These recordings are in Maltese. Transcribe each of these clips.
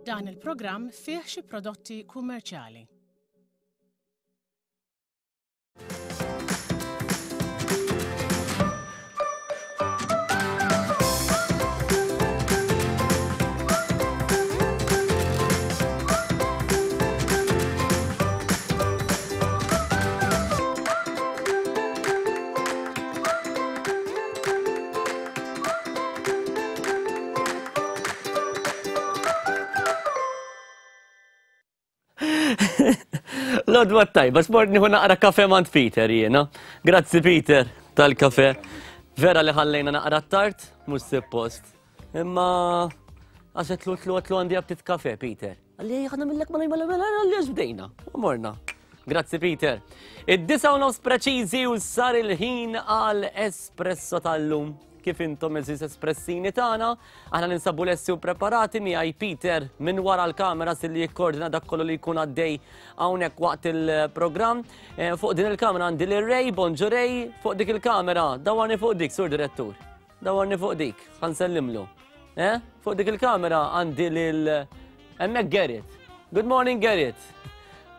Dan il-programm fih xi prodotti kummerċjali. Lodwa tajba, sport nieħu naqra kafe mant Peter jiena. Grazzi Peter tal-kafe. Vera li ħallejna naqra tard, mhux suppost. Imma għax qed tlu tlu għandi aptit kafe Peter. Għalli ħana millek ma mela mela għalli bdejna. U morna. Grazzi Peter. Id-disa u nofs preċiżi u sar il-ħin għal espresso tal-lum. Kif intom eżis espressini tagħna, aħna ninsabu lesti u preparati miegħi Peter minn wara l-kamera li jikkordina dak kollu li jkun għaddej hawnhekk waqt il-programm. Eh, fuq din il-kamera għandi lil Ray, bonġu Ray, fuq dik il-kamera, dawarni fuq dik, sur direttur. Dawarni fuq dik, ħansellimlu. Eh? Fuq dik il-kamera għandi lil hemmhekk Gerrit. Good morning Gerrit.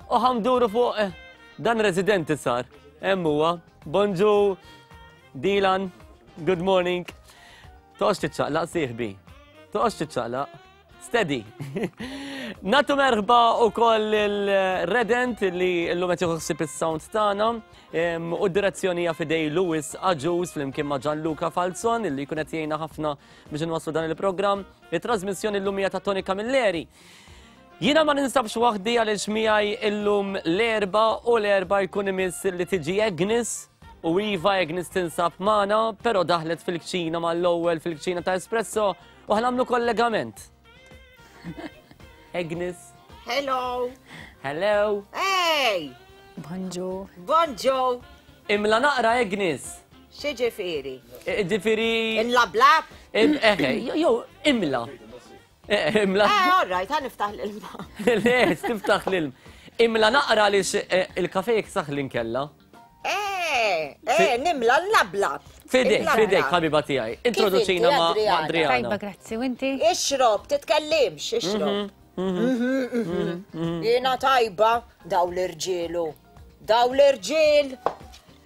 U ħamduru fuq eh, dan residenti sar. Hemm huwa. Bonġu Dilan. Good morning. Toqgħodx tiċċaqlaq sieħbi. Toqgħodx tiċċaqlaq. Steady. Natu merħba u koll il-Redent li l-lum qed jieħu is-sound tagħna u d-direzzjoni hija fidej Lewis Aġus flimkien ma' Gianluca Falzon illi jkun qed jgħinna ħafna biex inwasslu dan il-programm. It-trasmissjoni llum hija ta' Tony Camilleri. Jiena ma ninsabx waħdi għaliex miegħi illum l-erba u l-erba jkun imiss li tiġi Agnes u Iva Agnes tinsab magħna, però daħlet fil-kċina mal-ewwel fil-kċina ta' Espresso U ħanamlu kollegament. Agnes. Hello. Hello. Hey. Bonġu. Bonġu. Imla naqra Agnes. Xieġifiri? Ġifiri. Imla blab? Eħe, jew imla. Eh, imla. Eh, all right, ħan niftaħ l-ilma. Le, tiftaħ l-ilma. Imla naqra li eh, il-kafe jiksaħ l-inkella. Eh, eh, nimla l-lablab. Fidek, fidek, ħabiba tiegħi. Introduċina ma' Adriana. Tajba, grazzi, u inti? Ixrob, titkellimx, ixrob. Mhm, mhm, mhm, Jiena tajba, daw l-irġielu. Daw l-irġiel.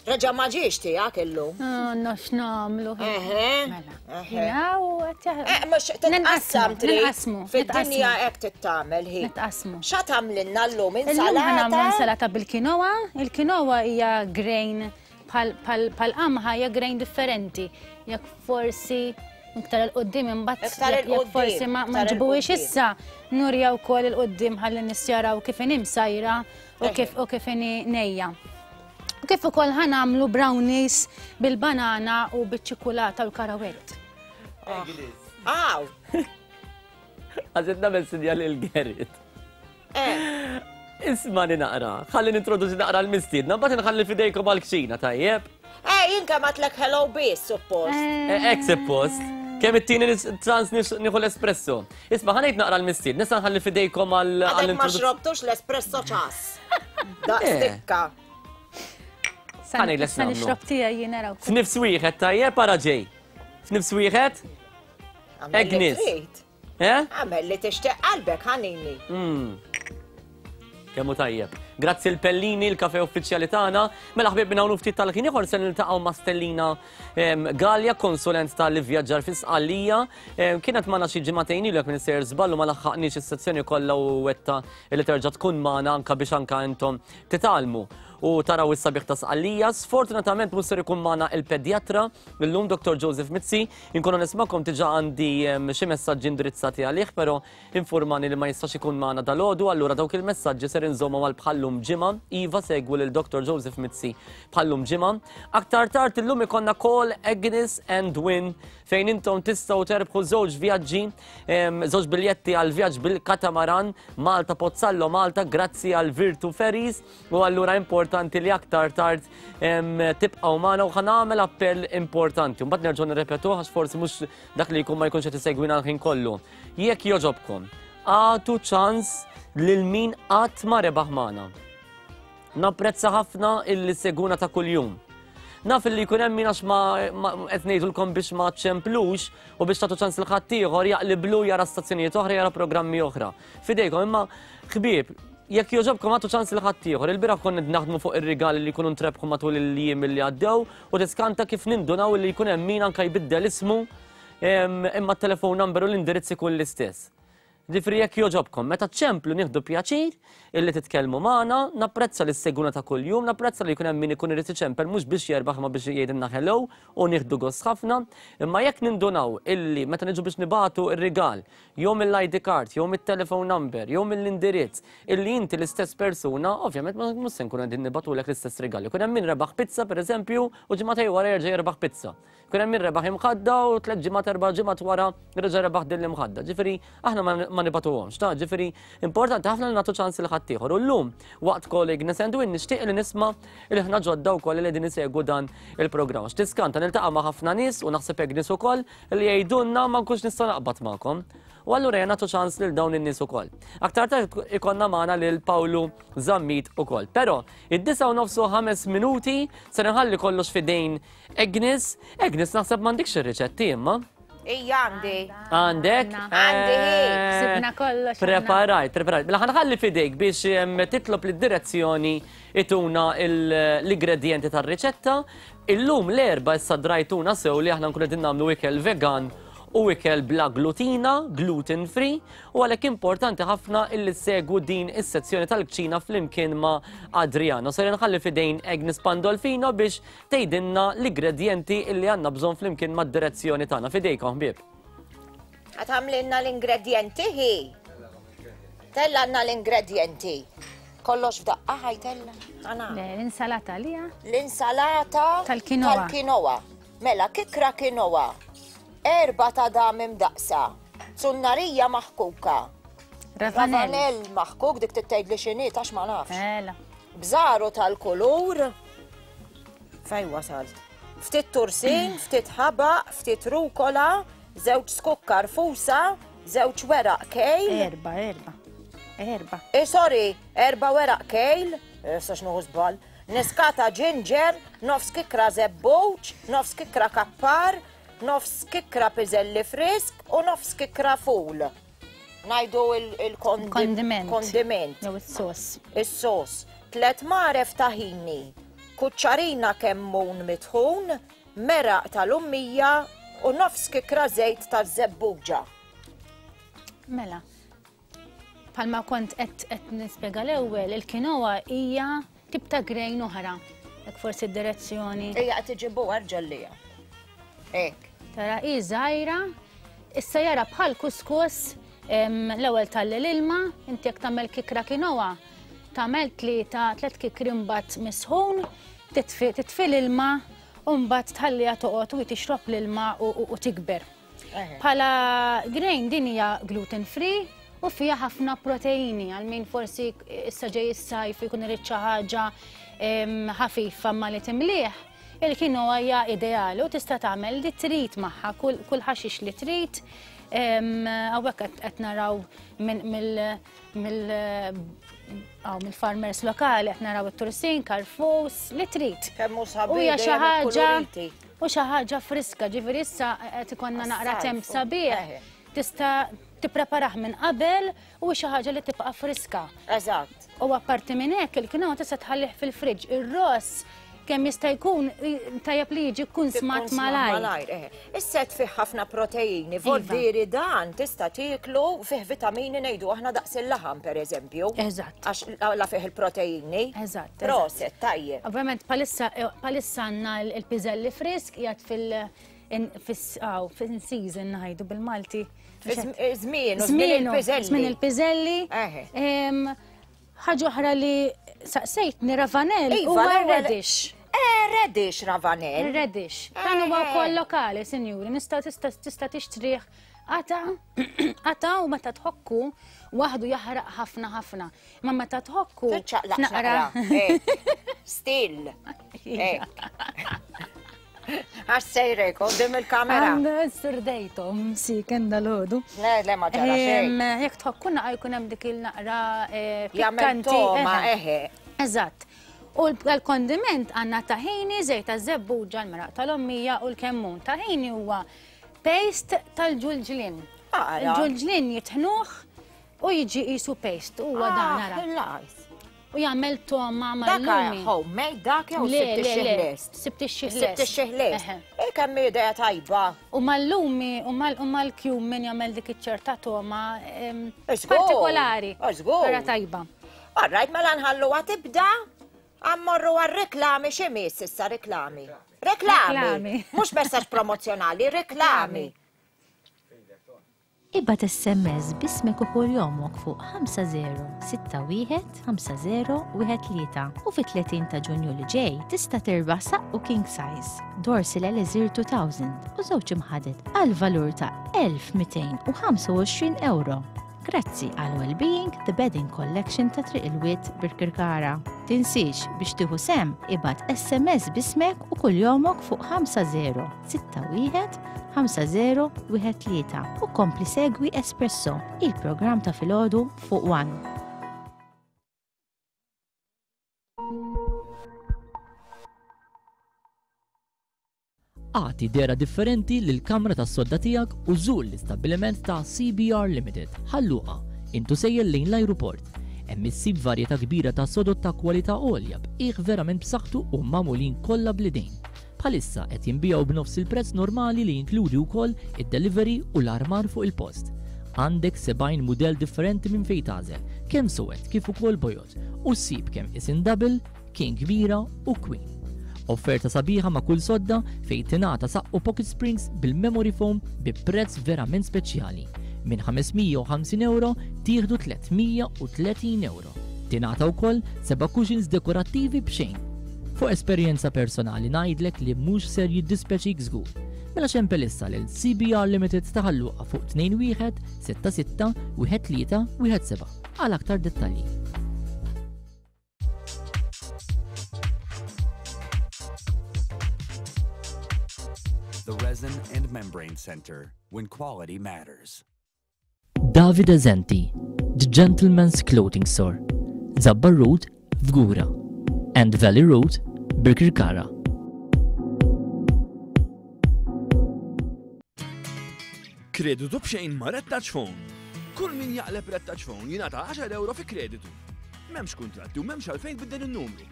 Reġa ma ġiex tiegħek illum. Ah, no, x'nagħmlu. Mela. Eh, mhux titqassam trid. Fid-dinja hekk tittamel hi. Nitqasmu. Xa tagħmlilna llum insalata? Illum ħanagħmlu insalata bil-kinoa. Il-kinoa hija grain bħal qamħa hija grain differenti. Jekk forsi iktar il-qoddim imbagħad jekk forsi ma ġibuhiex issa nurja wkoll il-qoddim ħalli nies jaraw kif inhi msajra u kif u kif inhi nejja. Kif ukoll ħa nagħmlu brownies bil-banana u biċ-ċikulata u l-karawett. Aw! Għazet nagħmel sinjal il-Gerrit. Eh. Isma' li naqra, ħalli nintroduċi naqra l-mistiedna, mbagħad nħalli fidejkom għall-kċina, tajjeb? Eh, jien kemm għatlek hello biss, suppost. Eh, ek suppost. Kemm it-tieni trans nieħu l-espresso. Isma' ħanejt naqra l-mistied, nista' nħalli fidejkom għall Għadek ma xrobtux l-espresso ċas. Daqstikka. Ħanejt Sa nixrob tiegħi jien naraw. F'nifs wieħed tajjeb ara ġej. F'nifs wieħed? Agnes. Eh? Għamel li tixtieq qalbek ħanini. Mm. Kemmu tajjeb. Grazzi l-Pellini, l-kafe uffiċjali tagħna. Mela ħbieb minn hawn ftit tal-ħin ieħor se niltaqgħu ma' Stellina Gallia, konsulent tal-ivvjaġġar fi Sqallija. Kienet magħna xi ġimagħtejn ilu jekk minn sejjer żball u ma laħħaqniex is-sezzjoni kollha u wetta li terġa' tkun magħna anke biex anke intom titgħallmu u taraw is-sabiħ ta' Sqallija. Sfortunatament mhux ser ikun magħna il-pedjatra illum Dr. Joseph Mizzi. Inkunu nismakom diġà għandi xi messaġġi indirizzati għalih, però Infurmani li ma jistax ikun magħna dalgħodu, allura dawk il-messaġġi ser inżommhom għal bħal-lum ġimgħa. Iva, segwu lil Dr. Joseph Mizzi bħal-lum ġimgħa. Aktar tard illum ikollna Call Agnes and Win fejn intom tistgħu terbħu żewġ vjaġġi, żewġ biljetti għal vjaġġ bil-katamaran Malta Pozzallo Malta grazzi għal Virtu Ferries u allura importanti li aktar tard tibqgħu magħna u ħanagħmel appell importanti. Mbagħad nerġgħu nirrepetuh għax forsi mhux dak li jkun ma jkunx qed isegwina l-ħin kollu. Jekk jogħġobkom, agħtu ċans lil min qatt ma rebaħ magħna. Napprezza ħafna illi seguna ta' kuljum. Naf li jkun hemm min għax ma qed ngħidulkom biex ma ċemplux u biex tagħtu ċans lil ħaddieħor jaqliblu jara stazzjonijiet oħra, jara programmi oħra. Fidejkom imma ħbieb, jekk jogħġobkom għatu ċans lil ħaddieħor. Il-bieraħ konna naħdmu fuq ir-rigali li jkunu ntrebħu matul il-jiem li għaddew u tiskanta kif nindunaw li jkun hemm min anke jbiddel ismu imma t-telefon number u l-indirizz ikun l-istess. Ġifieri jekk jogħġobkom, meta ċemplu nieħdu pjaċir illi titkellmu magħna, napprezza li ssegwuna ta' kuljum, napprezza li jkun hemm min ikun irid iċempel mhux biex jerbaħ imma biex jgħidilna hello u nieħdu gost ħafna, imma jekk nindunaw illi meta niġu biex nibagħtu r-rigal jew mill-ID card, jew mit-telephone number, jew mill-indirizz, illi inti l-istess persuna, ovvjament ma mhux se nkunu qegħdin nibagħtulek l-istess rigal. Ikun hemm min rebaħ pizza pereżempju u ġimagħtejn wara jerġa' jerbaħ pizza. Kien hemm min rebaħ imħadda u tliet ġimgħat erba' ġimgħat wara reġa' rebaħ din l-imħadda. Ġifieri aħna ma nibatuhomx, ta' ġifieri importanti ħafna li nagħtu ċans lil ħaddieħor. U llum waqt Call Ignis and Win nixtieq li nisma' il-ħna ġodda wkoll li qegħdin isegwu dan il-programm. X'tiskanta niltaqa' ma' ħafna nies u naħseb Agnes ukoll li jgħidulna ma nkunx nista' naqbad magħkom. U allura jena nagħtu ċans lil dawn in-nies ukoll. Aktar tard ikonna magħna lil Pawlu Zammit ukoll. Però id-disa u nofsu ħames minuti se nħalli kollox fidejn Agnes, Agnes naħseb m'għandikx ir-riċetti imma. Ija għandi. Għandek? Għandi. Eh, Sibna kollox. Preparajt, preparajt. Mela ħanħalli fidejk biex titlob lid-direzzjoni ituna l-ingredienti tar-riċetta. Illum l-erba issa drajtuna sew li aħna nkunu qegħdin nagħmlu ikel vegan u ikel bla glutina, gluten free, u għalhekk importanti ħafna illi segwu din is-sezzjoni tal-kċina flimkien ma' Adriano. Ser nħalli fidejn Agnes Pandolfino biex tgħidilna l-ingredjenti illi għandna bżonn flimkien mad-direzzjoni tagħna. Fidejkom ħbieb. Għatamlinna l-ingredjenti hi. Tella għandna l-ingredjenti. Kollox f'daqqa ħajtella. Le, l-insalata li L-insalata tal-kinoa. Tal-kinoa. Mela, kikra kinoa. Erba ta' dam imdaqsa. Zunnarija maħkuka. Ravanell. maħkuk dik tgħid li x'inhi għax ma nafx. Mela. Bżaru tal-kulur. Fej wasalt? Ftit tursin, ftit ħabaq, ftit rukola, żewġ skukkar fusa, żewġ weraq kejl. Erba, erba. Erba. Eh, sorry, erba weraq kejl, issa x'nuħu żball. Niskata ginger, nofs kikra żebbuġ, nofs kikra kappar, nofs kikra piżelli frisk u nofs kikra ful. Najdu il-kondiment. Kondiment. Jew is-sos. Is-sos. Tlet maref taħini, kuċċarina kemmun mitħun, meraq tal-ummija u nofs kikra żejt taż-żebbuġa. Mela, palma kont qed nispjega l-ewwel, il-kinoa hija tip ta' grain oħra. Hekk forsi d-direzzjoni. Ejja qed iġibu ġellija. Hekk. Tara hi żgħira, issa jara bħal kuskus l-ewwel talli l-ilma, inti jekk tagħmel kikra kinoa, tagħmel tlieta tliet kikri mbagħad misħun, titfi l-ilma u mbagħad tħalliha toqgħod u tixrob l-ilma u tikber. Bħala grain din hija gluten free u fiha ħafna proteini għal min forsi issa ġej is-sajf jkun irid xi ħaġa ħafifa ma li timlih. Il-quinoa hija ideali u tista' tagħmel li trid magħha kull ħaxix li trid. Hawnhekk qed naraw mill-farmers lokali qed naraw it-tursin, karfus, li trid. Kemm hu sabiħ U hija xi ħaġa u xi ħaġa friska, ġifieri issa qed ikollna naqra temp sabiħ. Tista' tippreparah minn qabel u xi ħaġa li tibqa' friska. Eżatt. U apparti minn hekk il-quinoa tista' tħallih fil-friġġ. Ir-ross kemm jista' jkun tajjeb li jiġi kunsmat malajr. Eh. Is-set fih ħafna proteini, voldieri dan tista' tieklu fih vitamini ngħidu aħna daqs il-laħam pereżempju. Eżatt. Għax la fih il-proteini. Eżatt. Proset, tajjeb. Ovvjament palissa għandna l-piżelli frisk qiegħed fil- fil-season ngħidu bil-Malti. Żmien, żmien il-piżelli. Żmien il-piżelli. Ħaġa oħra li saqsejtni ravanell Iva, huwa l-ewwel- radish. Eh, radish ravanell. Radish. Dan huwa wkoll lokali, sinjuri, nista' tista' tista' tixtrih qata qata u meta tħokku waħdu jaħraq ħafna ħafna. Ma meta tħokku Tiċċaqlaq naqra. naqra. Still. Għax sejrek, qoddim il-kamera. Għandu surdejtom, si, kenda l-ħodu. Le, le, ma ġara xejn. Jekk tħokku naqra jkun hemm dik il-naqra Jagħmel pikkanti. toma, eħe. Eżatt. U l-kondiment għandna tahini, żejt taż-żebbuġa, l-meraq tal-ommija u l-kemmun. Tahini huwa paste tal-ġulġlien. Il-ġulġlien jitħnuh u jiġi qisu paste. Huwa dan ara. U jagħmel toma mal-lumi. Dak homemade dak jew sibt ix-xih lest? Sibt ix-xih lest. Sibt ix-xih lest. E kemm idea tajba. U mal-lumi u mal-cumin jagħmel dik iċ-ċerta toma partikolari. Vera tajba. All right, mela nħalluha tibda. Ammorru għar-reklami x'imiss issa reklami. Reklami. Mhux messaġġ promozzjonali, reklami. Ibgħat SMS b'ismek u kuljomok fuq 5061 5013 u fit-30 ta' Ġunju li ġej tista' tirbaħ saqqu king size, Dorsil Elixir 2000 u żewġ imħaded għal valur ta' 1225 ewro. Grazzi għal Wellbeing The Bedding Collection ta' Triq il-Wied Birkirkara. Tinsiex biex tieħu sehem ibgħat SMS b'ismek u kuljomok fuq 5061 5013 u kompli segwi Espresso, il-programm ta' filgħodu fuq One. Agħti dehra differenti lill-kamra tas-sodda tiegħek u żur l-istabbiliment ta' CBR Limited, Ħal Luqa, int u sejjer lejn l-ajruport. Hemm issib varjetà kbira ta' sodod ta' kwalità għolja b'qiegħ verament b'saħħtu u magħmulin kollha bl-idejn. Bħalissa qed jinbiegħu b'nofs il-prezz normali li jinkludi wkoll id-delivery u l-armar fuq il-post. Għandek 70 mudell differenti minn fejn tagħżel, kemm suwed kif ukoll bojod, u ssib kemm isin double, King kbira u Queen. Offerta sabiħa ma' kull sodda fejn tingħata saqqu pocket springs bil-memory foam bi prezz verament speċjali. Minn 550 ewro tieħdu 330 ewro. Tingħata wkoll seba' cushions dekorattivi b'xejn. Fuq esperjenza personali ngħidlek li mhux ser jiddispjaċik żgur. Mela xempel issa lil CBR Limited ta' Ħal Luqa fuq 21 66 13 17 għal aktar dettalji. The Resin and Membrane Center, when quality matters. Davide Zenti, The Gentleman's Clothing Store, Zabbar Road, Fgura, and Valley Road, Birkirkara. Kreditu b'xejn ma' Red Touch Phone. Kull min jaqleb Red Touch Phone jingħata 10 euro fi kreditu. M'hemmx kuntratti u m'hemmx għalfejn tbiddel in-numru.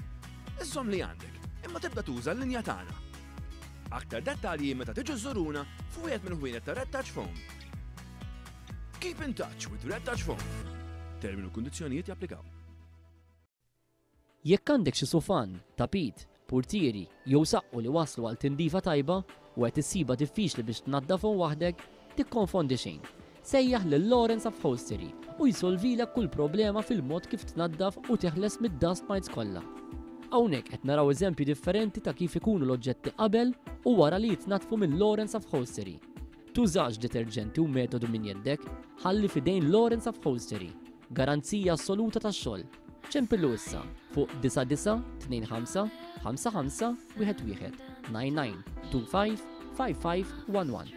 Iżżomm li għandek, imma tibda tuża l-linja tagħna. Aktar dettalji meta tiġu żżuruna f'wieħed mill-ħwienet ta' Red Touch Phone. Keep in touch with Red Touch Phone. Termini u kundizzjonijiet japplikaw. Jekk għandek xi sufan, tapit, purtieri jew saqqu li waslu għal tindifa tajba u qed issibha diffiċli biex tnaddafhom waħdek, tikkonfondi xejn. Sejjaħ lil Lawrence Upholstery u jsolvilek kull problema fil-mod kif tnaddaf u teħles mid-dust mites kollha. Hawnhekk qed naraw eżempji differenti ta' kif ikunu l-oġġetti qabel u wara li jitnaddfu minn Lawrence Upholstery. Tużax deterġenti u metodu minn jeddek, ħalli f'idejn Lawrence Upholstery. Garanzija assoluta tax-xogħol. Ċempillu issa fuq 9925 55 11 99 25 55 11.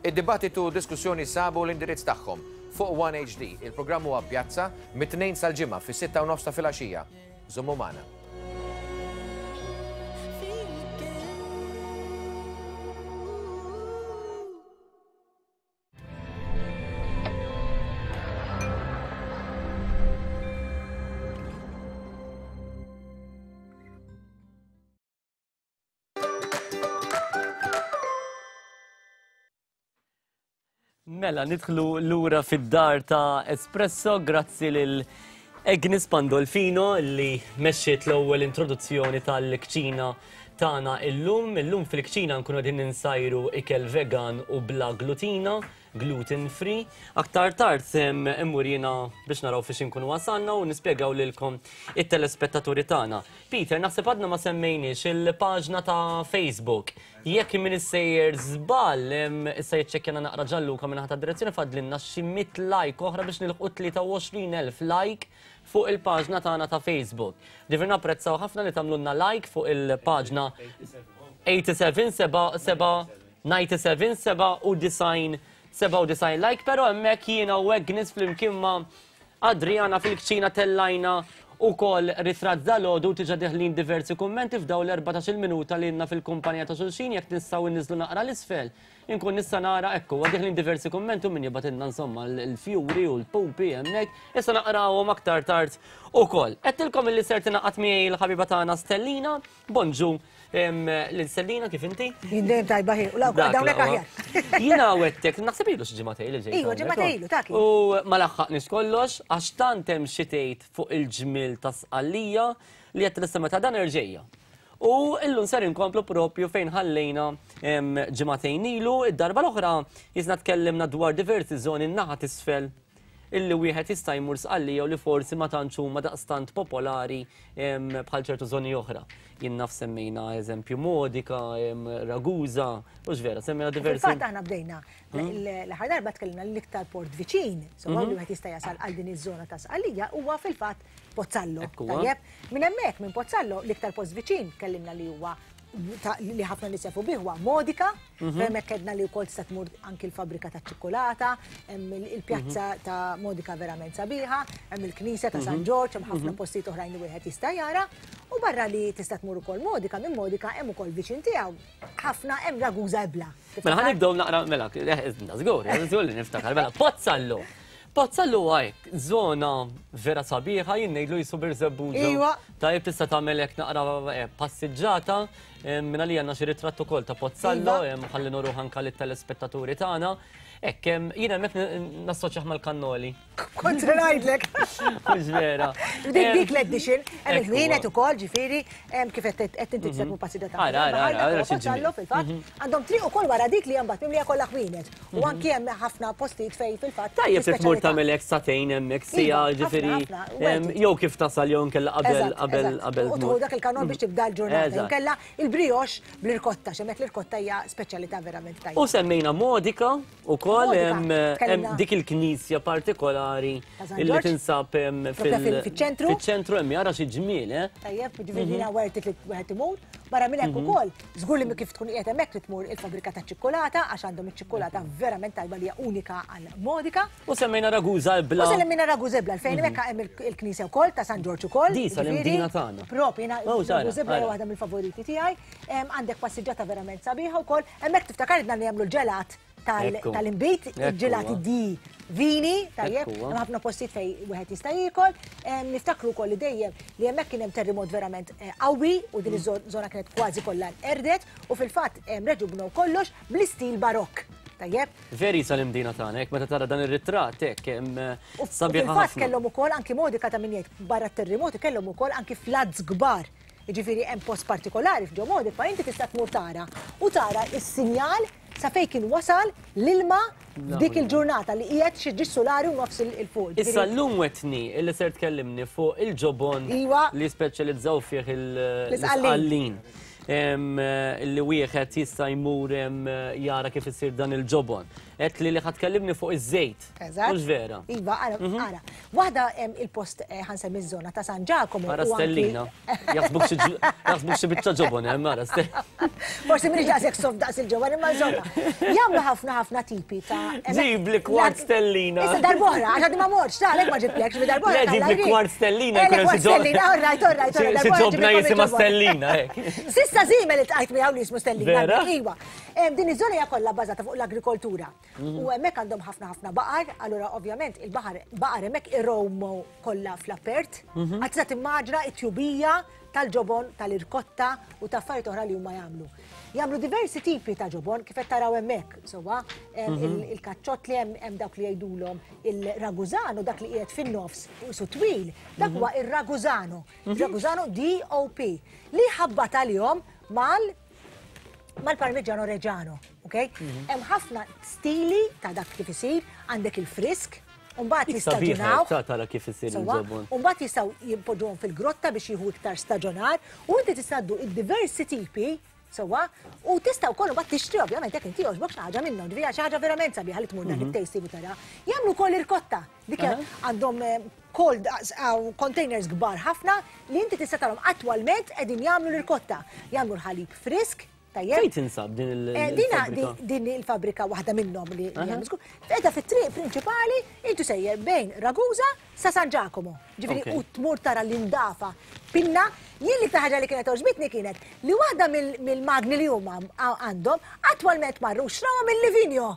Id-dibattitu u diskussjoni sabu l-indirizz tagħhom fuq One HD. Il-programm huwa Pjazza mit-Tnejn sal-Ġimgħa fis-sitta u nofs ta' filgħaxija. Żommu magħna. Mela, nidħlu lura fid-dar ta' Espresso, grazzi lil Agnes Pandolfino li mexxiet l-ewwel introduzzjoni tal-kċina tagħna illum. Illum fil-kċina nkunu qegħdin ninsajru ikel vegan u bla glutina, gluten free. Aktar tard immur jiena biex naraw fiex inkunu wasalna u nispjegaw lilkom it-telespettaturi tagħna. Peter, naħseb għadna ma semmejniex il-paġna ta' Facebook. Jekk min issejjer żball, issa jiċċekkjana naqra Gianluca minn ħata direzzjoni fadlinna xi mit like oħra biex nilħqu 23,000 like fuq il-paġna tagħna ta' Facebook. Ġifieri napprezzaw ħafna li tagħmlulna like fuq il-paġna 87 7 7. 97 97 97 like, pero hemmhekk jiena u Agnes flimkien ma' Adriana fil-kċina tellajna ukoll ritratt dalgħodu u diġà deħlin diversi kummenti f'dawn l-14-il minuta li ilna fil-kumpanija ta' xulxin jekk nistgħu nniżlu naqra 'l isfel inkun nista' nara ekku huwa deħlin diversi kummenti u min jibgħatilna insomma l-fjuri u l-pupi hemmhekk issa naqrawhom aktar tard ukoll. Għedtilkom illi ser tingħaqad miegħi l-ħabiba tagħna Stellina. Bonġu lil Stellina kif inti? Jien dejjem tajba ħin, u dawnek aħjar. Jiena wettek, naħseb ilu xi ġimgħatej li ġejt. Iva, ġimgħatej ilu, ta' U ma laħħaqniex kollox għax tant hemm xi tgħid fuq il-ġmiel ta' Sqallija li qed lista meta dan irġejja. U illum ser inkomplu propju fejn ħallejna ġimagħtejn ilu, id-darba l-oħra jisna tkellimna dwar diversi żoni n-naħa t'isfel illi wieħed jista' jmur Sqallija u li forsi ma tantx huma daqstant popolari bħal ċertu żoni oħra. Jien naf semmejna eżempju Modica, Ragusa, u vera, semmejna diversi. Fil-fatt aħna bdejna l-aħħar darba tkellimna l-iktar port viċin, so mhm. li wieħed jista' jasal għal din iż-żona ta' Sqallija huwa fil-fatt Pozzallo. Tajjeb, minn hemmhekk minn Pozzallo l-iktar post viċin tkellimna li huwa li ħafna nies jafu bih huwa Modica, mhm. hemmhekk kedna li wkoll tista' tmur anki l-fabbrika ta' ċikkulata, hemm il-pjazza mhm. ta' Modica verament sabiħa, hemm il-knisja ta' San mhm. Ġorġ, hemm ħafna postijiet oħrajn li wieħed jista' jara, u barra li tista' tmur ukoll Modica, minn Modica hemm ukoll viċin tiegħu ħafna hemm Ragusa Ebla. Mela ħa nibdew naqra mela, eh, żgur, żgur li niftakar, mela Pozzallo. Pozzallo hekk, żona vera sabiħa, jien ngħidlu jisu Birżebbuġa. Iva. Tajjeb tista' tagħmel hekk naqra eh, passiġġata, eh, minn għalija għandna xi ritratt ukoll ta' Pozzallo, iva. ħalli noruh anke lit-telespettaturi tagħna. Hekk, jien hemmhekk nassoċjah mal-kannoli. Kont se ngħidlek. Mhux vera. Dik dik l-edition, hemm il-ħwienet ukoll, ġifieri, kif qed qed inti tista' tmur passiġġata. Ara, ara, ara, ara xi ġmiel. Fil-fatt, mhm. għandhom triq ukoll wara dik li hemm mbagħad mimlija kollha ħwienet. U mhm. anki hemm ħafna postijiet fejn fil-fatt. Tajjeb se tmur tagħmel hekk sagħtejn hemmhekk sija, Iva, ġifieri, jew kif tasal jew nkella qabel qabel qabel. U tieħu dak il-kanon biex tibda l-ġurnata. Jew nkella il-brioche bl-irkotta, x'hemmhekk l-irkotta hija speċjalità verament tajba. U semmejna Modica Ukoll hemm dik il-knisja partikolari li tinsab fil-ċentru. Fiċ-ċentru hemm jara xi ġmiel, eh? Tajjeb, ġifieri jiena worth it li wieħed imur. Barra minn hekk mhm. ukoll, żgur li kif tkun qiegħed hemmhekk li tmur il-fabbrika ta' ċikkulata għax għandhom iċ-ċikkulata mhm. verament tajba li hija unika għal Modica. U semmejna Ragusa Ebla. U semmejna Ragusa Ebla, fejn mhm. hemmhekk hemm il-knisja wkoll ta' San Ġorġ ukoll. Di sal-imdina tagħna. Propri, jiena oh, Ragusa Ebla hija waħda mill-favoriti tiegħi. Għandek passiġġata verament sabiħa wkoll. Hemmhekk tiftakar idna li jagħmlu l-ġelat tal-inbid, il-ġelati di vini, tajjeb, hemm ħafna postijiet fej wieħed jista' jiekol. Niftakru wkoll li dejjem li hemmhekk kien hemm terremot verament eh, qawwi u din mm. iż-żona kienet kważi kollha erdet u fil-fatt reġgħu bnew kollox bl-istil barokk. Tajjeb. Veri sal-imdina tagħna, hekk meta tara dan ir-ritratt hekk hemm eh, sabiħ. Fil-fatt kellhom ukoll anki modika ta' min jgħid barra t-terremoti kellhom ukoll anki floods kbar. Jiġifieri hemm post partikolari f'ġo Modica inti tista' tmur tara u tara s-sinjal sa fejn kien wasal l-ilma f'dik il-ġurnata li qiegħed xi ġiex sulari u nofs il fuq. Issa llum wetni illi ser tkellimni fuq il-ġobon iva. li speċjalizzaw fih l-isqallin. Illi wieħed jista' jmur jara kif isir dan il-ġobon. Għedt li li ħa tkellimni fuq iż-żejt. Eżatt. Mhux vera? Iva, ara, mhm. ara. Waħda hemm il-post eh, ħansemmi ż-żona ta' San Ġakomo. Ara Stellina. Jaħsbuk xi biċċa ġobon hemm ara Stellina. Forsi m'iniex daqshekk soft daqs il-ġobon imma insomma. Jagħmlu ħafna ħafna tipi ta' Ġibli kwart stellina. Issa darb'oħra, għax għadni ma mortx, ta' għalhekk ma ġiblekx, bi darb'oħra. Le ġibli kwart stellina. Eh, kwart stellina, all right, all right. Xi ġobna jisimha stellina, hekk. Sissa żiemel iltqajt miegħu li jismu stellina. Vera? Iva. Din iż-żona hija kollha bbażata fuq l-agrikoltura. Mhm. U hemmhekk għandhom ħafna ħafna baqar, allura ovvjament il-baħar baqar hemmhekk irowmu kollha fl-apert. Mhm. Għad tista' timmaġna it-tjubija tal-ġobon, tal-irkotta u ta' affarijiet oħra li huma jagħmlu. Jagħmlu diversi tipi ta' ġobon kif qed taraw hemmhekk, sewwa mhm. il-kaċċott li hemm dawk li jgħidulhom il-raguzano dak li qiegħed fin-nofs u su twil, dak huwa ir-raguzano. Raguzano DOP li ħabbat għalihom mal mal-Parmigiano Reggiano, ok? Mhm. Hemm ħafna stili ta' dak kif isir, għandek il-frisk, Umbat jistaġunaw. Tara kif isir il-ġobon. Umbat jistaw jimpoġuhom fil-grotta biex jieħu iktar staġonar u inti tista' id-diversi tipi sewwa u tista' wkoll imbagħad tixtri ovvjament jekk inti jogħġbok xi ħaġa minnhom, ġifieri xi ħaġa verament sabiħa li tmur dan mhm. it-tasting u tara. Jagħmlu wkoll irkotta dik għandhom eh, cold containers kbar ħafna li inti tista' tarhom attwalment qegħdin jagħmlu l-irkotta. Jagħmlu l-ħalib frisk. Tajjeb? Fejn tinsab din il-fabbrika? Din il-fabbrika waħda minnhom li hemm żgur. Qiegħda fit-triq prinċipali intu sejjer bejn Ragusa sa San Giacomo. Ġifieri u tmur tara l-indafa pinna. Jien l-iktar ħaġa li kienet għoġbitni kienet li waħda mill-magni li huma għandhom attwalment marru xrawha mill-Livigno.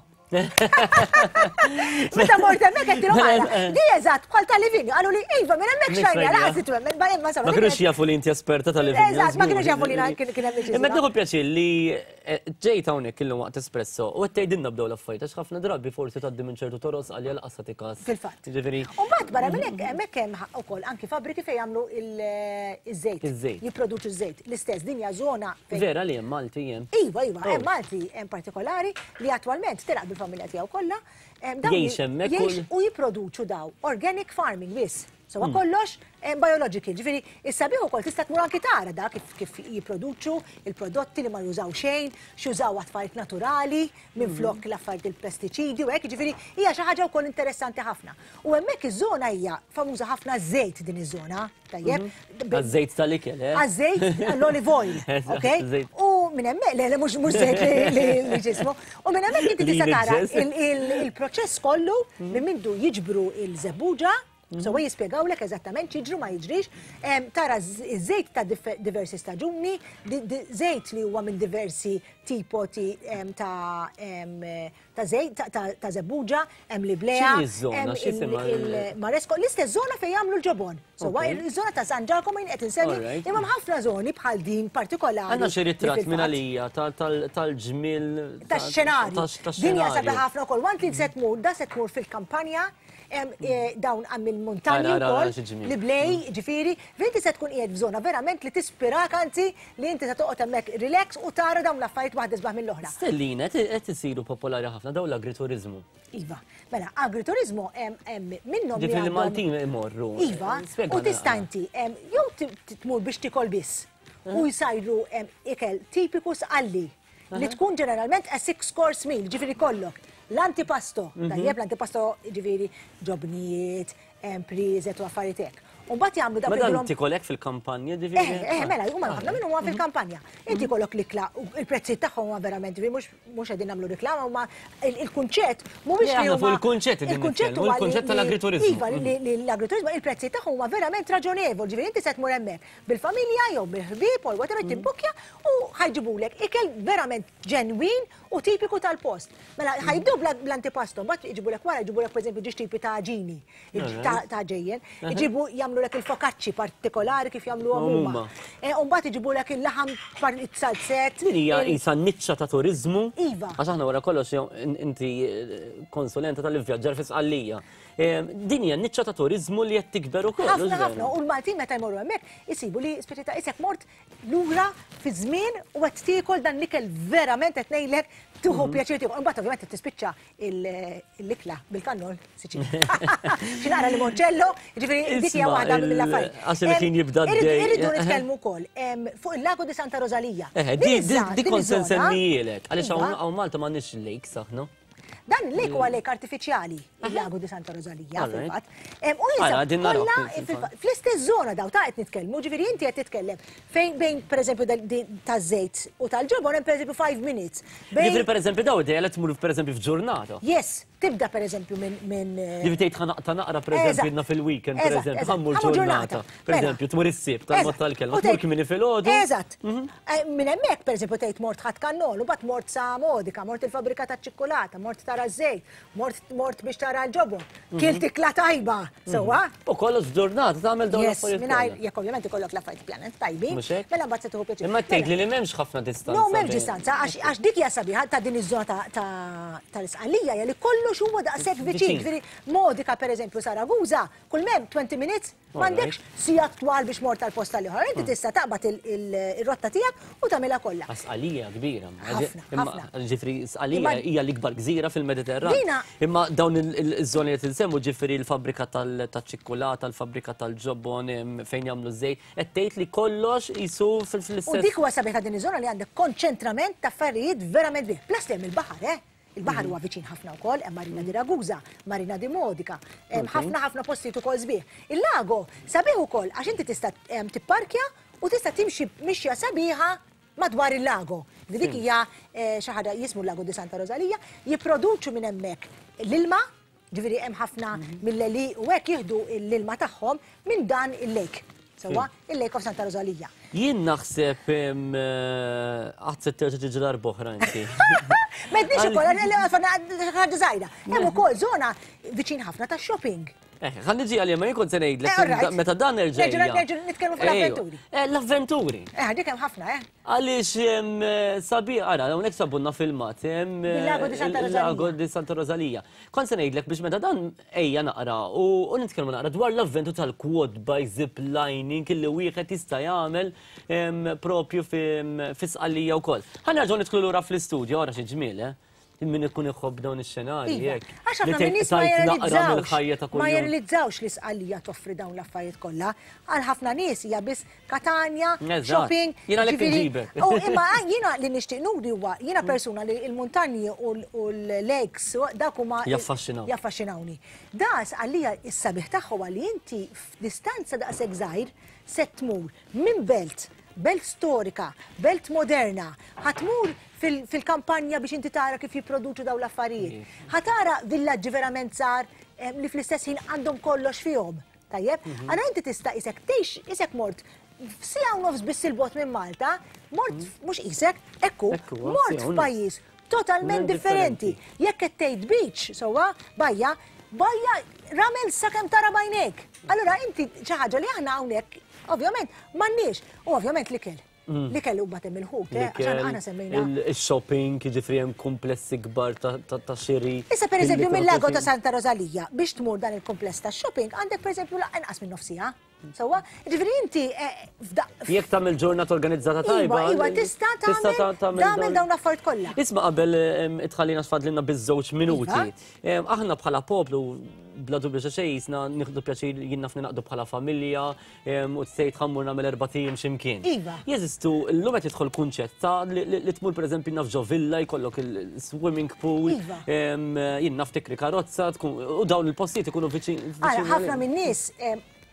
Meta mort hemmhekk qed tilhom għala. Di eżatt bħal tal-Livigno. Qalu li iva minn hemmhekk xajna laqas twemmen barra ma Ma kinux jafu li inti esperta tal-Livigno. Eżatt, ma kinux jafu li kien hemm Imma tieħu pjaċir li eh, ġejt hawnhekk illum waqt espresso u qed tgħidilna bdew l-affarijiet għax ħafna drabi forsi tgħaddi minn ċertu toroq għalja laqas tagħti każ. Fil-fatt. Ġifieri. U mbagħad barra minn hekk hemmhekk hemm ukoll anki fabbriki fejn jagħmlu iż-żejt. Iż-żejt. Jipproduċu ż-żejt. L-istess din hija żona fejn. Vera li hemm Malti hemm. Iva, iva, hemm oh. Malti hemm partikolari li attwalment telaq bil-familja tiegħu kollha. Jgħix hemmhekk u jipproduċu daw organic farming biss. So hmm. kollox biological, ġifieri is-sabiħ ukoll tista' tmur anki tara da kif kif jipproduċu il-prodotti li ma jużaw xejn, x'jużaw affarijiet naturali minn hmm. flok l-affarijiet il-pestiċidi u hekk, ġifieri hija xi ħaġa wkoll interessanti ħafna. U hemmhekk iż-żona hija famuża ħafna żejt din iż-żona. Tajjeb. Mhm. Għaż-żejt tal-ikel, eh? Għaż-żejt, l-olive oil, ok? U minn hemmhekk, le, le, mhux żejt li ġismu. U minn hemmhekk inti tista' tara il-proċess kollu mhm. minn mindu jiġbru il-żebbuġa, mhm. So jispjegawlek eżattament x'jiġru ma jiġrix, tara żejt ta' diversi staġuni, żejt li huwa minn diversi tipo ta' ta' żejt, ta' żebbuġa, hemm l-iblea, X'inhi ż-żona? X'isimha il-Maresco, l-istess żona fejn jagħmlu l-ġobon. So iż-żona ta' San Giacomo jien qed insemmi, imma hemm ħafna żoni bħal din partikolari. Għandna xi ritratt minn għalija tal-ġmiel. Tax-xenarju. Din hija sabiħa ħafna wkoll. Want li se tmur, da se tmur fil-kampanja eh, dawn għam il-muntanji wkoll, li blej, ġifieri, fejn se tkun qiegħed f'żona verament li tispirak anzi li inti se toqgħod hemmhekk relax u tara dawn l-affarijiet waħda isbaħ mill-oħra. Stellina, qed isiru popolari ħafna dawn l-agrituriżmu. Iva, mela agrituriżmu hemm minnhom. Ġifieri Maltin imorru. Iva, u tista' inti jew tmur biex tikol biss u jsajru ikel tipiku sqalli li tkun ġeneralment a six course meal, ġifieri kollok l-antipasto, tajjeb l-antipasto ġifieri ġobnijiet, priżet u affarijiet hekk. U mbagħad jagħmlu dak Mela inti kolek fil-kampanja ġifieri? Eh, eh, mela, huma ħafna minnhom huma fil-kampanja. Inti kollok l-ikla, il-prezzijiet tagħhom huma verament ġifieri mhux mhux qegħdin nagħmlu riklama huma il-kunċett mhuwiex li huma il-kunċett il-kunċett huwa il-kunċett tal-agrituriżmu. Iva, li l-agrituriżmu il-prezzijiet tagħhom huma verament raġonevoli, ġifieri inti se tmur hemmhekk bil-familja jew bil-ħbieb or whatever tibbukkja u ħajġibulek ikel verament ġenwin u tipiku tal-post. Mela ħajbdew bl-antipasto, mbagħad iġibulek wara jġibulek pereżempju ġiex tipi ta' ġini, ta' ġejjen, iġibu jagħmlulek il-fokacci partikolari kif jagħmluhom huma. E, u mbagħad iġibulek il-laħam it-salzett. Din hija qisha niċċa ta' turiżmu. Iva. Għax aħna wara kollox inti eh, konsulenta tal-ivvjaġġar fi Sqallija. E, din hija niċċa ta' turiżmu li qed tikber ukoll. Ħafna ħafna u l-Maltin meta jmorru hemmhekk isibu li speċi ta' isek mort lura fi żmien u qed tiekol dan l-ikel verament qed ngħidlek tieħu mhm. pjaċir tiekol. Imbagħad ovvjament qed tispiċċa l-ikla bil-kannol Siċilja. Xi naqra limoncello, jiġifieri dik hija waħda mill-affarijiet. Għax il-ħin jibda d Irridu nitkellmu wkoll fuq il-Lago di Santa Rosalia. Eh, di kont se nsemmijielek, għaliex hawn Malta m'għandniex lakes aħna. Dan il-lake huwa lake artifiċjali, il-Lago di Santa Rosalia, fil-fatt. U jinsab kollha fl-istess żona daw ta' qed nitkellmu, ġifieri inti qed titkellem fejn bejn pereżempju taż-żejt u tal-ġobon hemm pereżempju 5 minutes. Ġifieri pereżempju daw idea li tmur pereżempju f'ġurnata. Yes, tibda pereżempju minn. Ġifieri tgħid ħa naqta' naqra pereżempju jiena fil-weekend pereżempju ħa mmur ġurnata. Pereżempju tmur is-Sibt tal-mod tal-kelma, tmur kmieni filgħodu. Eżatt. Eh, minn hemmhekk, pereżempju, tgħid mort ħadd kannol, u mbagħad mort sa Modica, mort il-fabbrika taċ-ċikkulata, mort tara ż-żejt, mort mort biex tara l-ġobon, mhm. kilt ikla tajba, mhm. sewwa. U kollox f'ġurnata tagħmel dawn l-affarijiet. Mingħajr jekk ovvjament ikollok l-affarijiet pjanet tajbin, mela mbagħad se tieħu pjaċir. Imma tgħid li m'hemmx ħafna distanza. No, m'hemmx distanza, għax dik hija sabiħa ta' din iż-żona tal-Isqalija hija li kollox huwa daqshekk viċin. Ġifieri Modica pereżempju Saragusa, kull m'hemm 20 minutes M'għandekx sigħat twal biex mort tal-post tal-ieħor. Inti hmm. tista' taqbad ir-rotta tiegħek u tagħmilha kollha. Sqalija kbira. Ħafna. Ġifri Sqalija hija l-ikbar gżira fil-Mediterran. Imma dawn iż-żoni li tinsemmu ġifri l-fabbrika tal-ċikkulata, l-fabbrika tal-ġobon fejn jagħmlu żejt, qed tgħid li kollox jisu fl-istess. U dik huwa sabiħ ta' din iż-żona li għandek konċentrament ta' affarijiet verament bih. Plus li hemm il-baħar, eh? Il-baħar huwa viċin ħafna wkoll, hemm Marina di Ragusa, Marina di Modica, hemm ħafna ħafna postijiet ukoll sbieħ. Il-lago sabiħ ukoll għax inti tista' tipparkja u tista' timxi mixja sabiħa madwar il-lago. Li dik hija eh, xi ħaġa jismu Lago di Santa Rosalia, jipproduċu minn hemmhekk l-ilma, ġifieri hemm ħafna mhm. mill-eli u hekk jieħdu l-ilma tagħhom minn dan il-lake. Sewwa, il-Lake of Santa Rosalia. Jien naħseb eh, għad se terġa' tiġi darb'oħra inti. Medniex ukoll, ħaġa żgħira. Hemm ukoll żona viċin ħafna ta' shopping. Eh, ħa niġi għalija, ma jien kont se ngħidlek eh, meta dan nerġa'. Nerġa' nitkellmu fuq l-avventuri. Eh, l-avventuri. Eh, dik hemm ħafna, eh. Għaliex sabi, ara, hawnhekk sabunna filmat, Lago di Santa Rosalia. Lago di Santa Rosalia. Kont se ngħidlek biex meta dan ejja naqra u nitkellmu naqra dwar l-avventu tal-quad by zip lining illi wieħed jista' jagħmel propju fi Sqallija wkoll. Ħa nerġgħu nidħlu lura fl-istudju, ara xi ġmiel, eh. Min ikun iħobb dawn ix-xenarji iva. hekk. Għax ħafna minn nies ma jirrealizzawx. Ma jirrealizzawx li Sqallija toffri dawn l-affarijiet kollha. Għal ħafna nies hija biss Katanja, shopping. Jiena li nġibek. U imma jiena li nixtieq nuri huwa jiena persuna li l-muntanji u l-lakes dak huma jaffaxxinaw. Jaffaxxinawni. Da Sqallija s-sabiħ tagħha huwa li inti f'distanza daqshekk żgħir se tmur minn belt belt storika, belt moderna, ħa tmur fil-kampanja biex inti tara kif jipproduċu dawn l-affarijiet. Ħa tara villaġġi verament żgħar li fl-istess ħin għandhom kollox fihom. Tajjeb? Mhm. Allora inti tista' isek tgħix isek mort f'siegħa u nofs biss il-bot minn Malta, mort mhm. mhux isek, ekku, mort f'pajjiż totalment differenti. Jekk qed tgħid beach, sewwa, bajja, bajja ramel sakemm tara bajnek. Allura inti xi ħaġa li aħna hawnhekk ovvjament m'għandniex. U ovvjament l-ikel. Mm. L-ikel u batem il-ħut, eh, għax aħna semmejna. Il-shopping, jiġifieri hemm komplessi kbar ta' xiri. Issa pereżempju mill-Lago ta' Santa Rosalia biex tmur dan il-kompless ta' shopping għandek pereżempju inqas minn nofsija. Sewwa, ġifieri inti eh, f'daq. Jekk tagħmel ġurnata organizzata tajba. Iva, iva, tista' tagħmel tagħmel dawn l-affarijiet kollha. Isma' qabel itħallina x'fadlilna biż-żewġ minuti. Iva. Aħna bħala poplu bla dubju ta' xejn jisna nieħdu pjaċir jien naf ninaqdu bħala familja u tgħid ħammur nagħmel erba' ijiem x'imkien. Iva. Jeżistu llum qed jidħol kunċett ta' li tmur pereżempju naf ġo villa jkollok il-swimming pool, iva. jien naf tikri karozza u dawn il-postijiet ikunu viċin. Ara ħafna min-nies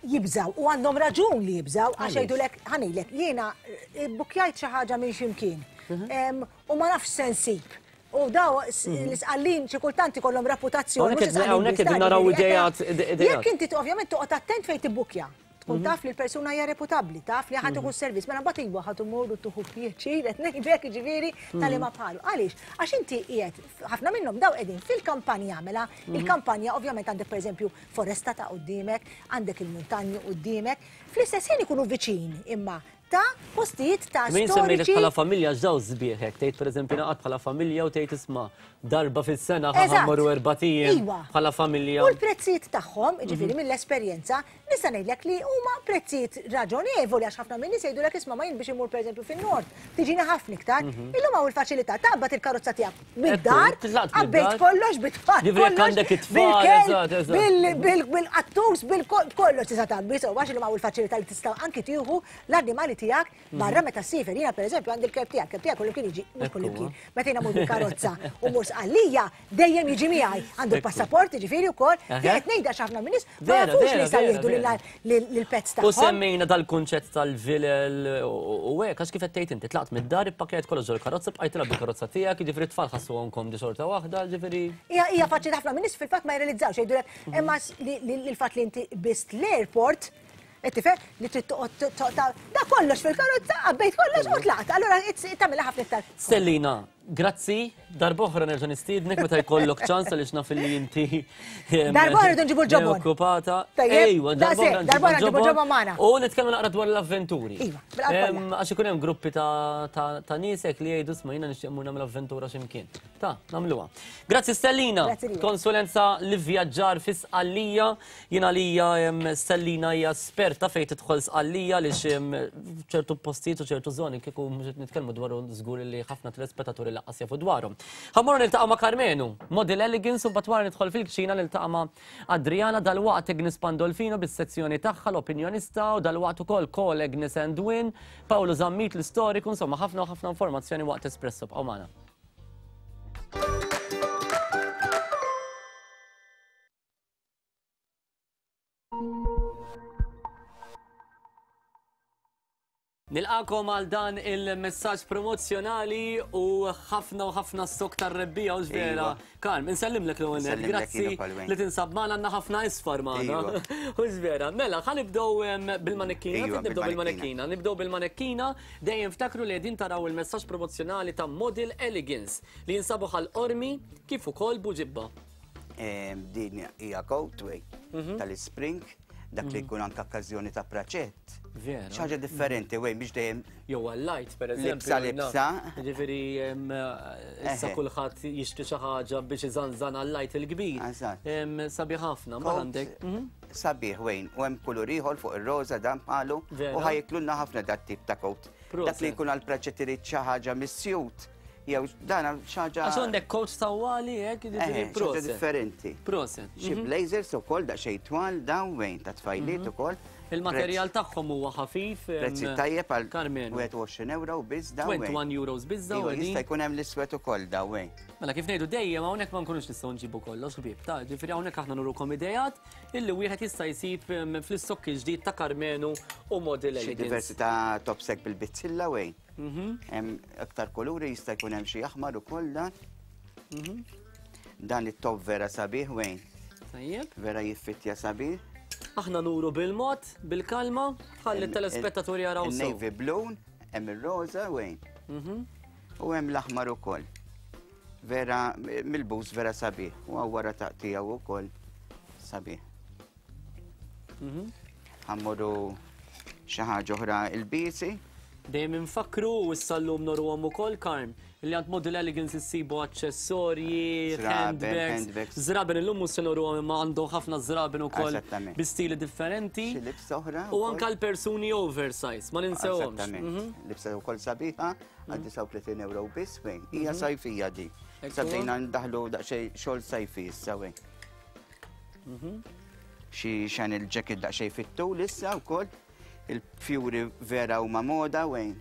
jibżaw u għandhom raġun li jibżaw għax jgħidulek ħanejlek jiena eh, bukjajt xi ħaġa minn x'imkien mhm. u ma nafx se nsib. U daw mhm. l-isqallin xi kultant ikollhom reputazzjoni. Hawnhekk qegħdin naraw idejat. Jekk inti ovvjament toqgħod attent fejn tibbukja. Tkun mhm. taf li l-persuna hija reputabbli, taf li ħadd ikun servizz, mela mbagħad iva ħadd imur u tuħu pjaċir qed ngħidlek jiġifieri tal ma bħalu. Għaliex? Għax inti qiegħed ħafna minnhom daw qegħdin fil-kampanja mela, mhm. il-kampanja ovvjament għandek pereżempju foresta ta' quddiemek, għandek il-muntanji quddiemek, fl-istess ħin ikunu viċin imma ta' postijiet ta' Min semmejlek bħala familja x'daw sbieħ hekk, tgħid pereżempju naqgħod bħala familja u tgħid isma' darba fis-sena ħa mmorru erbat ijiem iva. bħala familja. U l-prezzijiet tagħhom, jiġifieri mhm. mill-esperjenza, nista' ngħidlek li huma prezzijiet raġonevoli għax ħafna minn nies jgħidulek isma' ma jien biex immur pereżempju fin-nord, tiġini ħafna iktar. Mhm. Illum hawn il-faċilità taqbad il-karozza tiegħek Mid-dar, għabbejt kollox bit-tfal. Ġifri għandek it-tfal, bil-qattus, bil-kollox tista' tgħabbi, so għax illum hawn il-faċilità li tista' anki tieħu l-annimali tiegħek mhm. barra meta ssifer. Jiena pereżempju għandi l-kelb tiegħek, kelb tiegħek kullimkien jiġi, mhux kullimkien. Meta jiena mur bil-karozza u mur sqallija, dejjem jiġi miegħi. Għandu l-passaport, jiġifieri wkoll, qed ngħidha x'ħafna minn nies ma jafux li jistgħu jieħdu lill-pets tagħhom. U semmejna dal-kunċett tal-vilel u hekk għax kif qed tgħid inti tlaqt mid-dar ippakkjajt kollox ġol-karozza bqajt tilgħab bil-karozza tiegħek, jiġifieri t-tfal ħassuhom komdi xorta waħda, jiġifieri. Hija faċli ħafna min-nies fil-fatt ma jirrealizzawx jgħidulek mhm. imma l-fatt li inti biss l-airport qed tifhem li trid toqgħod da kollox fil-karozza għabbejt kollox u tlaqt. Allura tagħmilha ħafna iktar. Stellina, Grazzi, darb'oħra nerġa' nistiednek meta jkollok ċans għaliex naf li inti. Darb'oħra rridu nġibu l-ġobon. Okkupata. Ejwa, darb'oħra nġibu l-ġobon magħna. U nitkellmu naqra dwar l-avventuri. Iva, bil-qalb Għax ikun hemm gruppi ta' nies hekk li jgħidu sma' jiena nixtieq mmur nagħmel avventura x'imkien. Ta' nagħmluha. Grazzi Stellina. Konsulenza li vjaġġar fi Sqallija. Jien għalija Stellina hija esperta fejn tidħol Sqallija għaliex ċertu postijiet u ċertu żoni kieku mhux qed nitkellmu dwaru żgur li ħafna telespettaturi laqqas jafu dwarhom. Ħa mmorru niltaqgħu ma' Karmenu, Model Elegance u mbagħad wara nidħol fil-kċina niltaqa' ma' Adriana dalwaqt Agnes Pandolfino bis-sezzjoni tagħha l-opinjonista u dalwaqt ukoll Call Agnes and Win, Paolo Zammit l-istoriku, insomma ħafna u ħafna informazzjoni waqt Espresso bqgħu magħna. Nilqakom għal dan il-messaġġ promozzjonali u ħafna u ħafna stok tar-rebbija u vera. Iva. Karm, insellimlek l-ewwel nett. Insellimlek Grazzi jiena Palwejn. li tinsab magħna għandna ħafna isfar magħna. Iva. U vera. Mela, ħa nibdew bil-manekkina, Iva, nibdew bil-manekkina. bil-manekkina. Nibdew bil-manekkina, dejjem ftakru li qegħdin taraw il-messaġġ promozzjonali ta' Model Elegance li jinsabu Ħal Qormi kif ukoll Buġibba. Din hija coat way tal-spring, dak li jkun anke okkażjoni ta' praċett. Vera. Xi ħaġa differenti, wej, biex dejjem. Jew għal-light, per eżempju. Libsa, libsa. Ġifieri, issa kulħadd jixtri xi ħaġa biex iżanżan għal-light il-kbir. Eżatt. Sabiħ ħafna, ma għandek. Sabiħ, wejn, u hemm kulur ieħor fuq ir-roża dan bħalu u ħajiklunna ħafna dat tip ta' coat. Dak li jkun għal-praċett irid xi ħaġa mis-sjut. Jew dan xi ħaġa. Għax għandek coat tawwali hekk, jiġifieri proset. differenti. Proset. Xi blazers ukoll daqsxejn twal dawn wejn ta' tfajliet ukoll. Il-materjal tagħhom huwa ħafif. Prezzi tajjeb għal 21 euro biss dawn. 21 euros biss dawn. Iva, jista' jkun hemm l-iswed ukoll dawn wejn. Mela kif ngħidu dejjem hawnhekk ma nkunux nistgħu nġibu kollox ħbieb ta' ġifieri hawnhekk aħna nurukom idejat illi wieħed jista' jsib fl-istokki ġdid ta' Karmenu u Model Xi Elegance. diversi ta' topsek bil-bizzilla wejn. Hemm aktar kuluri jista' jkun hemm xi aħmar ukoll dan. Dan it-top vera sabiħ wejn. Tajjeb. Vera jiffittja sabiħ. Aħna nuru bil-mod, bil-kalma, ħalli t-telespettaturi jaraw sew. Il-navy blue, hemm ir-roża wejn. U hemm l-aħmar ukoll. Vera milbus vera sabiħ. U wara taqtiegħu ukoll sabiħ. Ħammuru xi ħaġa oħra il-bisi. Dejjem infakkru u issa llum noruhom ukoll Karm li għand Model Elegance issibu aċċessorji, Żraben, handbags. handbags. Żraben illum mhux se noruhom imma għandhom ħafna żraben ukoll Eżattament. bi stili differenti. Xi libsa oħra U wkoll. anke l-persuni oversize, ma ninsewhomx. Eżattament. Libsa wkoll sabiħa għal 39 euro biss wejn. Hija sajfija di. Ekku. Sa bdejna ndaħlu daqsxejn xogħol sajfi issa wejn. Xi Chanel jacket daqsxejn fit-tul issa wkoll. Il-fjuri vera huma moda wejn.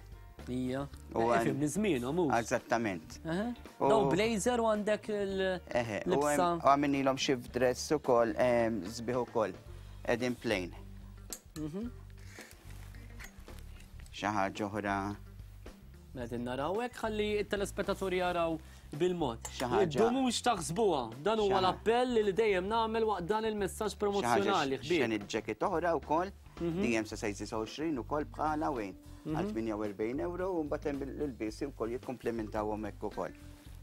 Ija. U Eh, għan- Fimni żmienhom mhux. Eżattament. Eħe. U- Daw blazer u għandek Eħe, u il-libsa. hemm- u għamilnilhom shift dress ukoll, sbieħ ukoll, qegħdin plain. Xi ħaġa oħra. Mela qegħdin naraw hekk ħalli t-telespettaturi jaraw bil-mod. Xi ħaġa. Iddumux taħsbuha. Dan huwa Xi ħa- l-appell li dejjem nagħmel waqt dan il-messaġġ Xi ħaġa promozzjonali ħbieb. Chanel jacket oħra wkoll, dejjem sa size 29 ukoll bħala wejn. Għal 48 euro u mbagħad hemm l-ilbiesi wkoll jikkomplementawhom hekk ukoll.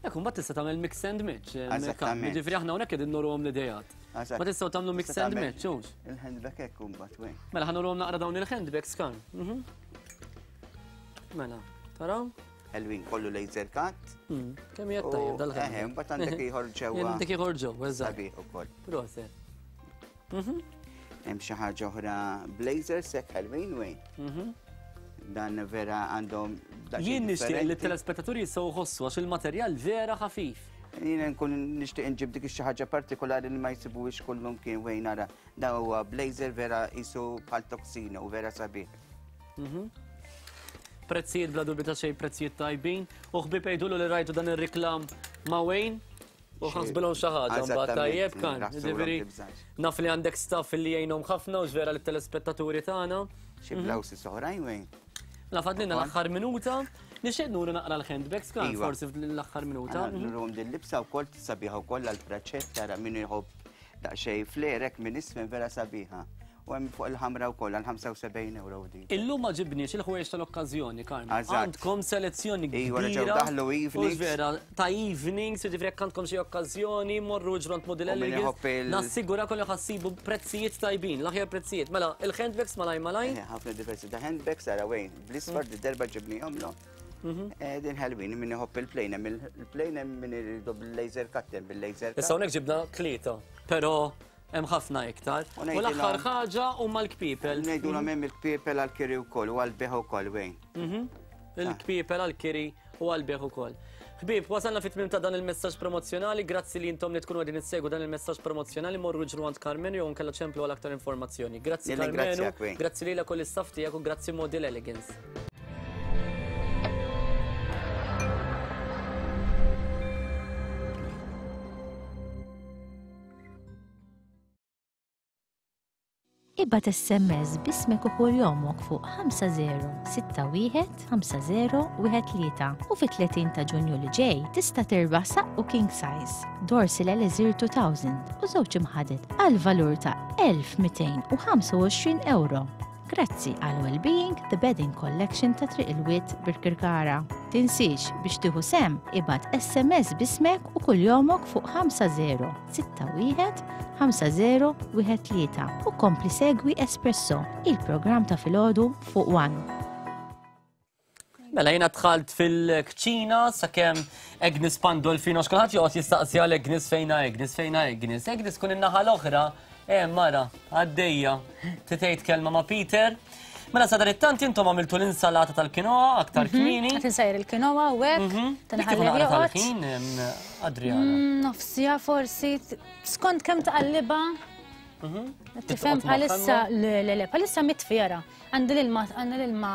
Ekku, mbagħad tista' tagħmel mix and match. Eżattament. Ġifieri aħna hawnhekk qegħdin noruhom l-idejat. Eżatt. Ma tistgħu tagħmlu mix Tista' and tagħmel match, hux? Il-handbag hekk imbagħad wejn. Mela ħa nurhom naqra dawn il-handbags kan. Mela, taraw? Ħelwin kollu laser cut. Kemm hija U- tajjeb dal-handbag. Eħe, mbagħad għandek ieħor ġewwa. Għandek ieħor ġewwa, eżatt. Sabiħ ukoll. Proset. Hemm xi ħaġa oħra blazers hekk ħelwin wejn. Dan vera għandhom daqsxejn Jien nixtieq li differenti. t-telespettaturi jistgħu jħossu għax il-materjal vera ħafif. Jiena nkun nixtieq inġib dik xi ħaġa partikolari li ma jsibuhiex kullum kien wejn nara. Dan huwa blazer vera qisu bħal toksino u vera sabiħ. Prezzijiet bla dubju ta' xejn prezzijiet tajbin. U ħbieb jgħidulu li rajtu dan ir-riklam ma' Wayne u ħasbilhom xi ħaġa mbagħad Eżattament, tajjeb kan. raħsulhom Ġifieri tibżax. naf li għandek staff li jgħinhom ħafna u vera lit-telespettaturi tagħna. Xi blouses oħrajn wejn. La fadlina l-aħħar minuta. Nixtieq nuru naqra l-handbags kan Iva. forsi fl-aħħar minuta. Għana nurum din libsa wkoll sabiħa wkoll għall-praċett tara min iħobb daqsxejn flerek minn isfel vera sabiħa. U hemm fuq il-ħamra wkoll għal 75 euro din. Illum ma ġibniex il-ħwejjeġ tal-okkażjoni, Karm. Eżatt. Għandkom selezzjoni Iva, kbira. reġgħu daħlu evenings. U vera, ta' evenings, jiġifieri jekk għandkom xi okkażjoni, morru ġront Model U min Elegance. iħobb il- Nassigura kollu ħassibu prezzijiet tajbin, l-aħjar prezzijiet. Mela, il-handbags malaj malaj. Eh, Ħafna diversi ta' handbags ara wejn. Bl-isfar di darba ġibnihom lo. Eh, Din ħelwin min iħobb il-plane, hemm il-plane hemm min iridu bil-laser cut, hemm bil-laser cut. Issa hawnhekk ġibna tlieta, però hemm ħafna iktar. U U l-aħħar ngħidilhom- ħaġa huma l-kpiepel. Ngħidulhom hemm il-kpiepel għall-kiri wkoll u għall-beħ ukoll wejn. Il-kpiepel għall-kiri u għall-beħ ukoll. Ħbieb, wasalna fit-tmiem ta' dan il-messaġġ promozzjonali, grazzi li intom li tkunu qegħdin issegwu dan il-messaġġ promozzjonali, morru ġru għand Karmenu jew nkella ċemplu għal aktar informazzjoni. Grazzi Nirringrazzjak, Karmenu, Wayne. grazzi lilek u l-istaff tiegħek u grazzi Model Elegance. Ibgħat SMS b'ismek u kunjomok fuq 5061 5013 u fit-30 ta' Ġunju li ġej tista' tirbaħ saqqu king size, Dorsil Elixir 2000 u żewġ imħaded għal valur ta' 1225 ewro. Grazzi għal Wellbeing The Bedding Collection ta' Triq il-Wied Birkirkara. Tinsiex biex tieħu sehem ibgħat SMS b'ismek u kuljomok fuq 5061 5013 u kompli segwi Espresso, il-programm ta' filgħodu fuq One. Mela jiena dħalt fil-kċina sakemm Agnes Pandolfino x'kulħadd joqgħod jistaqsi għal Agnes fejna Agnes fejna Agnes. Agnes kun in-naħa l-oħra, eh mara, għaddejja. Titgħid kelma ma' Peter. Mela sa it-tant intom għamiltu l-insalata tal-kinoa aktar mhm. kmieni. Qed insajr il-kinoa u hekk. Mhm. Tinħalli tal-ħin, Adriana. Mm, nofsija forsi skont kemm taqalliba. Mhm. Tifhem bħalissa le le le bħalissa mitfjara. Għandi l-ilma, għandi l-ilma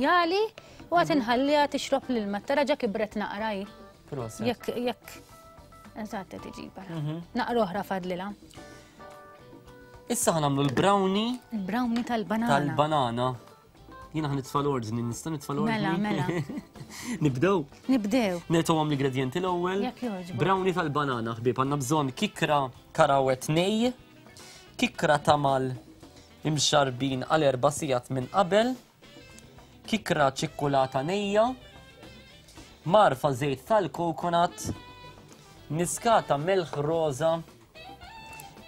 jali u għat inħalliha tixrob l-ilma. Tara ġa kibret naqra hi. Jekk, jekk, eżatt qed iġib ara. Mhm. Naqra oħra fadlilha. Issa ħa nagħmlu l-brownie. Il-brownie tal-banana. Tal-banana. Jiena ħa nitfa' l-ordni, nista' nitfa' l-ordni. Mela, mela. Nibdew? Nibdew. Nitgħu l-ingredienti l-ewwel. Jekk jogħġbok. Brownie tal-banana, ħbieb, għandna bżonn kikra karawet nej, kikra tamal imxarrbin għal erba' sigħat minn qabel, kikra ċikkulata nejja, mgħarfa żejt tal-coconut, niskata melħ roża,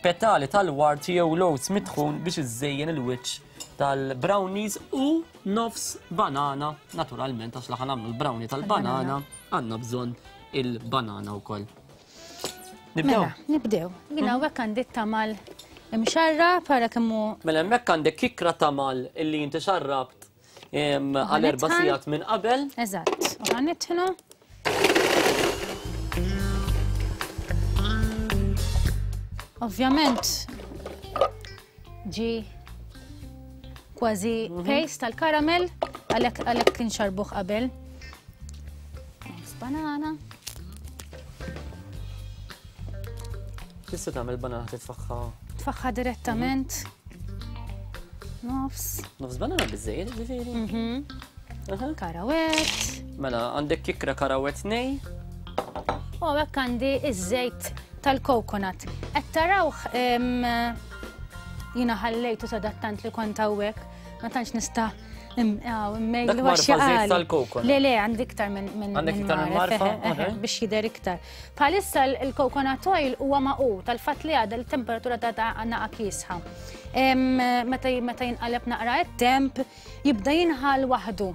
petali tal-ward jew lowz mitħun biex iżżejjen il-wiċċ tal-brownies u nofs banana, naturalment għax laħan nagħmlu l-brownie tal-banana għandna bżonn il-banana wkoll. Nibdew. Mela, nibdew. Jina mhm. hawnhekk għandi tamal imxarra para kemmu. Mela hemmhekk għandek kikra tamal illi inti xarrabt għal erba' sigħat minn qabel. Eżatt. U ħanitħnu. Ovvjament ġi kważi mhm. paste tal-karamel għalhekk għalhekk kien xarbuh qabel. Banana. Tista' tagħmel banana titfaħħa? Tfaħħa direttament. Nofs. Nofs banana biżejjed ġifieri. Mhm. Karawet. Mela għandek kikra karawet nej. U hekk għandi iż-żejt tal-coconut. Qed tarawh jiena ħallejtu sadattant li kont hawnhekk, ma tantx nista' Dak marfa żejt tal-coconut. Le, le, għandi iktar minn Għandek iktar minn marfa? Biex jidher iktar. Bħalissa l-coconut oil huwa maqu tal-fatt li għadha l-temperatura ta' naqa kiesħa. Meta jinqaleb naqra it-temp, jibda jinħal waħdu.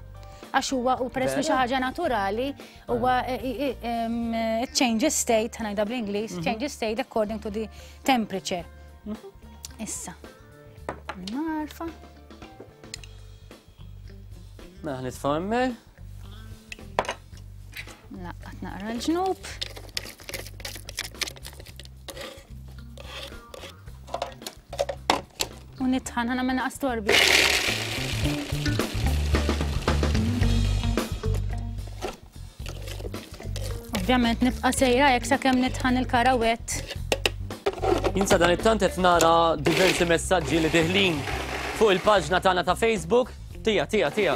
Għax huwa u peress li xi ħaġa naturali huwa eh, eh, it changes state, ħanajda bl-Ingliż, mhm. changes state according to the temperature. Mhm. Issa, marfa. Mela nitfa' hemmhekk. Laqqat naqra l-ġnub. U nitħan ħana minna astorbi. Ovvjament nibqa' sejra jekk sakemm nitħan il-karawett. Jinsa dan it-tant qed nara diversi messaġġi li diħlin fuq il-paġna tagħna ta' Facebook. Tija, tija, tija.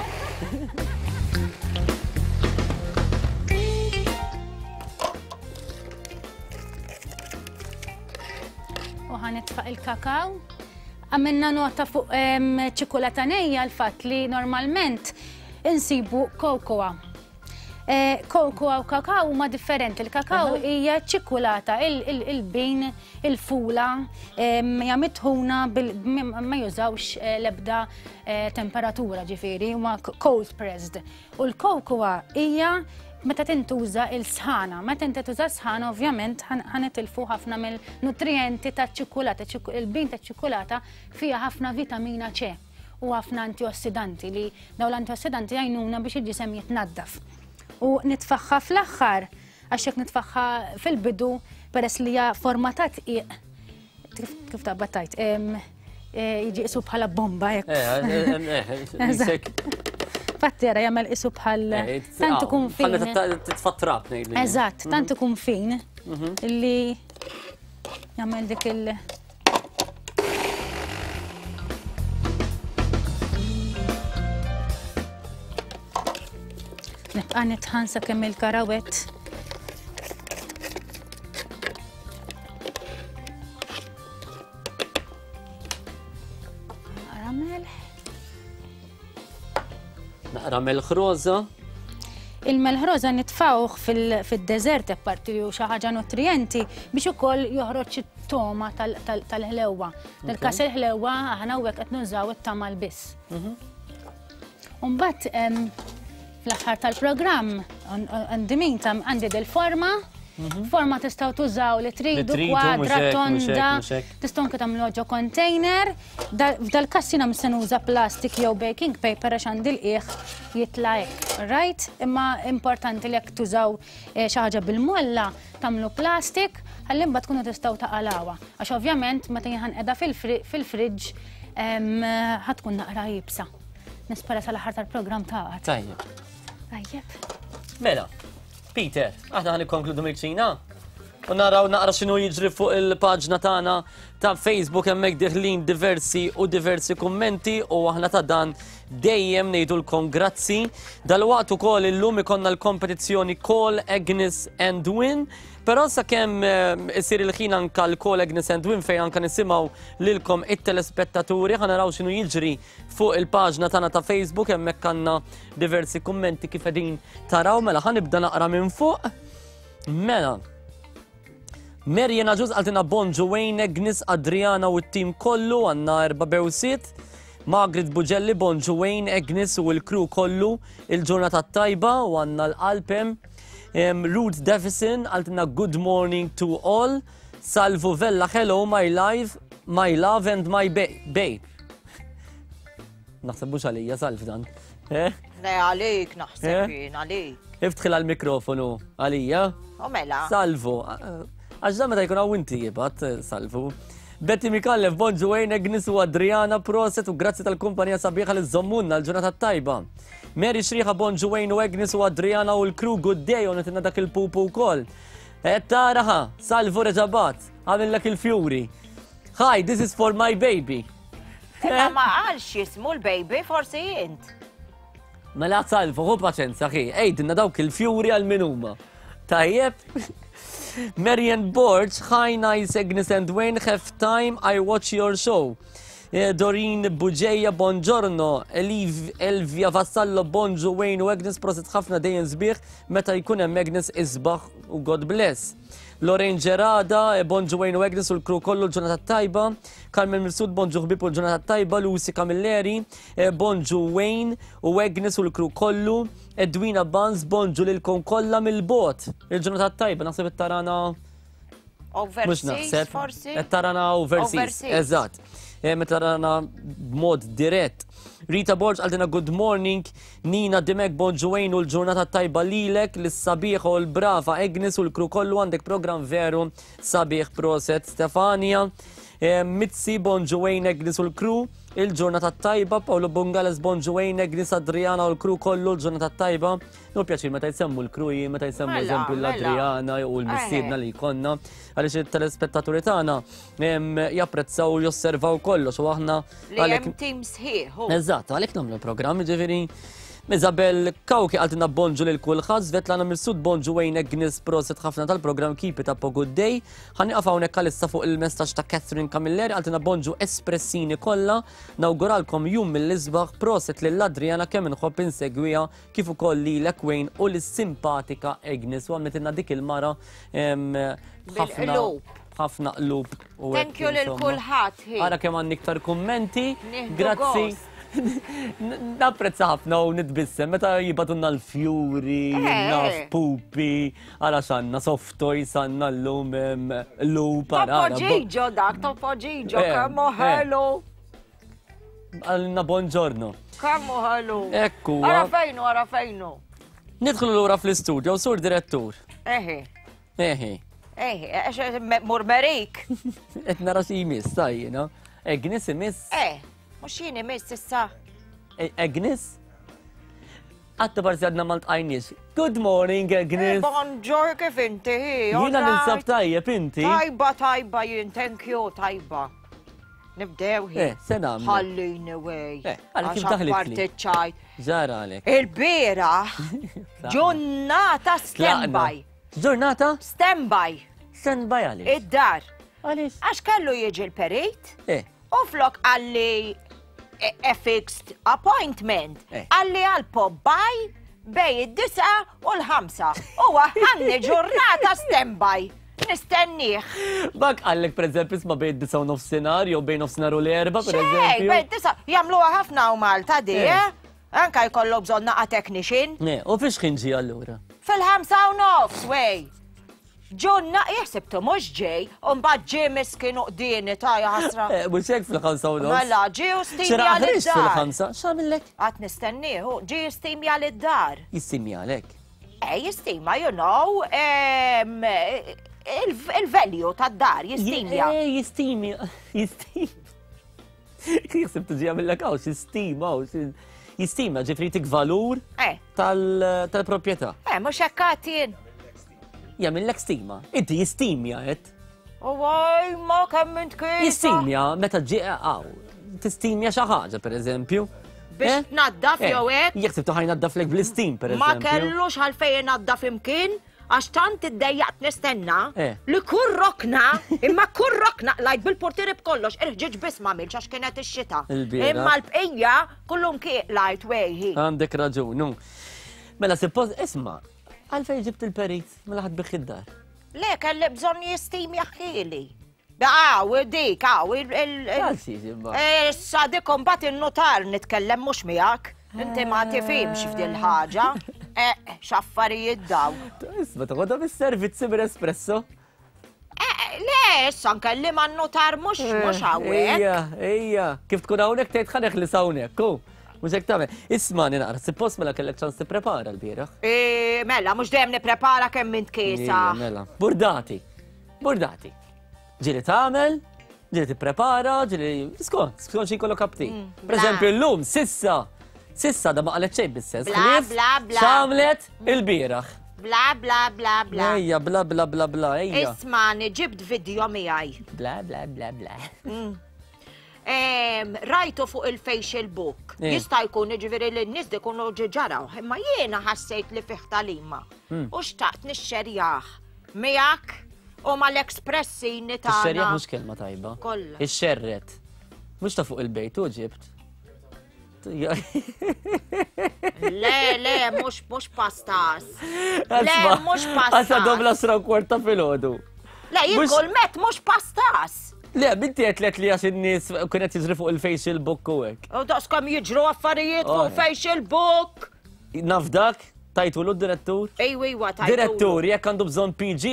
U ħanitfa' il-kakaw. Għamilna nota fuq ċikulata nejja l-fatt li normalment insibu kokoa. Eh, kokoa u kakaw huma differenti. Il-kakaw hija ċikulata, il-bin, il-fula, hija mitħuna ma jużawx eh, l-ebda eh, temperatura ġifieri, huma cold pressed. U l-kokoa hija meta tintuża il-sħana. Meta inti tuża sħana ovvjament ħanitilfu ħafna mill-nutrijenti taċ-ċikulata. Il-bin taċ-ċikulata fiha ħafna vitamina C u ħafna antiossidanti li dawn l-antiossidanti jgħinuna biex il-ġisem jitnaddaf. U nitfaħħa fl-aħħar għax jekk nitfaħħa fil-bidu peress li hija forma ta' tqiq kif taqbad tajt, eh, jiġi isu bħala bomba jekk. Eh, eh, Fatti jara jagħmel isu bħal tant ikun fin. Titfattrab ngħidli. Eżatt, tant mhm. ikun fin mhm. li jagħmel dik il- Nibqa' nitħan sakemm il-karawett Naqra melħ. Naqra melħ roża. Il-melħ roża nitfawh fil-deżert apparti li hu xi ħaġa nutrienti biex ukoll joħroġ it-toma tal-ħlewwa. Fil-każ il-ħlewwa aħna hawnhekk qed nużaw it-tamal biss. Umbagħad fl-aħħar tal-programm għandi min tam għandi del-forma mhm. Forma tistgħu tużaw li tridu kwadra tonda, tistgħu anke tagħmlu ġo container. F'dal-każ jiena se nuża plastik jew baking paper għax għandi l-qiegħ jitla' hekk, right? Imma importanti li jekk tużaw eh, xi ħaġa bil-molla tagħmlu plastik ħalli mbagħad tkunu tistgħu taqalawha. Għax ovvjament meta jien ħanqeda fil-fridge ħatkun naqra jibsa. Nispera sal-aħħar tal-programm taqgħad. Tajjeb. Tajjeb. Mela, Peter, aħna ħan ikkonkludu mill-kċina. U naraw naqra x'inhu jiġri fuq il-paġna tagħna ta' Facebook hemmhekk diħlin diversi u diversi kummenti u aħna ta' dan dejjem ngħidulkom grazzi. Dalwaqt ukoll illum ikollna l-kompetizzjoni Call Agnes and Win. Però sakemm eh, isir il-ħin anka l-Call Agnes and Win fejn anka nisimgħu lilkom it-telespettaturi ħa naraw x'inhu jiġri Fuq il-paġna tagħna ta' Facebook hemmhekk għandna diversi kummenti kif qegħdin taraw mela ħa nibda naqra minn fuq. Mela. Marian Aġuż qaltilna bonġu Wayne, Agnes, Adriana u t-tim kollu għandna erba' bewsiet. Margaret Bugelli, bonġu Wayne, Agnes u l-crew kollu il-ġurnata tajba u għandna l-qalb hemm. Ruth Davison qaltilna good morning to all. Salvu Vella hello my life, my love and my babe. Naħseb mhux għalija salv dan. Eh? Le għalik naħseb eh? jien għalik. Iftħil għal-mikrofonu għalija. U mela. Salvu. Għax dan meta jkun hawn inti jibgħat eh, salvu. Betty Mikallef, bonġu Wayne, Agnes u Adriana, proset u grazzi tal-kumpanija sabiħa li żommunna l-ġurnata tajba. Mary Xriħa, bonġu Wayne u Agnes u Adriana u l-crew good day u nitinna dak il-pupu wkoll. Qed taraha, salvu reġabat, għamillek il-fjuri. Hi, this is for my baby. Imma ma qalx jismu l-baby, forsi int. Mela salvu, hu paċenza ħi, għidilna dawk il-fjuri għal min huma. Tajjeb? Marian Borg, hi nice Agnes and Wayne, have time, I watch your show. Eh, Doreen Buġeja, buongiorno. Eliv, Elvia Vassallo, bonġu Wayne u Agnes, prosit ħafna dejjem sbieħ meta jkun hemm Agnes isbaħ u God bless. Lorraine Gerada, eh, bonġu Wayne u Agnes u l-kru kollu l-ġurnata tajba. Carmen Mifsud, bonġu ħbib u l-ġurnata tajba. Lucy Camilleri, eh, bonġu Wayne u Agnes u l-kru kollu. Edwina Banz, bonġu lilkom kollha mill-bot. Il-ġurnata tajba, naħseb it-tarana Mux naħseb. Forsi. Qed tarana overseas. Eżatt. Eh, meta tarana b'mod dirett. Rita Borg għaldina good morning, Nina Dimek bonġuwejn u l-ġurnata tajba lilek, l-sabiħ u l-brava Agnes u l-kru kollu għandek program veru sabiħ proset Stefania. Eh, Mizzi bonġuwejn Agnes u l-kru, il-ġurnata tajba, Paolo Bungales bonġuwejn Agnes Adriana u l-kru kollu l-ġurnata tajba. Nu pjaċir meta jsemmu l-kruji, meta jsemmu mela, eżempju mela. l-Adriana u l-missiedna li jkollna, għaliex il-telespettaturi tagħna japprezzaw u josservaw kollox u aħna. Li hemm tim sħiħ. Eżatt, għalhekk nagħmlu programm, ġifieri Isabel Kawki għaltina bonġu lil kulħadd, Svetlana Mifsud bonġu Wayne Agnes proset ħafna tal-programm Keep It Up a Good Day. Ħa nieqaf hawnhekk għalissa fuq il-messaġġ ta' Catherine Camilleri għaltina bonġu espressini kollha, nawguralkom jum mill-isbaħ, proset lil Adriana kemm inħobb insegwiha kif ukoll lilek Wayne u lis-simpatika Agnes u għamlitilna dik il-mara ħafna ħafna qlub u Thank you lil kulħadd. Ara kemm għandni iktar kummenti. Grazzi. Napprezza ħafna u nitbissem meta jibatunna l-fjuri, eh. naf pupi, ara xanna soft toys għandna llum lup. Topo Gigio dak, Topo Gigio, eh, kemm eh. ħelu. Għalna buongiorno. Kammu ħalu. Ekku. Ara fejnu, ara fejnu. Nidħlu lura fl-istudio, sur direttur. Eħi. Eħi. Eħi, eħi, murmerik. Et nara xi jmiss, tajjina. Agnes imiss. Eh, mux jien imiss issa. E, Agnes? Għatta parti għadna ma ltqajniex. Good morning, Agnes. Eh, bonġor, kif inti? Jiena ninsab tajjeb, inti? Tajba, tajba, jien, thank you, tajba. Nibdew hi. Eh, se nagħmlu. Ħallini wej. Eh, għalek kif daħlitli. Parti ċajt. Ġara għalek. Il-bieraħ ġurnata standby. Ġurnata? Standby. Standby għaliex? Id-dar. Għaliex? Għax kellu jiġi l-perit. Eh. U flok għalli a fixed appointment. Eh. Għalli għal pop by bej id-disa u l-ħamsa. U għanni ġurnata standby. Nistennieh. Bak għallek per eżempju isma bejn id-disa u nofsinhar jew bejn nofsinhar u l-erba per eżempju. Bejn disa jagħmluha ħafna u Malta di, Eh. eh? Anka jkollok bżonn naqa' technician. Ne, u fiex ħin ġie allura? Fil-5:30, wej. Ġunna jaħsibtu mhux ġej, u mbagħad ġie miskin u qdieni ta' ħasra. Eh, mhux hekk fil-5:30. Mela, ġie u stimja Xera ħriġt lid-dar. fil-ħamsa, x'għamillek? Qatt nistenniehu, ġie jistimja lid-dar. Jistimjalek. Eh, jistima, you know, il-value tad-dar, jistimja. Eh, jistimja, jistimja. Jisib tiġi għamillek għaw, jistima, jistima, ġifri tik valur eh. tal-propieta. Eh, mux hekkatin. Jagħmillek stima. Inti jistimja, et. U għaj, ma kemm int kif. Jistimja, meta ġi għaw, tistimja xi ħaġa, per eżempju. Biex Eh? tnaddaf Eh, jew hekk. Jekk tibtu ħaj naddaflek bl-istim, per Ma eżempju. kellux għalfejn naddaf imkien, għax tant iddejjaqt nistenna Eh. li kull rokna, imma kull rokna lajt bil-portieri b'kollox, il-ħġieġ biss ma għamilx għax kienet ix-xita. Il-bieraħ. Imma l-bqija kullum kieq lajt wejħi. Għandek raġun, nu. Mela, suppost, isma, għalfejn ġibt il-perit, mela ħad bih id-dar. Le, kelli bżonn jistim jaħħili. Għaw, dik, għaw, il- Għal Eh, Issa dik imbagħad in-notar nitkellem mhux miegħek. Inti ma tifhimx f'dil ħaġa. Eh, x'affarijiet daw. Isma, toħodha bis-servizzi bil-espresso. Eh, Le, issa nkellim għan-notar mhux mhux hawnhekk. Ejja, ejja. Kif tkun hawnhekk tgħid ħaneħ li hawnhekk, ku. Mhux hekk tagħmel. Isma' naqra, suppost mela kellek ċans tipprepara l-bieraħ. Eh, Mela, mhux dejjem nipprepara kemm int kiesa. Ejja, Mela. Burdati. Burdati. Ġieli tagħmel, ġieli tipprepara, ġieli skont, skont xi jkollok aptit. Mm, Per eżempju llum sissa, sissa da ma qalet xejn bis-sens. Bla, ħlief bla, bla. X'għamlet il-bieraħ. Bla, bla, bla, bla. Ejja, bla, bla, bla, bla, ejja. Ismani, ġibt video miegħi. Bla, bla, bla, bla. Mm. Em, Rajtu fuq il-facial book. Eh. Jista' jkun jiġifieri li n-nies ikunu ġiġaraw, imma jiena ħassejt li fih talima. U xtaqt nixxerjah miegħek u mal-expressini tagħna. Ix-xerjaħ mhux kelma tajba. Kollha. Ix-xerret. Mhux ta' fuq il-bejt u ġibt. Le, le, mhux mhux pastas. Le, mhux Għasa dobla pastas. sra u kwarta fil-ħodu. Le, jien mhux- kull met mhux pastas. Le, binti għetlet li għax in-nies kienet jiġri fuq il-facial book u hekk. U daqskom jiġru affarijiet fuq Oh. facial book. Naf dak, tajtu l direttur Ejwa, ejwa, tajtu. Direttur, jekk għandu bżonn PG.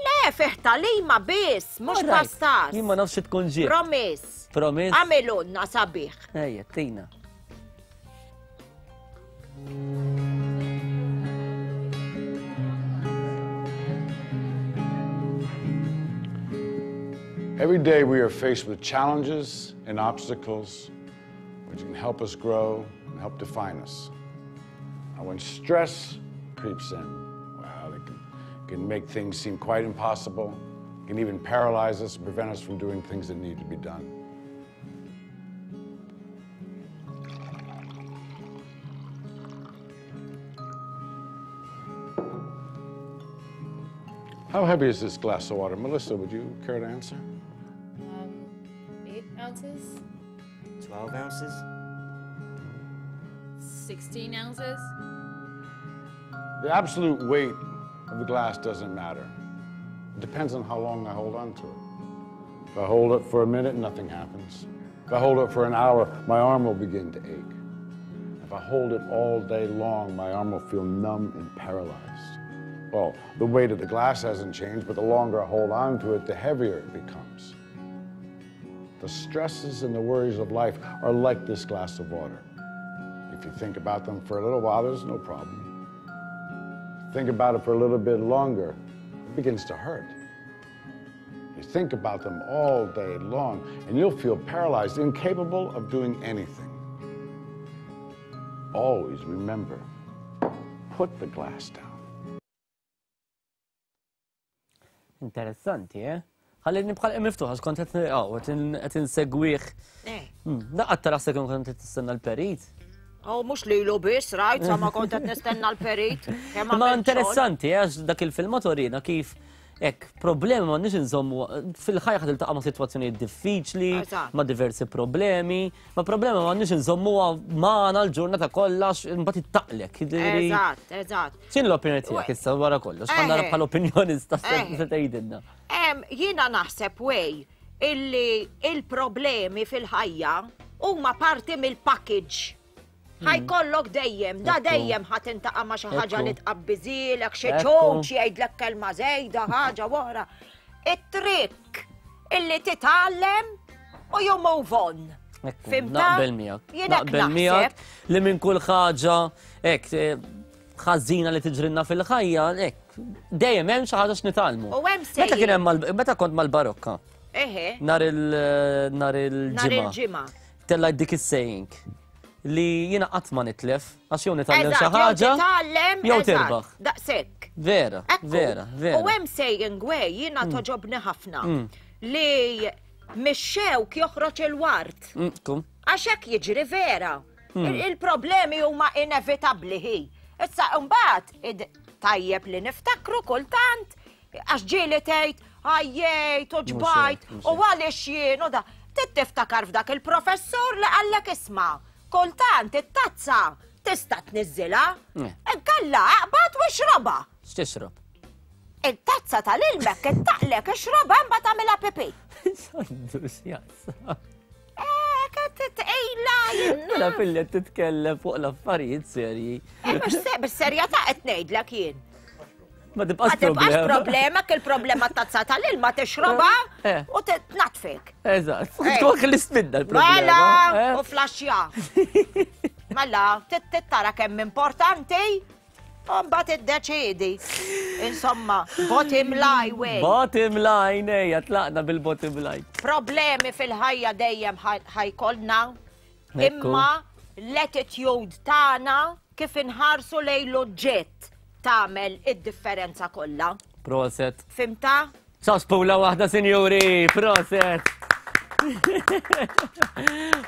Le, fih talima biss, mhux alright. pastas. Jien ma nafx tkun ġiet. Promise. Promise. Għamilunna sabiħ. Ejja, tina. Every day we are faced with challenges and obstacles which can help us grow and help define us. And when stress creeps in, well, it can, can make things seem quite impossible, it can even paralyze us and prevent us from doing things that need to be done. How heavy is this glass of water? Melissa, would you care to answer? 8 ounces? 12 ounces? 16 ounces? The absolute weight of the glass doesn't matter. It depends on how long I hold on to it. If I hold it for a minute, nothing happens. If I hold it for an hour, my arm will begin to ache. If I hold it all day long, my arm will feel numb and paralyzed. Well, the weight of the glass hasn't changed, but the longer I hold on to it, the heavier it becomes. The stresses and the worries of life are like this glass of water. If you think about them for a little while, there's no problem. Think about it for a little bit longer, it begins to hurt. You think about them all day long, and you'll feel paralyzed, incapable of doing anything. Always remember, put the glass down. Interessanti, eh? Ħalli nibqa' miftuħ għax kont qed qed insegwih. Eh. Hmm, Daqqat tara se kont qed tistenna l-perit. Oh, mhux lilu biss, rajt, sa ma kont qed nistenna l-perit. Ma interessanti, eh, għax dak il-filmat orina kif Ek, problemi ma nix nżommu, fil-ħajja ħad iltaqa' ma' sitwazzjonijiet diffiċli, ma' diversi problemi, ma' problemi ma nix nżommu magħna l-ġurnata kollha mbagħad ittaqlek. Eżatt, eżatt. X'in l-opinjoni tiegħek issa wara kollox, ħa nara bħala opinjonista se tgħidilna. Jiena naħseb wej illi il-problemi fil-ħajja huma parti mill-package. Hmm. Ħajkollok dejjem, da dejjem ħa tintaqa' ma' xi ħaġa li tqabbiżilek, xi ċuċ jgħidlek kelma żejda, ħaġa oħra. It-trick illi titgħallem u you move on. Fimta? Naqbel miegħek. Naqbel miegħek li minn kull ħaġa hekk eh, ħażina li tiġrinna fil-ħajja, hekk dejjem hemm xi ħaġa x'nitgħallmu. U hemm Meta kien hemm meta kont mal-barokka. Eħe. Nar il nar il-ġimgħa. Nar il-ġimgħa. Tellajt dik is-saying li jiena qatt ma nitlef għax jew nitgħallem xi ħaġa jew tirbaħ. Daqshekk. Vera, vera, vera. U hemm saying way jiena mm. toġobni ħafna mm. li mix-xewk joħroġ il-wart. Mm, għax hekk jiġri vera. Il-problemi huma inevitabbli hi. Issa mbagħad tajjeb li niftakru kultant għax ġieli tgħid għajjejt u ġbajt u għaliex jien u da. Trid tiftakar f'dak il-professur li qallek isma' kultant it-tazza tista' tniżżilha, inkella aqbad u ixrobha. X'tixrob? Il-tazza tal-ilmek ittaqlek ixrobha imbagħad tagħmilha pipi. X'għandu x'jaqsam? Tqila Mela filli titkellem fuq l-affarijiet serji. Eh, mhux bis-serjetà qed ngħidlek jien. Ma tibqax problema. problema, il problema tazza tal-ilma tixroba eh, eh. u tnatfik. Eżatt. Eh. Tkun ħlist minna l-problema. Mela, u flaxja. Mela, tittara kemm importanti, u mbagħad iddeċiedi. Insomma, bottom line way. Bottom line, ejja, tlaqna bil-bottom line. Problemi fil-ħajja dejjem ħajkolna, imma l-attitude tagħna kif inħarsu lejn l-oġġett tagħmel id-differenza kollha. Proset. Fimta? Saspula waħda, sinjuri, proset.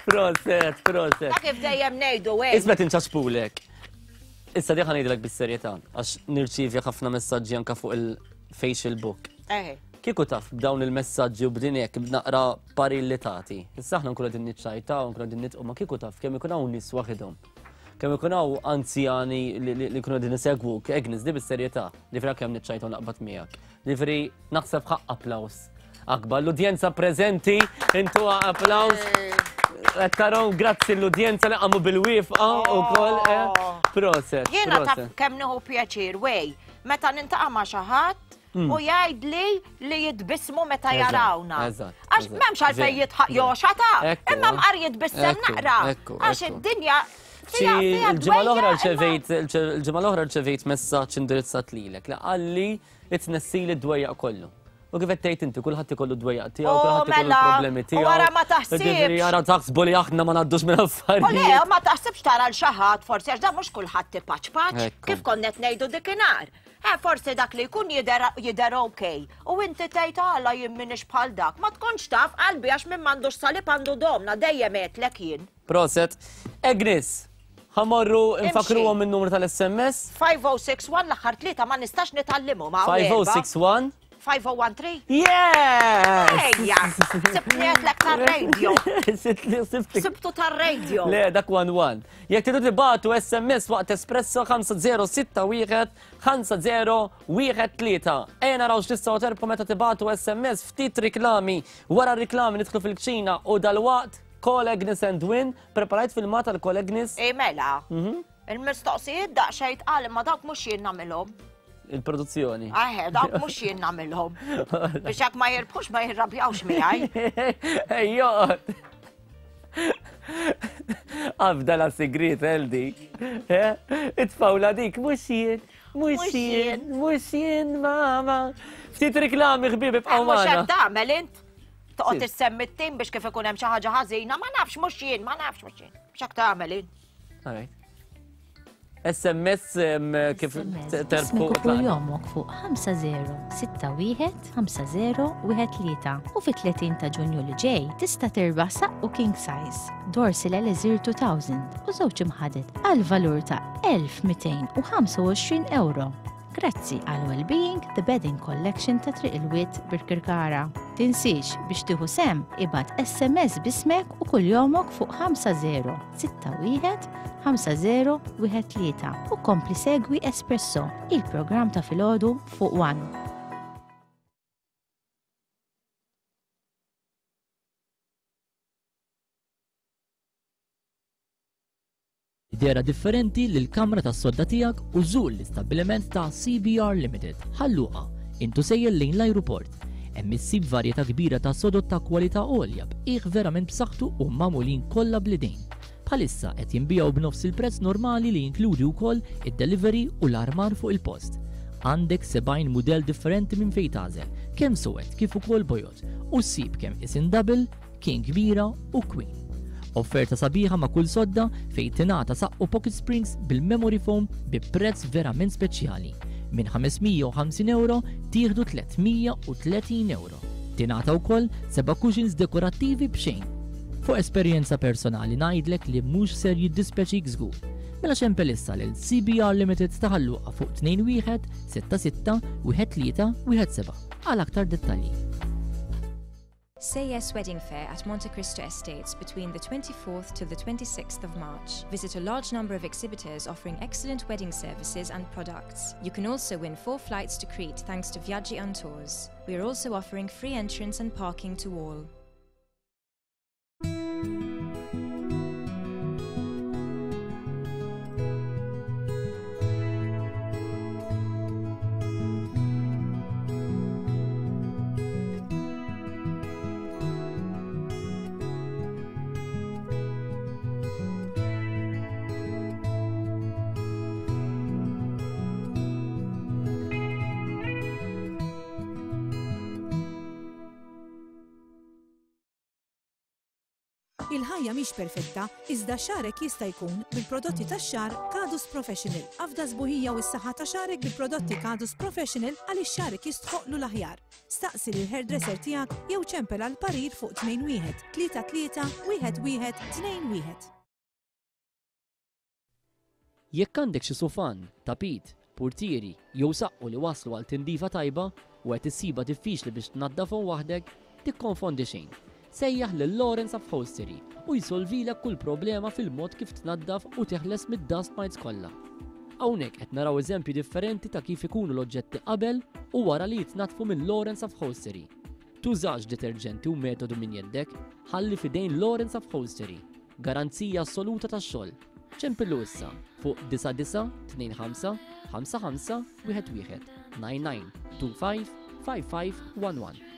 Proset, proset. Ta' kif dejjem ngħidu hekk. Isma' tinċaspulek. Issa diħa ngħidlek bis-serjetà għax nirċievi ħafna messaġġi anka fuq il-facial book. Eħe. Kieku taf b'dawn il-messaġġi u b'din hekk b'naqra parir li tagħti. Issa aħna nkunu qegħdin niċċajtaw, nkunu qegħdin nitqu ma kieku taf kemm ikun hawn nies waħidhom. Kemm ikun hawn anzjani li jkunu qegħdin isegwuk, Agnes, di bis-serjetà, li vera kemm niċċajtaw naqbad miegħek. Ġifieri naħseb ħaqq applaws akbar. L-udjenza preżenti, intuha applaws. Qed taraw grazzi l-udjenza li qamu bil-wifqa wkoll. Eh. Oh. Proset. Jiena taf kemm nieħu pjaċir wej, meta nintaqa' ma' xi ħadd mm. u jgħidli li jitbismu meta jarawna. Għax m'hemmx għalfejn jitħaq joxata, imma mqar jitbissem naqra. Għax id-dinja Il-ġimgħa l-oħra rċevejt il-ġimgħa l-oħra rċevejt messaġġ indirizzat lilek li qalli itnessili d-dwejjaq kollu. U kif qed tgħid inti kulħadd ikollu d-dwejjaq tiegħu, Oh, kulħadd ikollu mela, l-problemi u tiegħu. wara ma taħsibx. Ġifieri ara taħsbu li aħna ma ngħaddux minn U le, affarijiet. ma taħsibx tara l xi ħadd forsi għax dan mhux kulħadd ipaċpaċ, Ekku. kif konna qed ngħidu dikinhar. Eh, forsi dak li jkun jidher jidher ok. U inti tgħid għala jien m'iniex bħal dak. Ma tkunx taf qalbi għax min m'għandux salib għandu domna dejjem għedtlek jien. Proset. Agnes, ħamorru nfakruhom in-numru tal-SMS. 5061 l-aħħar tlieta ma nistax nitgħallimhom hawn. 5061. 5013? Yes! Ejja, sibtni għedlek tar-radio. Sibti. Sibtu tar-radio. Le, dak 1-1. Jekk tridu tibatu SMS waqt Espresso 5061 5013. Ejja naraw x'tistgħu terbħu meta tibatu SMS ftit riklami. Wara r-riklami nidħlu fil-kċina u dalwaqt Call Agnes and Win. Preparajt filmat għal Call Agnes? Ej mela. Mhm. Il-mistoqsijiet daqsxejn tqal imma dawk mhux jien nagħmilhom. Il-produzzjoni. Aħe, dawk mhux jien nagħmilhom. Biex jekk ma jirbħux ma jirrabjawx miegħi. Ejjo. Afda la sigriet Eldi. Eh? Itfawla dik mhux jien, mhux jien, mhux jien mama. Ftit riklami ħbieb ibqgħu eh, Mhux magħna. hekk tagħmel int. Toqgħod issemmi t-tim biex kif ikun hemm xi ħaġa ħażina, ma nafx mhux jien, ma nafx mhux jien. X'hekk tagħmel int. All right. SMS kif terbħu. Kuljomok fuq 5061 5013 u fit-30 ta' Ġunju li ġej tista' tirbaħ saqqu king size, Dorsil Elixir 2000 u żewġ imħaded għal valur ta' 1225 euro. Grazzi għal Wellbeing The Bedding Collection ta' Triq il-Wied Birkirkara. Tinsiex biex tieħu sehem ibgħat SMS b'ismek u kuljomok fuq 5061 5013 u kompli segwi Espresso, il-programm ta' filgħodu fuq One. Dehra differenti lill-kamra tas-sodda tiegħek u żur l-istabbiliment ta' CBR Limited, Ħal Luqa, int u sejjer lejn l-ajruport. Hemm issib varjetà kbira ta' sodod ta' kwalità għolja b'qiegħ verament b'saħħtu u magħmulin kollha bl-idejn. Bħalissa qed jinbiegħu b'nofs il-prezz normali li jinkludi wkoll id-delivery u l-armar fuq il-post. Għandek 70 mudell differenti minn fejn tagħżel, kemm suwed kif ukoll bojod, u ssib kemm isin double, King kbira u Queen. Offerta sabiħa ma' kull sodda fejn tingħata saqqu pocket springs bil-memory foam bi prezz verament speċjali. Minn 550 ewro tieħdu 330 ewro. Tingħata wkoll seba' cushions dekorattivi b'xejn. Fuq esperjenza personali ngħidlek li mhux ser jiddispjaċik żgur. Mela xempel issa lil CBR Limited ta' Ħal Luqa fuq 21 66 13 17 għal aktar dettalji. Say Yes Wedding Fair at Monte Cristo Estates between the 24th to the 26th of March. Visit a large number of exhibitors offering excellent wedding services and products. You can also win four flights to Crete thanks to Viaggi on Tours. We are also offering free entrance and parking to all. Il-ħajja mhix perfetta, iżda xagħrek jista' jkun bil-prodotti tax-xagħar Kadus Professional. Afda s-sbuħija u s-saħħa ta' xagħrek bil-prodotti Kadus Professional għaliex xagħrek jistħoqqlu l-aħjar. Staqsi lill-hairdresser tiegħek jew ċempel għal parir fuq 21 33 1 1 2 1. Jekk għandek xi sufan, tapit, purtieri jew saqqu li waslu għal tindifa tajba u qed issibha diffiċli biex tnaddafhom waħdek, tikkonfondi xejn. Sejjaħ lil Lawrence Upholstery u jsolvilek kull problema fil-mod kif tnaddaf u teħles mid-dust mites kollha. Hawnhekk qed naraw eżempji differenti ta' kif ikunu l-oġġetti qabel u wara li jitnaddfu minn Lawrence Upholstery. Tużax deterġenti u metodu minn jeddek, ħalli f'idejn Lawrence Upholstery. Garanzija assoluta tax-xogħol. Ċempillu issa fuq 9925 55 11 99 25 55 11.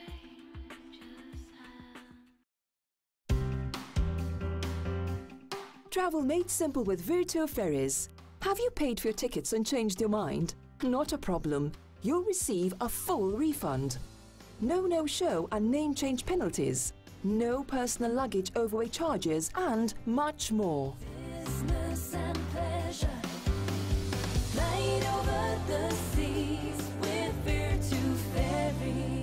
Travel made simple with Virtu Ferries. Have you paid for your tickets and changed your mind? Not a problem. You'll receive a full refund. No no-show and name change penalties. No personal luggage overweight charges and much more. Business and pleasure. Flight over the seas with Virtu Ferries.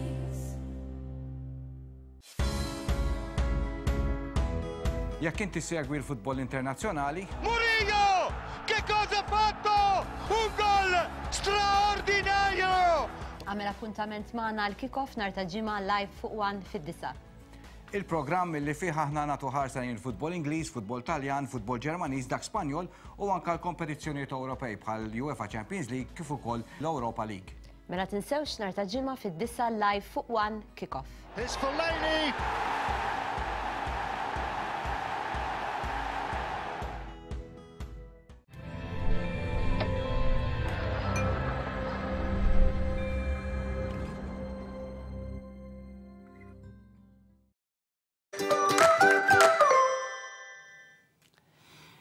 Jekk inti segwi l-futbol internazzjonali, Murillo! Che cosa ha fatto? Un gol straordinario! Għamel appuntament magħna għal kick-off nhar ta' Ġimgħa live fuq One fid-disgħa. Il-programm li fih aħna nagħtu ħarsa lejn il-futbol Ingliż, futbol Taljan, futbol Ġermaniż, dak Spanjol u anke l-kompetizzjonijiet Ewropej bħal UEFA Champions League kif ukoll l-Europa League. Mela tinsewx nhar ta' Ġimgħa fid-disgħa live fuq One Kick-Off. It's Fellaini!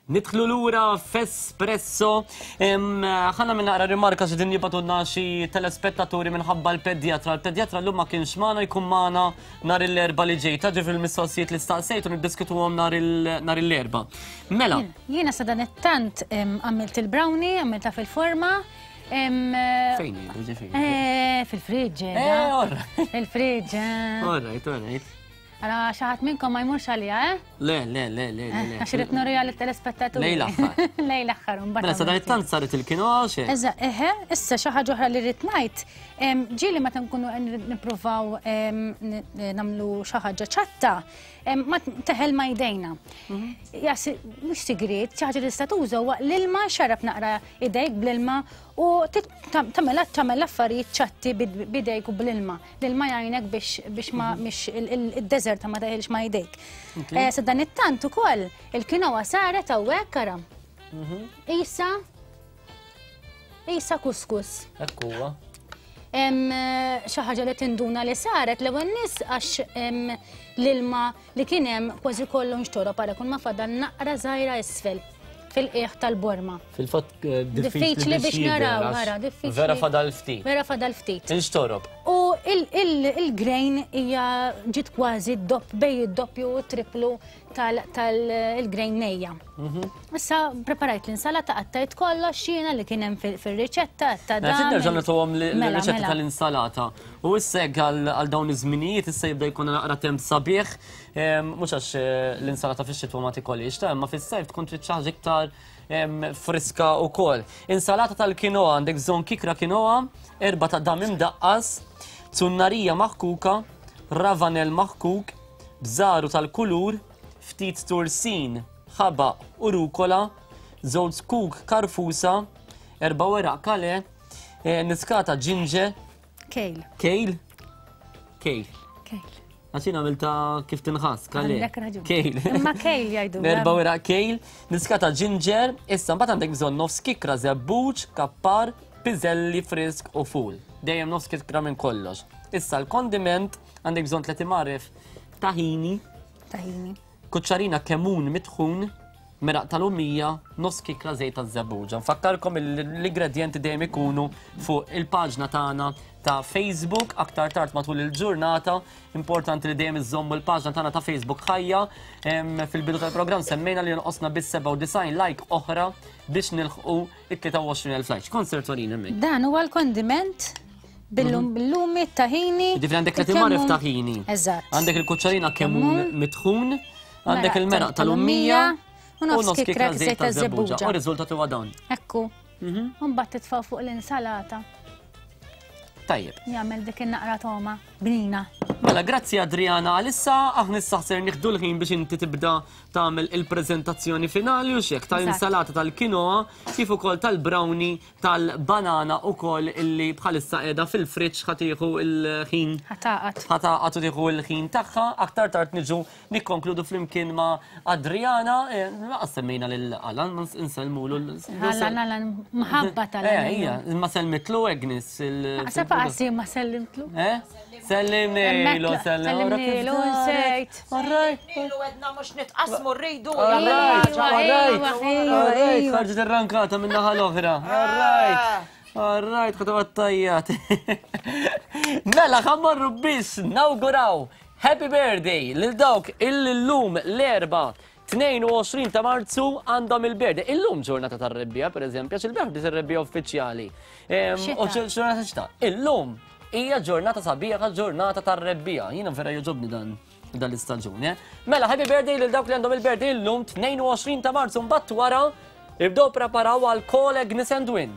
Nidħlu lura f'Espresso. Ħana minn naqra rimarka xi din jibatulna xi telespettaturi minħabba l-pedjatra. L-pedjatra llum ma kienx magħna jkun magħna nhar l-erba' li ġej. Taġi fil-mistoqsijiet li staqsejtu niddiskutuhom nhar l-erba'. Mela. Jiena sa dan it-tant għamilt il-brownie, għamilta fil-forma. Fejn ġifieri? Eh, fil-friġġ. Eh, Fil-friġġ. All right, all right. Ara xi ħadd minnkom ma jmurx għaliha, eh? Le, le, le, le, le. Għax irid nuriha lit-telespettaturi. Lejl aħħar. Lejl aħħar mbagħad. Mela sa dan it-tant saret il-kinoa xejn. Eża, eħe, issa xi ħaġa oħra li rrid ngħid, ġieli meta nkunu nippruvaw nagħmlu xi ħaġa ċatta, ma teħel ma jdejna. Mhm. Mhux sigriet, xi ħaġa li tista' tuża huwa l-ilma xarab naqra idejk bl-ilma u tagħmel tagħmel affarijiet ċatti bidejk u bl-ilma. L-ilma jgħinek biex ma mhm. mhix id-deżerta ma teħilx ma jdejk. Eh, sa dan it-tant ukoll il-kinoa saret hawnhekk ara. Mhm. Isa Isa kuskus. Hekk huwa. Eh, xi ħaġa li tinduna li saret l-ewwel nies għax l-ilma li kien hemm kważi kollu nxtorob għara kun ma fadal naqra żgħira isfel fil-qiegħ tal-borma. Fil-fatt eh, diffiċli biex naraw, ara, diffiċli. Vera fadal ftit. Vera fadal ftit. Inxtorob. U il-grain hija ġiet kważi dopp bej id-doppju u triplu tal-grain nejja. Mhm. Issa preparajt l-insalata qattajt kollox jiena li kien hemm fir-riċetta ta' dan. Mela, nerġa' nagħtuhom mela, l-riċetta mela. tal-insalata. U issa hekk għal dawn iż-żminijiet issa jibda jkun naqra temp sabiħ, mhux għax eh, l-insalata fix-xitwa ma tikolix, ta' imma fis-sajf tkun trid xi ħaġa iktar friska wkoll. Insalata tal-kinoa għandek bżonn kikra kinoa, erba' ta' dam imdaqqas, zunnarija maħkuka, ravanel maħkuk, bżaru tal-kulur, ftit tursin, ħabaq u rukola, żewġ zkuk karfusa, erba' weraq kale, eh, niskata ġinġer, Kejl. Kejl? Kejl. Kejl. Għax jien għamilta kif tinħass, kale. Għandek raġun. Kejl. Imma kejl jgħidu. Erba' weraq kejl, niskata ġinġer, issa mbagħad għandek bżonn nofs kikra żebbuġ, kappar, piżelli frisk u ful. Dejjem nofs kikra minn kollox. Issa l-kondiment għandek bżonn tliet imgħaref tahini. Tahini. Kuċċarina kemun mitħun, meraq tal-lumija, nofs kikra żejt taż-żebbuġa. Nfakkarkom l-ingredjenti dejjem ikunu fuq il-paġna tagħna ta' Facebook aktar tard matul il-ġurnata. Importanti li dejjem iżommu l-paġna tagħna ta' Facebook ħajja. Fil-bidu tal-programm semmejna li jonqosna biss 97 like oħra biex nilħqu it-23,000 like. Kont ser torin hemmhekk. Dan huwa l-kondiment mhm. bil-lumi, tahini. Ġifieri għandek li timmarif tahini. Eżatt. Għandek il-kuċċarina kemun mitħun. Għandek il-meraq tal-ummija u nofs kikra żejt ta' żebbuġa. U riżultat huwa dan. Ekku. Mhm. U mbagħad titfa' fuq l-insalata. Tajjeb. Jagħmel dik in-naqra toma bnina. Mela, grazzi Adriana għalissa, aħna issa ser nieħdu l-ħin biex inti tibda tagħmel il-preżentazzjoni finali u xek tal-insalata tal-kinoa kif ukoll tal-brownie tal-banana ukoll illi bħalissa qiegħda fil-friġġ ħa tieħu l-ħin. Ħa tagħqad. Ħa tagħqad u tieħu l-ħin tagħha. Aktar tard niġu nikkonkludu flimkien ma' Adriana. Eh, laqas semmejna lil Alan, ma nsellmulu. Alan, Alan, mħabba tal Eh, ija, ma selmitlu Agnes. Sa paqsi ma sellimtlu. Eh? Sellimnilu, sellimnilu, nsejt. Sellimnilu għedna mux nitqasmu rridu. Alright, alright, alright, ħarġet ir-rankata minn naħa l-oħra. Alright. Alright, ħadu għattajjat. Mela, ħammorru biex nawguraw Happy birthday lil dawk illum l-erba 22 ta' Marzu għandhom il-birthday. Illum ġurnata tar-rebbija, per eżempju, għax il-bieraħ bdiet ir-rebbija uffiċjali. U ġurnata xita. Illum hija ġurnata sabiħa, ġurnata tar-rebbija. Jiena vera jogħġobni dan dan l-istaġun. Eh? Mela, happy birthday lil dawk li għandhom il-birthday illum 22 ta' Marzu mbagħad wara ibdew preparaw għal Call Agnes and Win.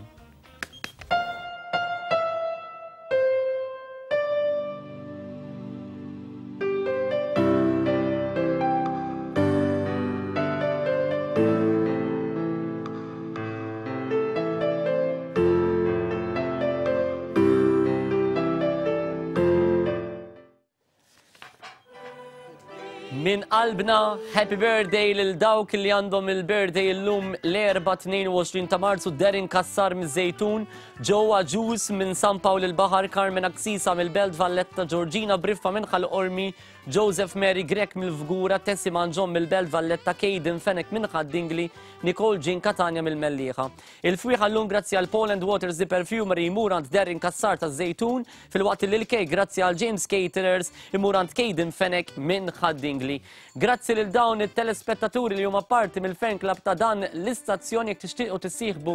Minn qalbna, happy birthday lil dawk li għandhom il-birthday illum l-Erbgħa 22 ta' Marzu, Darren Cassar miż-Żejtun, Joe Agius minn San Pawl il-Baħar, Carmen Axisa mill-Belt Valletta, Georgina Briffa minn Ħal Qormi, Joseph Mary Grech mill-Fgura, Tessie Mangion mill-Belt Valletta, Kayden Fenech minn Ħad-Dingli, Nicole Jean Catania mill-Mellieħa. Il-fwieħa llum grazzi għal Paul and Waters The Perfumery jmur għand Darren Cassar taż-Żejtun, filwaqt li l-kejk grazzi għal James Caterers imur għand Kayden Fenech minn Ħad-Dingli. Grazzi lil dawn it-telespettaturi li huma parti mill-fan club ta' dan l-istazzjon. Jekk tixtiequ tissieħbu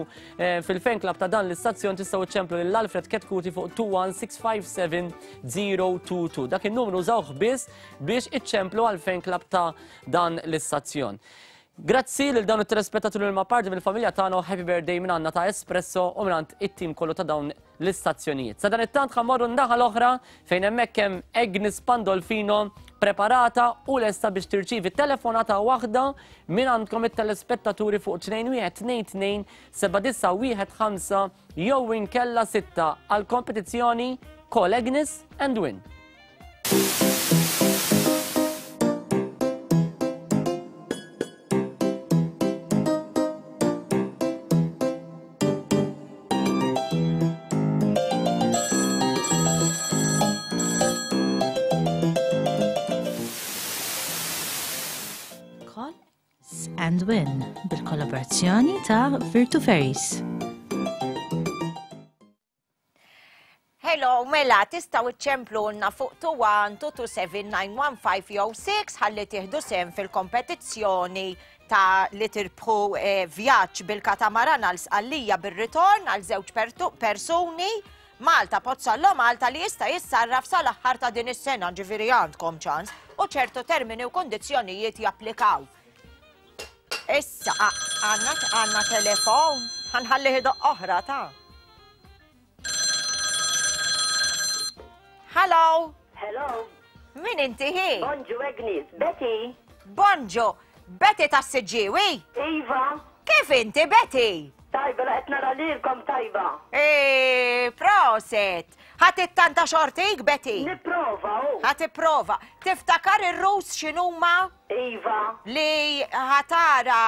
fil-fan club ta' dan l-istazzjon tistgħu iċċemplu lil Alfred Ketkuti fuq 21657022. Dak in-numru użawh biss biex iċċemplu għall-fan club ta' dan l-istazzjon. Grazzi lil dawn it-telespettaturi li huma parti mill-familja tagħna u happy birthday minn għandna ta' Espresso u minn għand it-tim kollu ta' dawn l-istazzjonijiet. Sadanittant ħa mmorru n-naħa l-oħra fejn hemmhekk hemm Agnes Pandolfino preparata u lesta biex tirċievi telefonata waħda minn għandkom it-telespettaturi fuq 2122 7915 jew inkella 6 għal kompetizzjoni Call Agnes and Win. Call and Win bil-kollaborazzjoni ta' Virtu Ferries. Hello, mela, tistgħu iċċemplulna fuq 21 227 915 jew 6 ħalli tieħdu sehem fil-kompetizzjoni ta' li tirbħu eh, vjaġġ bil-katamaran għal Sqallija bir-ritorn għal żewġ persuni Malta Pozzallo Malta li jista' jissarraf sal-aħħar ta' din is-sena, ġifieri għandkom ċans, u ċertu termini u kondizzjonijiet japplikaw. Issa, għandna għandna telefon, ħanħallih idoqq oħra ta' Hello. Hello. Min inti hi? Bonġu Agnes, Betty. Bonġu, Betty ta' Siġġiewi? Iva. Kif inti Betty? Tajba, la qed nara lilkom tajba. E, proset. Ħa tittanta xortik Betty? Nipprova, u. Ħa tipprova. Tiftakar ir-rus x'inhuma? Iva. Li ħatara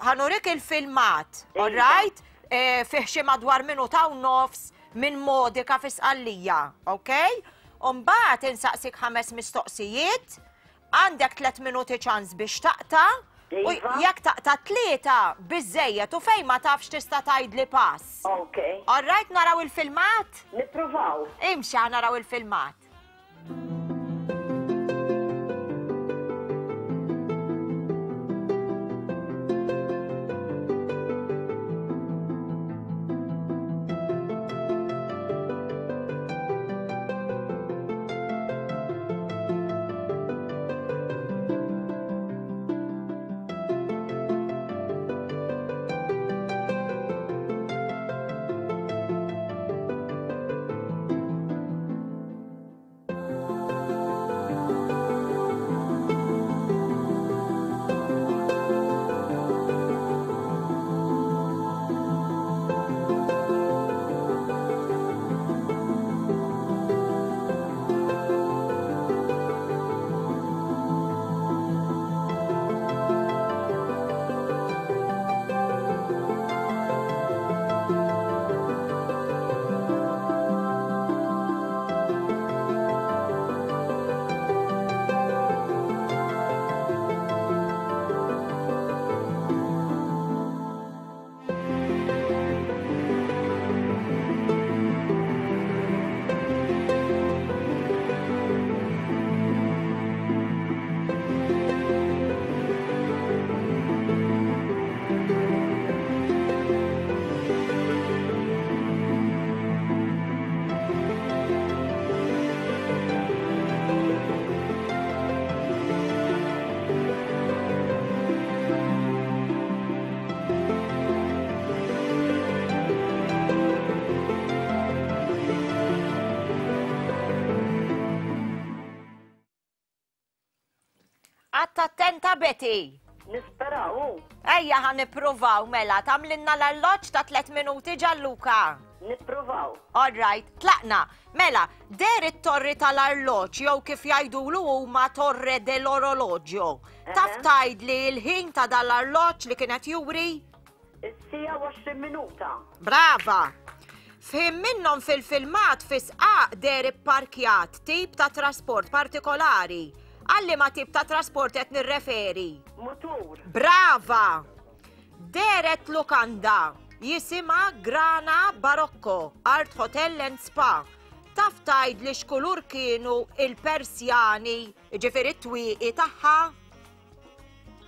ħanurik il-filmat, all right? Eh, fih xi madwar minuta u nofs minn Modica fi Sqallija, ok? Umbagħad insaqsik ħames mistoqsijiet, għandek tlet minuti ċans biex taqta' u Iva. jekk taqta' tlieta biżejjed u fejn ma tafx tista' tgħidli pass. Ok. All right, naraw il-filmat? Nippruvaw. Imxi ħa naraw il-filmat. Għatta attenta Betty. Nisperaw. Ejja ħa nippruvaw mela, tagħmlilna l-arloġġ ta' tlet minuti Gianluca. Nippruvaw. All right, tlaqna. Mela, deher it-torri tal-arloġġ jew kif jgħidulu huma Torre dell'Orologio. Taf tgħidli l-ħin ta' dal-arloġġ li kien qed juri? Is-siegħa u 20 minuta. Brava! F'ħin minnhom fil-filmat fi sqaq deher ipparkjat tip ta' trasport partikolari. Għal liema tip ta' trasport qed nirreferi? Mutur. Brava! Dehret lukanda jisimha Grana Barocco Art Hotel and Spa. Taf tgħidli x'kulur kienu il-persjani, jiġifieri t-twieqi tagħha?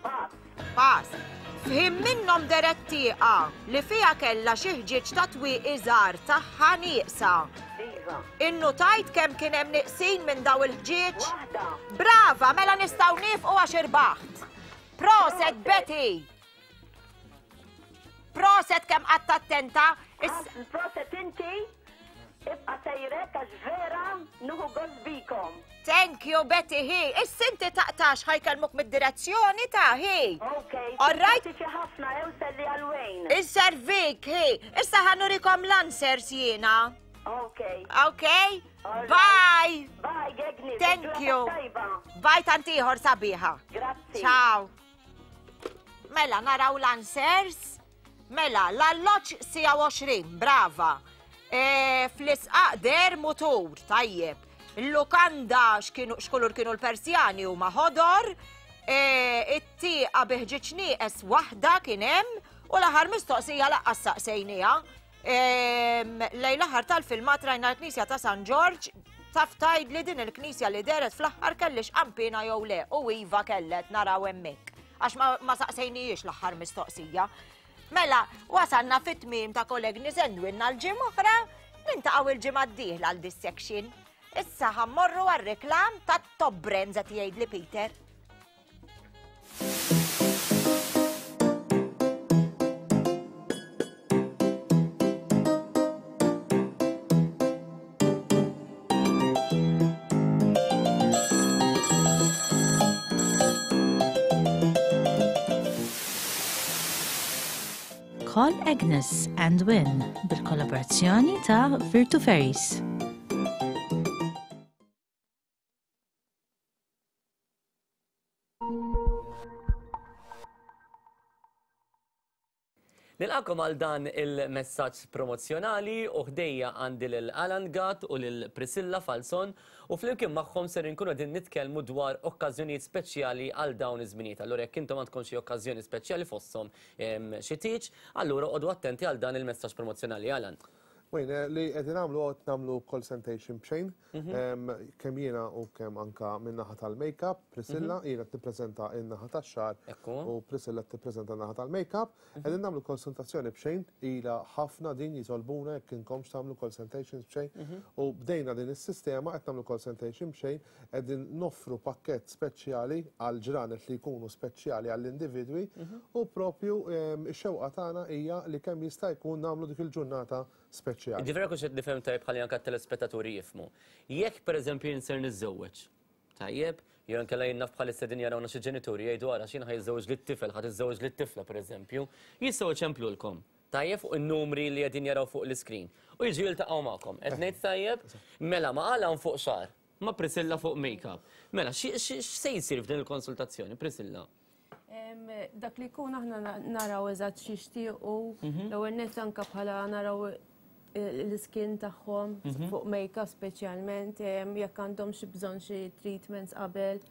Pass. Pass. F'ħin minnhom dehret tieqa li fiha kellha xi ħġieġ ta' twieqi żgħar tagħha nieqsa. Iva. Innutajt kemm kien hemm nieqsin minn daw il-ħġieġ? Waħda. Brava, mela nistgħu niefqu għax irbaħt. Proset Betty! Proset kemm qatt attenta. Proset inti, ibqa' sejrek għax vera nuħu gost bikom. Thank you Betty hi. Issa inti taqtax ħajkellmuk mid-direzzjoni ta' hi. Ok. All right. Grazzi ħafna ew selli għal Wayne. Inservik hi. Issa ħanurikom l-answers jiena. Ok. Ok? Bye. Bye, Gegni. Thank you. Bye tantiħor sabiħa. Grazzi. Ciao. Mela, naraw l-answers. Mela, l-alloċ sija 20, brava. E, Fl-isqaq der mutur, tajjeb. Il-lukanda x'kulur kienu l-Persjani huma ħodor. E, It-tieqa bi ħġieġ nieqes waħda kien hemm u l-aħħar mistoqsija laqqas saqsejniha. Lejn l-aħħar tal-filmat rajna l-Knisja ta' San Ġorġ, taf tgħidli din il-knisja li dehret fl-aħħar kellix qanpiena jew le u iva kellet naraw hemmhekk. Għax ma saqsejnijiex l-aħħar mistoqsija. Mela, wasalna fit-tmiem ta' Kollegni Sendwin għal ġimgħa oħra, nintaqgħu il-ġimgħa d-dieħla għal dis section. Issa ħammorru għar-reklam ta' Top Brands qed jgħidli Peter. Call Agnes and Win bil-kollaborazzjoni ta' Virtu Ferries. Nilqakom għal dan il-messaġġ promozzjonali u ħdejja għandi lil Alan Gatt u lil Priscilla Falzon u flimkien magħhom ser inkunu qegħdin nitkellmu dwar okkażjonijiet speċjali għal dawn iż-żminijiet. Allura jekk intom għandkom xi okkażjoni speċjali fosthom xi tieġ, allura oqogħdu attenti għal dan il-messaġġ promozzjonali. Alan. Wayne, li qegħdin nagħmlu qed nagħmlu consultation b'xejn, kemm jiena u kemm anka min-naħa tal-makeup, Priscilla, jiena qed nippreżenta n-naħa tax-xagħar u Priscilla qed tippreżenta n-naħa tal-makeup. Qegħdin nagħmlu konsultazzjoni b'xejn, ilha ħafna din jitolbuna jekk inkomx tagħmlu consultations b'xejn. U bdejna din is-sistema qed nagħmlu consultation b'xejn, qegħdin noffru pakkett speċjali għal ġranet li jkunu speċjali għall-individwi u propju ix-xewqa tagħna hija li kemm jista' jkun nagħmlu dik il-ġurnata speċjali. Jiġifieri jekk hux qed nifhem tajjeb ħalli anke t-telespettaturi jifhmu. Jekk pereżempju jien ser niżżewweġ, tajjeb, jew inkella jien naf bħalissa qegħdin jarawna xi ġenituri jgħidu ara x'jien ħa jiżżewweġ lit-tifel, ħa tiżżewweġ lit-tifla pereżempju, jistgħu jċemplulkom, tajjeb, fuq in-numri li qegħdin jaraw fuq l-iskrin u jiġu jiltaqgħu magħkom. Qed ngħid tajjeb? Mela ma' Alan fuq xagħar, ma' Priscilla fuq make-up. Mela, x'se jsir f'din il-konsultazzjoni, Priscilla? Dak li jkun aħna naraw eżatt x'jixtiequ, mhm. l-ewwel nett anke bħala naraw l-iskin tagħhom mhm. fuq make-up speċjalment jekk għandhom xi bżonn xi treatments qabel.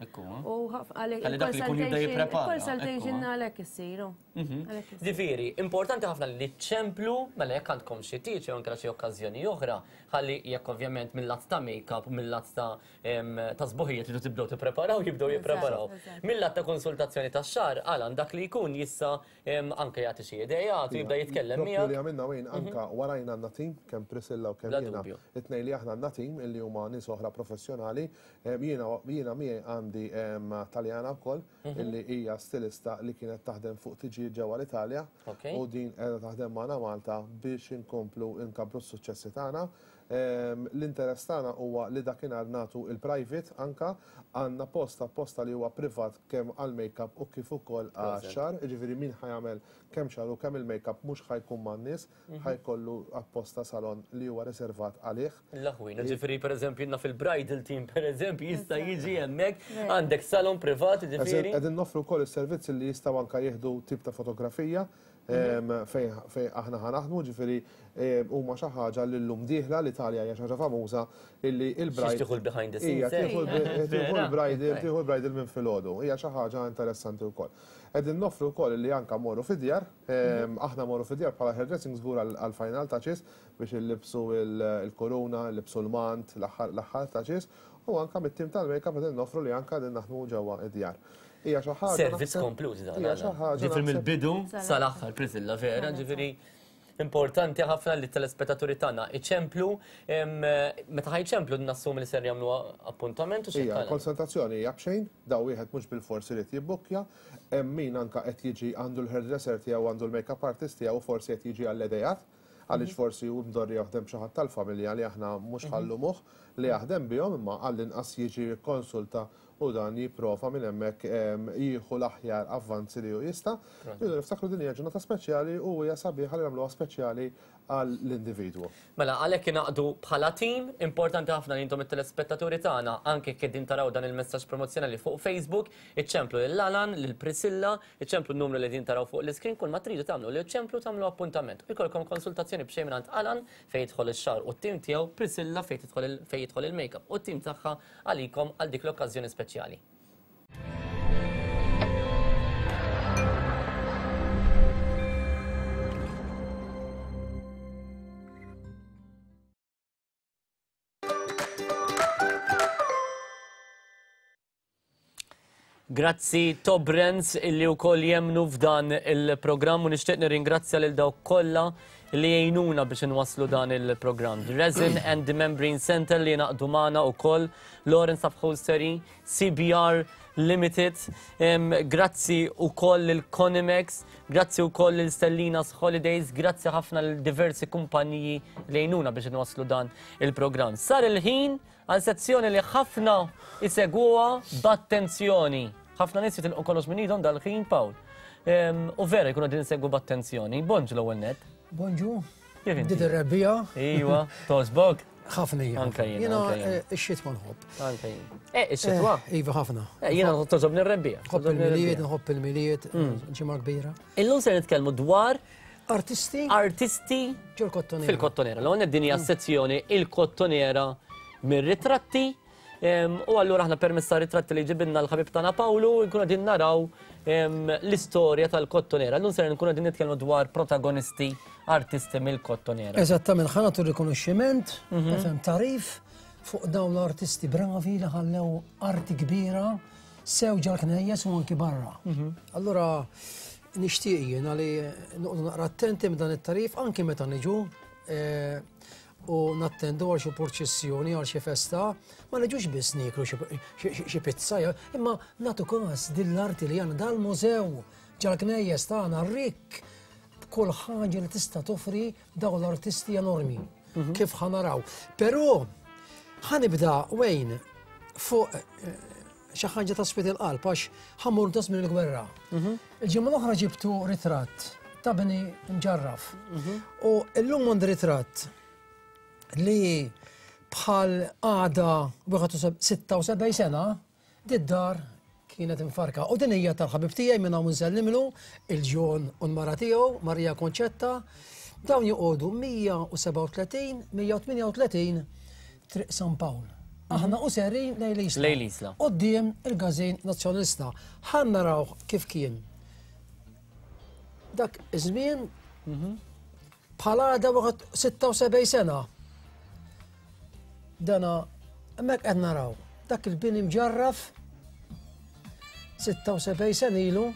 U għalhekk dak li jkun jibda jipprepara. Consultation għalhekk issiru. Mhm. Ġifieri, importanti ħafna li ċemplu mela jekk għandkom xi tieġ jew anke xi okkażjoni oħra, ħalli jekk ovvjament mill-lat ta' make-up, mill-lat ta' ta' sbuħija tridu tibdew tippreparaw, jibdew jippreparaw. Mill-lat ta' konsultazzjoni tax-xagħar, Alan, dak li jkun jista' anke jagħti xi ideat u jibda jitkellem miegħek. Propju li għamilna Wayne anke warajna għandna tim, kemm Priscilla u kemm jiena. It-tnejn li aħna għandna tim illi huma nies oħra professjonali. Jiena jiena miegħi għandi Taljana wkoll illi hija stilista li kienet taħdem fuq tiġijiet ġewwa l-Italja u din qiegħda taħdem magħna Malta biex inkomplu nkabbru s-suċċessi tagħna. L-interess tagħna huwa li dakinhar nagħtu il-private anka għandna post apposta li huwa privat kemm għall-makeup u kif ukoll għax-xagħar, jiġifieri min ħa jagħmel kemm xagħar u kemm il-makeup mhux ħa jkun man-nies, ħa jkollu apposta salon li huwa riservat għalih. L-aħwin, ġifieri pereżempju naf il-bridal team pereżempju jista' jiġi hemmhekk, għandek salon privat, ġifieri. Qegħdin noffru wkoll is-servizzi li jistgħu anke jieħdu tip ta' fotografija fejn aħna ħa naħdmu, ġifieri huma xi ħaġa li llum dieħla l-Italja hija xi ħaġa famuża illi il-bride. Tieħu l-behind the scenes. Hija tieħu l-bridal, tieħu l-bridal minn filgħodu. Hija xi ħaġa interessanti wkoll. Qegħdin noffru wkoll li anke mmorru fid-djar, aħna mmorru fid-djar bħala hairdressing żgur għall-final touches biex illibsu l-kuruna, illibsu l-mant, l-aħħar touches, u anke mit-tim tal-makeup qegħdin noffru li anke qegħdin naħdmu ġewwa d-djar. Hija xi ħaġa. Servizz komplut dan. Hija xi ħaġa. Ġifieri mill-bidu sal-aħħar Priscilla vera, ġifieri importanti ħafna li t-telespettaturi tagħna iċemplu meta ħajċemplu nassum li ser jagħmlu appuntament u xi. Hija konsultazzjoni hija b'xejn, daw wieħed mhux bil-forsi li jibbukkja, hemm min anka qed jiġi għandu l-hairdresser tiegħu għandu l-makeup artist tiegħu forsi qed jiġi għall-idejat għaliex forsi hu mdorri jaħdem xi ħadd tal-familja li aħna mhux ħallumuh li jaħdem bihom imma għall-inqas jiġi jikkonsulta u dan jipprova minn hemmhekk jieħu l-aħjar avvanzi li hu jista'. Rridu niftakru din hija ġurnata speċjali u hija sabiħa li nagħmluha speċjali għall-individwu. Mela, għalhekk ingħaqdu bħala tim, importanti ħafna li intom it-telespettaturi tagħna, anke jekk qegħdin taraw dan il-messaġġ promozzjonali fuq Facebook, iċċemplu lil Alan, lil Priscilla, iċċemplu n-numru li qegħdin taraw fuq l-iskrin, kull ma tridu tagħmlu li ċċemplu tagħmlu appuntament u jkollkom konsultazzjoni b'xejn mingħand Alan fejn jidħol ix-xagħar u t-tim tiegħu, Priscilla fejn tidħol fejn jidħol il-makeup u t-tim tagħha għalikom għal dik l-okkażjoni speċjali. Grazzi Top Brands illi wkoll jemnu f'dan il-programm u nixtieq nirringrazzja lil dawk kollha li jgħinuna biex inwasslu dan il-programm. The Resin and the Membrane Center li jingħaqdu magħna wkoll, Lawrence Upholstery, CBR Limited, grazzi wkoll lil Conimex, grazzi wkoll lil Stellina's Holidays, grazzi ħafna lil diversi kumpaniji li jgħinuna biex inwasslu dan il-programm. Sar il-ħin Għal sezzjoni li ħafna isegwuha b'attenzjoni. Ħafna nies jitilqu kollox minn idhom dal-ħin, Pawl. U vera jkunu din isegwu b'attenzjoni. Bonġu l-ewwel net. Bonġu. Bdiet ir-rebbija. Iva, tosbok. Ħafna hija. Anka jien. Jiena eh, ix-xitwa nħobb. Anka jien. Eh, ix-xitwa? Eh, iva ħafna. Eh, jiena toġobni r-rebbija. Nħobb il-milied, nħobb il-milied, mm. ġimgħa kbira. Illum se nitkellmu dwar Artisti? Artisti ġol-kottonera. Fil-kottonera. L-għon din hija mm. sezzjoni il-kottonera mir-ritratti. U allura aħna permezz ta' ritratti li ġibinna l-ħabib tagħna Pawlu nkunu qegħdin naraw l-istorja tal-kottonera. Llum ser nkunu qegħdin nitkellmu dwar protagonisti artisti mill-kottonera. Eżattament, ħa nagħtu rikonoxximent, mhm. tarif fuq dawn l-artisti bravi li ħallew arti kbira sew ġal-knejjes u anki barra. Mhm. Allura Nixtieq jiena li noqogħdu naqra attenti minn dan it-tarif anki meta niġu eh, u nattendu għal xi purċissjoni għal xi festa, ma niġux biss nieklu xi pizza, imma nagħtu każ din l-arti li għandna dal-mużew ġal-knejjes tagħna rikk b'kull ħaġa li tista' toffri dawn l-artisti enormi. Mhm. Kif ħanaraw. Però ħanibda Wayne fuq eh, xi ħaġa ta' sfiet il-qalb għax ħammur ta' żmien il-gwerra. Mhm. Il-ġimgħa l-oħra ġibtu ritratt ta' bini mġarraf. Mhm. U llum għandi ritratt li bħal għada 76 sena did-dar kienet infarka. U din hija tal-ħabib tiegħi minn hawn nsellimlu il-ġon u l-mara tiegħu Marija Konċetta. Dawn joqogħdu 137, 138 Triq San Pawl. Aħna u serin lejn l-Isla. Lejn l-Isla. Quddiem il-Każin Nazzjonalista. Ħa naraw kif kien. Dak iż-żmien mhm. bħal għada waqt 76 sena. Dana hemmhekk qed naraw dak il-bini mġarraf 76 sena ilu.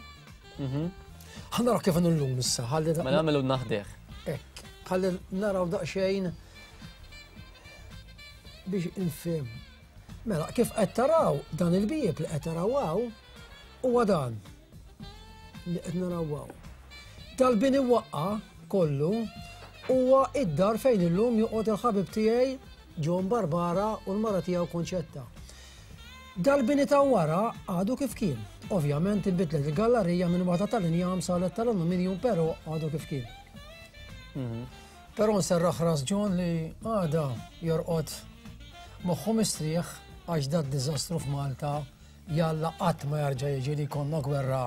Mhm. Ħa naraw kif llum issa. Ma nagħmlu naħdeh. Ekk, ħalli naraw daqsxejn biex infhem. Mela, kif qed taraw dan il-bieb li qed taraw hawn huwa dan li qed naraw hawn. Dal-bini waqqa kollu. huwa id-dar fejn illum joqgħod il-ħabib tiegħi John Barbara u l-mara tiegħu Konċetta. Dal-bini ta' wara għadu kif kien. Ovvjament inbidlet il-gallarija minn waħda tal-injam saret tal-aluminium però għadu kif kien. Mhm. Però nserraħ ras John li għada jorqod moħħu mistrieħ għax dat diżastru f'Malta Jalla qatt ma jarġa' jiġi li jkollna gwerra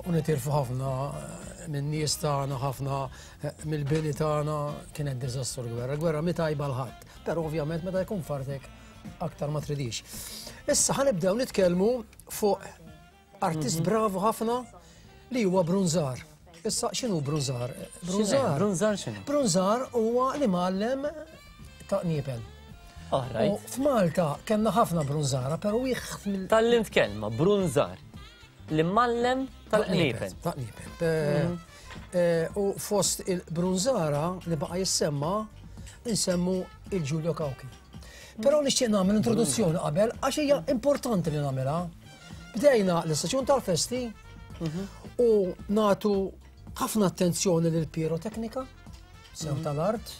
u nitilfu ħafna eh, minn nies tagħna, ħafna eh, mill-bini tagħna kienet diżastru l-gwerra. Gwerra mi tajba l-ħadd, però ovvjament meta jkun fartek aktar ma tridix. Issa ħanibdew nitkellmu fuq artist mhm. bravu ħafna li huwa Brunzar. Issa x'inhu Brunzar? Brunzar. Brunzar x'inhu? Brunzar huwa li mgħallem ta' qniepel. U f'Malta kellna ħafna brunzara, però wieħed mill. Tallimt kelma, brunzar. Li mallem tal-qniepel. Ta' qniepel. Mhm. Eh, u fost il-brunzara li baqa' jissemma, nsemmu il-Giulio Cauchi. Però nixtieq nagħmel introduzzjoni qabel għax hija importanti li nagħmilha. Bdejna l-istaġun tal-festi mhm. u natu ħafna attenzjoni lil piroteknika, sew mhm. tal-art,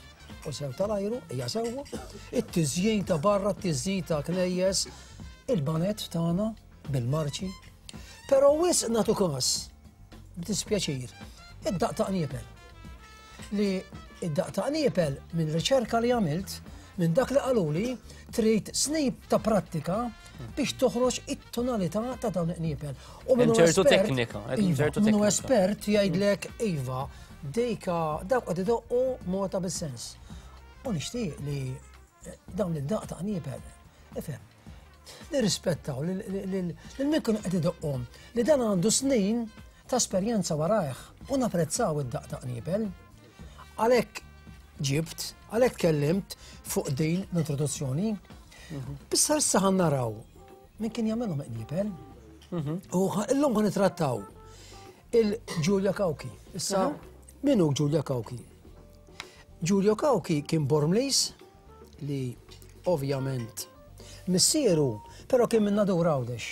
u sew tal-ajru, hija sewwa, it-tiżjin ta' barra, t-tiżjin ta' knejjes, il-banet tagħna bil-marċi. Però wisq nagħtu każ, b'dispjaċir, id-daq ta' qniepel. Li id-daq ta' qniepel minn riċerka li għamilt, minn dak li qaluli, trid snib ta' prattika biex toħroġ it-tonalità ta' dawn il-qniepel. U minn ċertu teknika, iva, minnu espert jgħidlek iva, dejka dawk qed idoqqu mota bis-sens. U nixtieq li eh, dawn id-daq ta' qniepel, ifhem, nirrispettaw lil min kienu qed idoqqhom li dan għandu snin ta' esperjenza warajh u napprezzaw id-daq ta' qniepel. Għalhekk ġibt, għalhekk tkellimt fuq din l-introduzzjoni. Mhm. Bissa issa ħan naraw min kien jagħmelhom qniepel. Mhm. U illum ħan nitrattaw il-Giulia Cauchi. Issa mhm. min hu Giulia Cauchi? Giulio Cauchi kien Bormlis li ovvjament missieru, però kien minn Nadur Għawdex.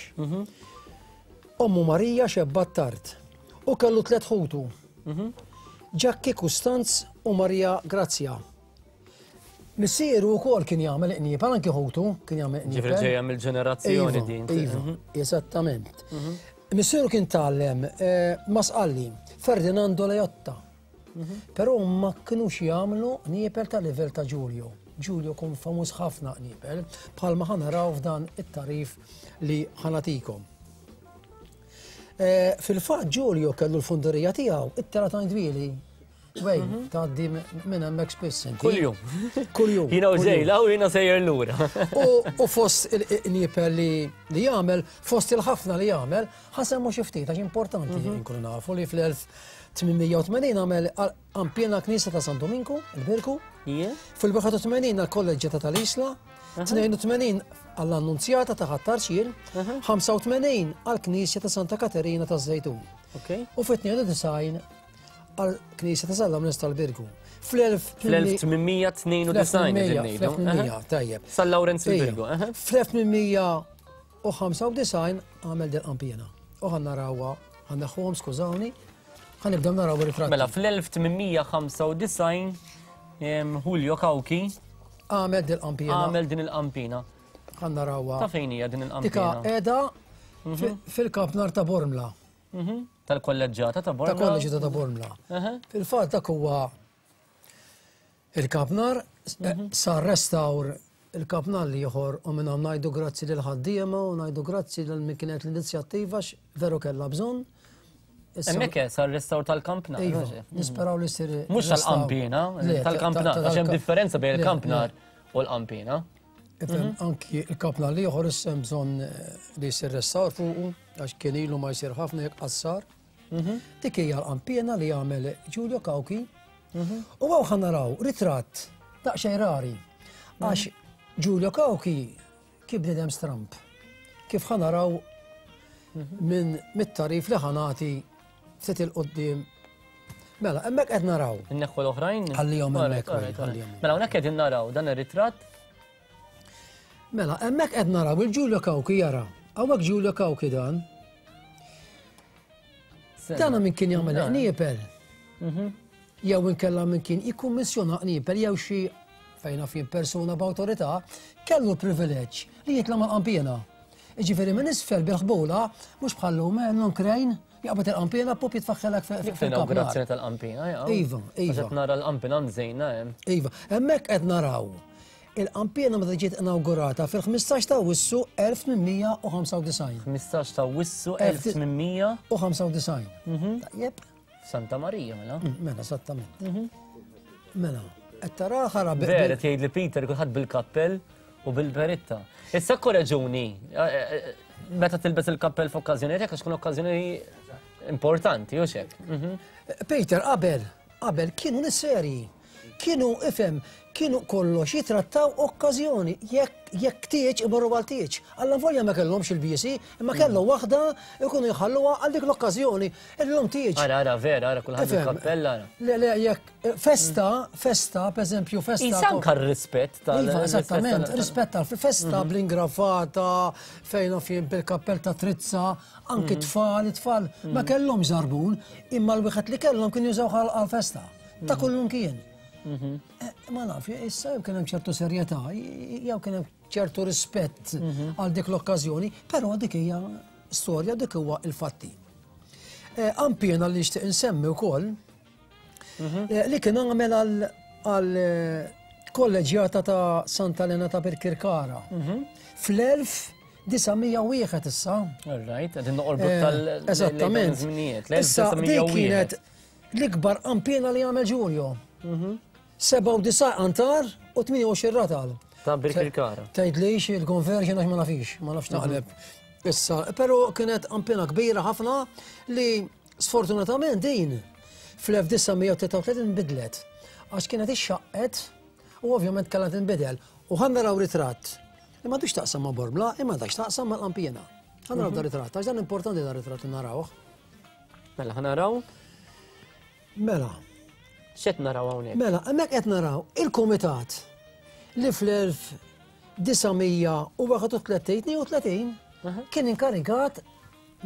Ommu Marija xebbat tard u kellu tlet ħutu. Ġakki Kustanz u Marija Grazzja. Missieru wkoll kien jagħmel qniepel, anki ħutu kien jagħmel qniepel. Ġifieri ġejja mill-ġenerazzjoni iva, din. Iva, mhm. eżattament. Mhm. Missieru kien tgħallem eh, ma' Sqalli, Ferdinando Leotta. Mhm. Però ma kinux jagħmlu qniepel ta' livell ta' Giulio. Giulio kun famuż ħafna qniepel, bħalma ħanaraw f'dan it-tarif li ħanatikom. Eh, fil-fatt Giulio kellu l-funderija tiegħu, it-tela ta' Dwieli. Wej, mhm. tgħaddi minn hemmhekk spiss inti. Kuljum. Kuljum. Jiena u ġejla u jiena sejjer lura. U fost il-qniepel li jagħmel, fost il-ħafna li jagħmel, ħasemmu xi ftit għax importanti mhm. nkunu nafu li fl-1880 għamel qanpiena Knisja ta' San Dominku, il-Birku. Fil-81 għall-Kolleġġjata tal-Isla, 82 għall-Annunzjata ta' Ħat-Tarxien, 85 għall-Knisja ta' Santa Katerina ta' Żejtun. U fit-92 għall-Knisja ta' San Lawrenz tal-Birgu. Fl-1892 tajjeb. San Lawrenz il-Birgu. Fl-1895 għamel din qampina. U ħan narawha, ħan neħħuhom skużawni, ħan nibdew naraw ir-ritratti. Mela fl-1895 Julio Cauchi għamel din il-qampina. Għamel din il-qampina. Ħan narawha. Ta' fejn hija din il-qampina? Tika qiegħda mhm. fil-kampnar ta' Bormla. Mhm. Tal-kolleġġata ta' Bormla. Ta' kolleġġata ta' Bormla. Fil-fatt dak huwa il-kampnar mhm. sar restawr il-kampnar li ieħor u minn hawn ngħidu grazzi lil ħaddiema u ngħidu grazzi lil min kienet l-inizjattiva veru kellha bżonn. Hemmhekk sar restawr tal-kampnar. Iva, nisperaw li sir. Mhux tal-qampina, tal-kampnar, għax hemm differenza bejn il-kampnar u l-qampina. Ifhem, mhm. anki il-kampnar li ieħor issa hemm bżonn eh, li jsir restawr fuqu għax kien ilu ma jsir ħafna jekk qassar. Mhm. Dik hija l-qampina li jagħmel Giulio Cauchi. Mhm. U għaw ħanaraw ritratt daqsxejn rari għax Giulio Cauchi Kif bniedem stramb. Kif ħa naraw minn mit-tarif li ħa nagħti ftit il-qudiem. Mela, hemmhekk qed naraw. Inneħħu l-oħrajn? Ħallihom hemmhekk. Mela hawnhekk qegħdin naraw dan ir-ritratt. Mela, hemmhekk qed naraw il-Giulio Cauchi jara. Hawnhekk Giulio Cauchi dan. Dana min kien jagħmel qniepel. Mhm. jew inkella min kien jikkummissjona qniepel jew xi fejn naf jien persuna b'awtorità kellu l-privileġġ li jitla' mal-qanpiena. Jiġifieri minn isfel bil-ħbula mhux bħal-lum eh, krejn jaqbad il-qanpiena pop jitfaħħelek fil-kapnar. Inaugurazzjoni tal-qanpiena, ja. Iva, iva. Qed nara l-qanpiena mżejna hemm. Iva, hemmhekk qed naraw il-qanpiena meta ġiet inaugurata fil-15 ta' Wissu 1895. 15 ta' Wissu 1895. Mhm. Tajjeb. Santa Marija, mela. Mm, mela, esattament. Mhm. Mela, qed tara ħara Vera tgħid li Peter kulħadd bil-kappell u bil-beritta. Issa korreġuni, eh, eh, eh, meta tilbes il-kappell f'okkażjoni hekk għax tkun okkażjoni importanti, u xek. Mhm. Peter, qabel, qabel kienu nis serji. Kienu ifhem, kienu kollox jitrattaw okkażjoni, jekk jekk tieġ imorru għal tieġ. Alla volja ma kellhomx il-biesi, imma kellhom waħda ikunu jħalluha għal dik l-okkażjoni. Illum tieġ. Ara, ara, vera, ara, kulħadd Ifhem. bil-kappell, ara. Le, le, jekk festa, festa, per eżempju, festa. Isa anka r-rispett tal- Iva, esattament, tal- rispett tal-festa bl-ingravata, fejn naf jien bil-kappell ta' trizza, anki tfal, it-tfal ma kellhomx żarbun, imma l-wieħed li kellhom kien jużaw għal-festa. Ta' kullum kien. Mhm. Eh, ma naf, issa jew kien hemm ċertu serjetà, jew kien hemm ċertu rispett mhm. għal dik l-okkażjoni, però dik hija storja, dik huwa il-fatti. Eh, Ampjena li nixtieq insemmi wkoll mhm. eh, li kien għamel għal kolleġjata ta' Santa Elena ta' Birkirkara fl-1901 issa. All right, għedin noqorbu tal- Eżattament. Issa dik kienet L-ikbar qanpiena li għamel Giulio. 97 qantar u 28 ratal. Ta' Birkirkara. Tgħidlix il-conversion għax ma nafix, ma nafx naqleb. Issa, però kienet qanpiena kbira ħafna li sfortunatament din fl-1933 nbidlet. Għax kienet ixxaqqet u ovvjament kellha tinbidel. U ħa naraw ritratt li m'għandux taqsam ma' Bormla, imma għandha x'taqsam mal-qanpiena. Ħa naraw da ritratt, għax dan importanti da ritratt li narawh. Mela ħa naraw. Mela. X'qed naraw hawnhekk? Mela, hemmhekk qed naraw il-kumitat li fl-1931 kien inkarigat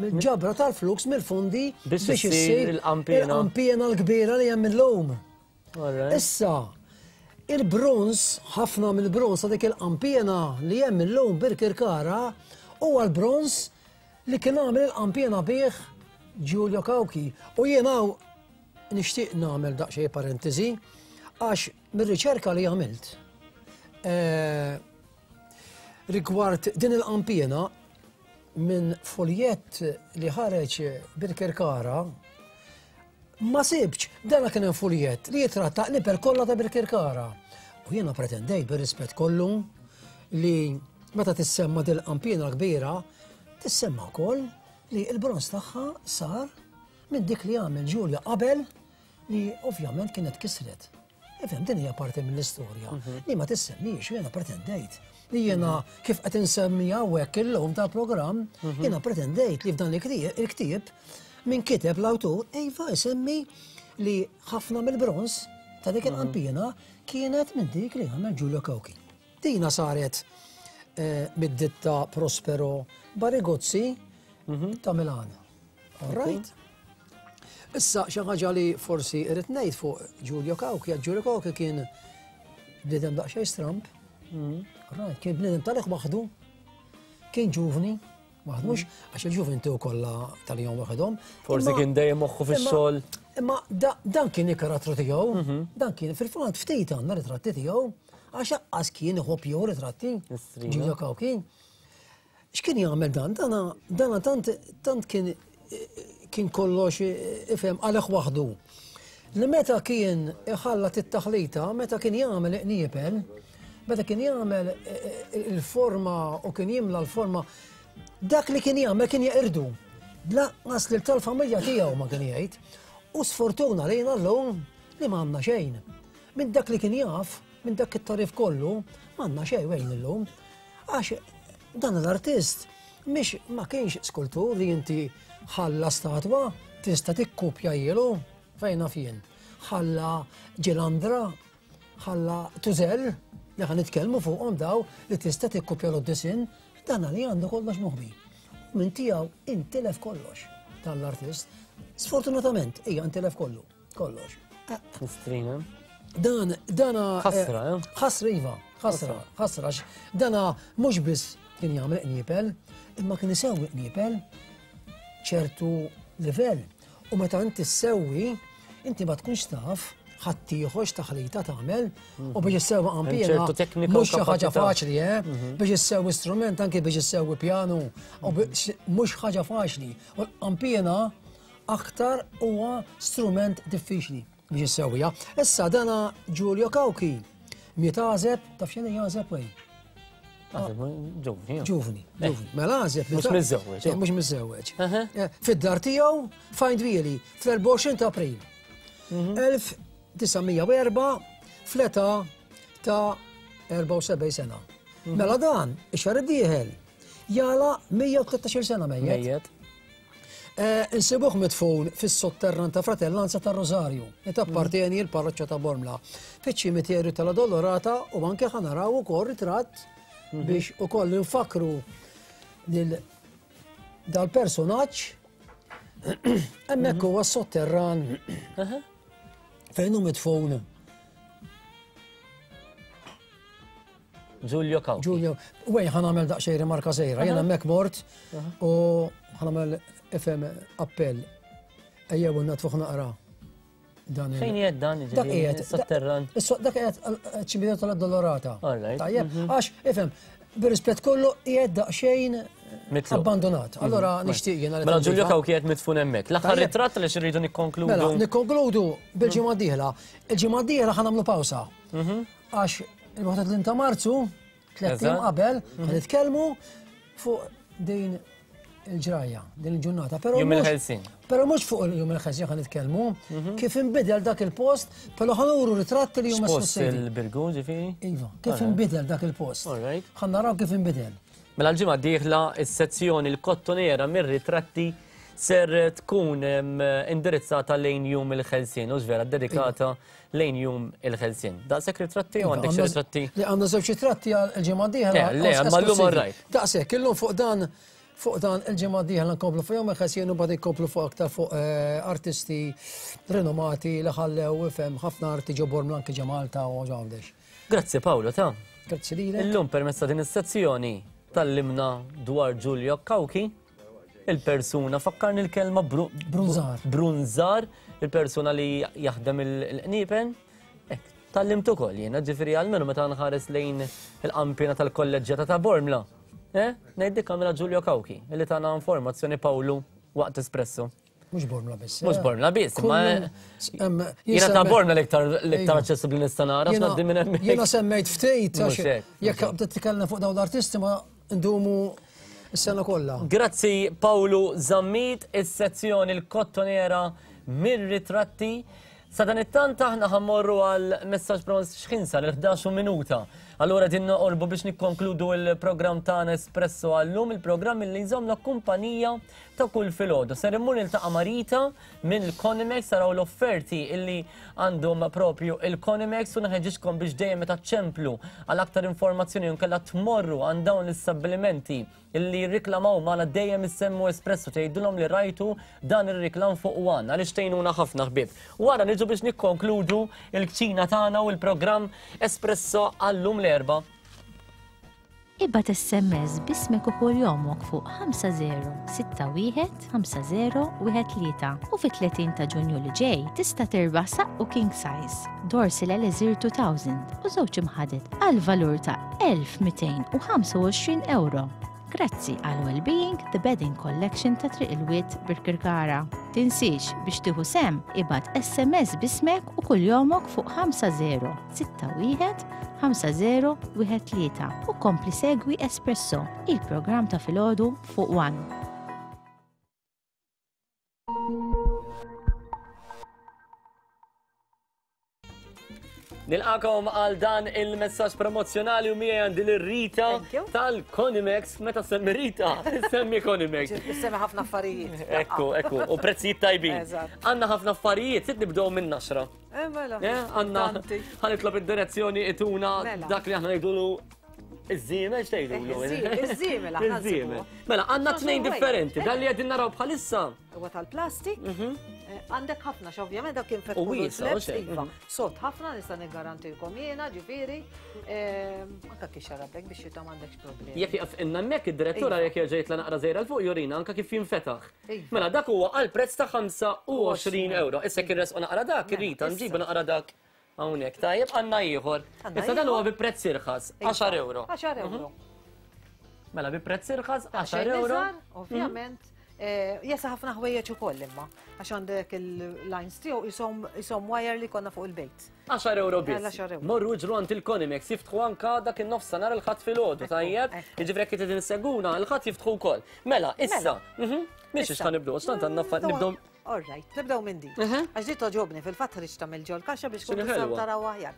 mill-ġabra tal-flux mill-fondi biex issir il-qanpiena l-kbira li hemm illum. Issa, il-bronż, ħafna mill-bronż ta' dik il-qanpiena li hemm illum Birkirkara huwa l-bronż li kien għamel il-qanpiena bih Giulio Cauchi. U jien hawn nixtieq nagħmel daqsxejn parentesi għax mir-riċerka li għamilt eh, rigward din il-qanpiena minn foljett li ħareġ Birkirkara Ma sibtx, dana kien hemm fuljett li jitratta qnieper kollha ta' Birkirkara. U jiena pretendejt bir-rispett kollu li meta tissemma dil-qanpiena kbira, tissemma wkoll li l-bronż tagħha sar minn dik li għamel Ġulja qabel li ovvjament kienet kisret. Ifhem, din hija parti mill-istorja mhm. li ma tissemmix, jiena pretendejt li jiena mhm. kif qed insemmi hawnhekk illum tal-programm, mhm. jiena pretendejt li f'dan il-ktieb minn kiteb l-awtur iva isemmi li ħafna mill-bronż ta' dik il-qampina kienet minn dik li għamel Giulio Cauchi. Dina saret eh, mid-ditta Prospero Barigozzi ta' Milano. All right? Issa xi ħaġa li forsi irrid ngħid fuq Giulio Cauchi, għax Giulio Cauchi kien bniedem daqsxejn stramb. Mm. Right, kien bniedem tal waħdu, kien ġuvni, waħdu mhux mm. għax il-ġuvni tiegħu kollha tal-jom waħedhom. Forsi kien dejjem moħħu fix-xogħol. Imma dan kien il-karattru tiegħu, mhm. dan kien fil-fatt ftit għandna ritratti tiegħu, għax aqqas kien iħobb jew ritratti. Giulio Cauchi. X'kien jagħmel dan? Dana, dana tant, tant kien kien kollox ifhem għalih waħdu. Li meta kien iħallat it-taħlita, meta kien jagħmel iqniepel, meta kien jagħmel il-forma u kien jimla l-forma, dak li kien jagħmel kien jeqirdu. Lanqas lil tal-familja tiegħu ma kien jgħid. U sfortuna lejna llum li ma għandna xejn. Minn dak li kien jaf, minn dak it-tarif kollu, ma għandna xejn wejn illum. Għax dan l-artist mhix ma kienx skultur li inti ħalla statwa tista' tikkupja jielu fejn naf jien. Ħalla ġilandra, ħalla tużell li ħan nitkellmu fuqhom daw li tista' tikkupja l-disinn, dan li għandu kollox moħbi. Minn tiegħu intilef kollox tal-artist. Sfortunatament hija intilef kollu, kollox. Mistrina. Dan, dana. Ħasra, eh? Ħasra, iva, ħasra, ħasra. Dana mhux biss kien jagħmel qniepel, imma kien isewwi qniepel ċertu livell. U meta inti ssewwi, inti ma tkunx taf ħaddieħor x'taħlita tagħmel u biex issewwi qanpiena mhux xi ħaġa faċli, eh? Mhm. Biex issewwi strument anke biex issewwi pjanu u mhux ħaġa faċli. U l-qanpiena aktar huwa strument diffiċli biex issewwiha. Issa dana Giulio Cauchi miet għażeb, taf x'inhi għażeb wej? Ġuvni. Ġuvni, eh. ġuvni. Mela għażeb. Mhux miżżewweġ. Eh, mhux miżżewweġ. Eh, fid-dar tiegħu fajn dwieli fl-24 ta' April. 1904 mhm. fl-età ta' 74 sena. Mhm. Mela dan, ix-xahar id-dieħel, jala 113 sena mejjet. Eh, insibuh midfun fis-sotterran ta' Fratellanza ta' Rosario, li tappartieni l-parroċċa ta' Bormla, fiċ-ċimiterju tal-Addolorata u anke ħanaraw ukoll ritratt mhm. biex ukoll nfakru lil dal-personaġġ hemmhekk mhm. huwa s-sotterran fejn hu midfun Giulio Cauchi. Giulio, wej ħan għamel daqsxejn rimarka sejra, jena hemmhekk mort u ħan għamel FM appell. Ejjew natfuħ naqra. Dan Fejn qiegħed dan? Dak qiegħed. Sotterran. Dak qiegħed ċimiterju tal-Addolorata. Tajjeb, mhm. għax ifhem, bir-rispett kollu qiegħed daqsxejn abbandonat. Mhm. Allora nixtieq jiena Mela Giulio Cauchi qiegħed mitfun hemmhekk. L-aħħar ritratt li xirridu nikkonkludu. Mela, nikkonkludu bil-ġimgħa d-dieħla. Il-ġimgħa d-dieħla ħa nagħmlu pawsa. Mhm. Għax il-31 ta' Marzu, tlet qabel, mhm. nitkellmu fuq din il-ġrajja, din il-ġurnata. Pero Jum il-ħelsin. Pero mhux fuq il-jum il-ħelsin ħan nitkellmu, mhm. kif inbidel dak il-post, pero ħanuru ritratti li huma Post il-Birgu ġifieri? Iva, kif inbidel dak il-post. Ħan naraw kif inbidel. Mela l-ġimgħa d-dieħla is-sezzjoni l-kottonera mir-ritratti ser tkun indirizzata lejn jum il-ħelsien, u vera dedikata lejn jum il-ħelsien. Daqshekk ritratti u għandek xi ritratti? Li għandna żewġ ritratti għal il-ġimgħa d-dieħla. Le, ma llum orrajt. Daqshekk, illum fuq dan fuq dan il-ġimgħa d-dieħla nkomplu fuq jum il-ħelsien u bad inkomplu fuq aktar fuq eh, artisti rinomati li ħallew ifhem ħafna arti ġo Bormla anke ġo Malta u Għawdex. Grazzi Paolo ta. Grazzi lilek. Illum permezz ta' din is-sezzjoni tallimna dwar Giulio Cauchi il-persuna, fakkarni l-kelma brunzar. Brunzar, il-persuna li jaħdem il-qniepen. Tallimt ukoll jiena, ġifieri għalmenu meta nħares lejn il-qampina tal-kolleġġjata ta' Bormla. Eh, ngħid dik għamilha Giulio Cauchi, li tana informazzjoni Pawlu waqt espresso. Mhux Bormla biss. Mhux eh? Bormla biss, imma jiena ta' Bormla l-iktar l-iktar aċċessibbli nista' nara x'ngħaddi minn hemmhekk. Jiena semmejt ftit jekk titkellem fuq dawn l-artisti ma Ndumu s-sena kollha. Grazzi Pawlu Zammit, is-sezzjoni l-kottonera mir-ritratti. Sadanittant aħna ħammorru għal messaġġ promos x'ħin sar il-11 minuta. Allura din noqorbu biex nikkonkludu il-programm tagħna Espresso għallum, il-programm li jżommna kumpanija ta' kull filgħodu. Ser immur niltaqa' ma' Rita minn il-Conimex taraw l-offerti illi għandhom propju il-Conimex u nħeġġiġkom biex dejjem meta ċemplu għal aktar informazzjoni nkella tmorru għand dawn l-istabbilimenti illi jirriklamaw magħna dejjem issemmu espresso tgħidulhom li rajtu dan ir-riklam fuq One għaliex tgħinuna ħafna ħbieb. Wara niġu biex nikkonkludu l-kċina tagħna u l-programm Espresso għallum l-erba'. Ibgħat SMS b'ismek u kuljomok fuq 5061 5013 u fit-30 ta' Ġunju li ġej tista' tirbaħ saqqu king size, Dorsil Elixir 2000 u żewġ imħaded għal valur ta' 1225 ewro. Grazzi għal Wellbeing The Bedding Collection ta' Triq il-Wied Birkirkara. Tinsiex biex tieħu sehem ibgħat SMS b'ismek u kuljomok fuq 50 61 5013 u kompli segwi Espresso, il-programm ta' filgħodu fuq One. Nilqakom għal dan il-messaġġ promozzjonali u miegħi għandi l-Rita tal-Conimex. Meta semmi Rita, semmi Conimex. Semmi ħafna affarijiet. Ekku, ekku, u prezzijiet tajbin. Għandna ħafna affarijiet, sid nibdew minn naxra. Eh, mela. Eh, għanna, ħanitlob id-direzzjoni ituna mela. dak li aħna ngħidulu iż-żiemel x'tgħidulu? Eh, iż-żiemel aħna Iż-żiemel. Mela, għandna tnejn differenti, dan li qegħdin naraw bħalissa. Huwa tal-plastik. Mhm. Għandek ħafna, x'ovvjament dak kien U wiesa, u xejn. Iva, sod ħafna nista' niggarantilkom jiena, ġifieri, anka kif xarablek biex xita m'għandekx problemi. Jekk jaqaf inna hemmhekk id-direttura Iva. jekk jerġa' jitla' naqra żgħira 'l fuq jurina anka kif jinfetaħ. Iva. Mela dak huwa għal prezz ta' 25 euro. Issa jekk inresqu naqra dak, Rita, nġibu naqra dak hawnhekk. Tajjeb għandna ieħor. Għandna Issa dan huwa ieħor. bi prezz irħas, Iva. 10 euro. 10 euro. Mela bi prezz irħas 10 Xejn euro. iżgħar, ovvjament. Jesa ħafna ħwejjeġ ukoll imma, għax għandek il-lines tiegħu isom wire li konna fuq il-bejt. 10 euro biss. Għal 10 euro. Morru ġru għand il-Konimex, jiftħu anka dak in-nofs nhar il-Ħadd filgħodu, tajjeb? Jiġifieri jekk qed inseguna, il-Ħadd jiftħu wkoll. Mela, issa. Mhix Issa. ħa nibdew, għax tant għandna affarijiet nibdew. All right, nibdew minn din. Għax di toġobni, fil-fatt ħriġt tagħmel ġol kaxxa biex X'inhi kun tistgħu ħelwa. taraw aħjar.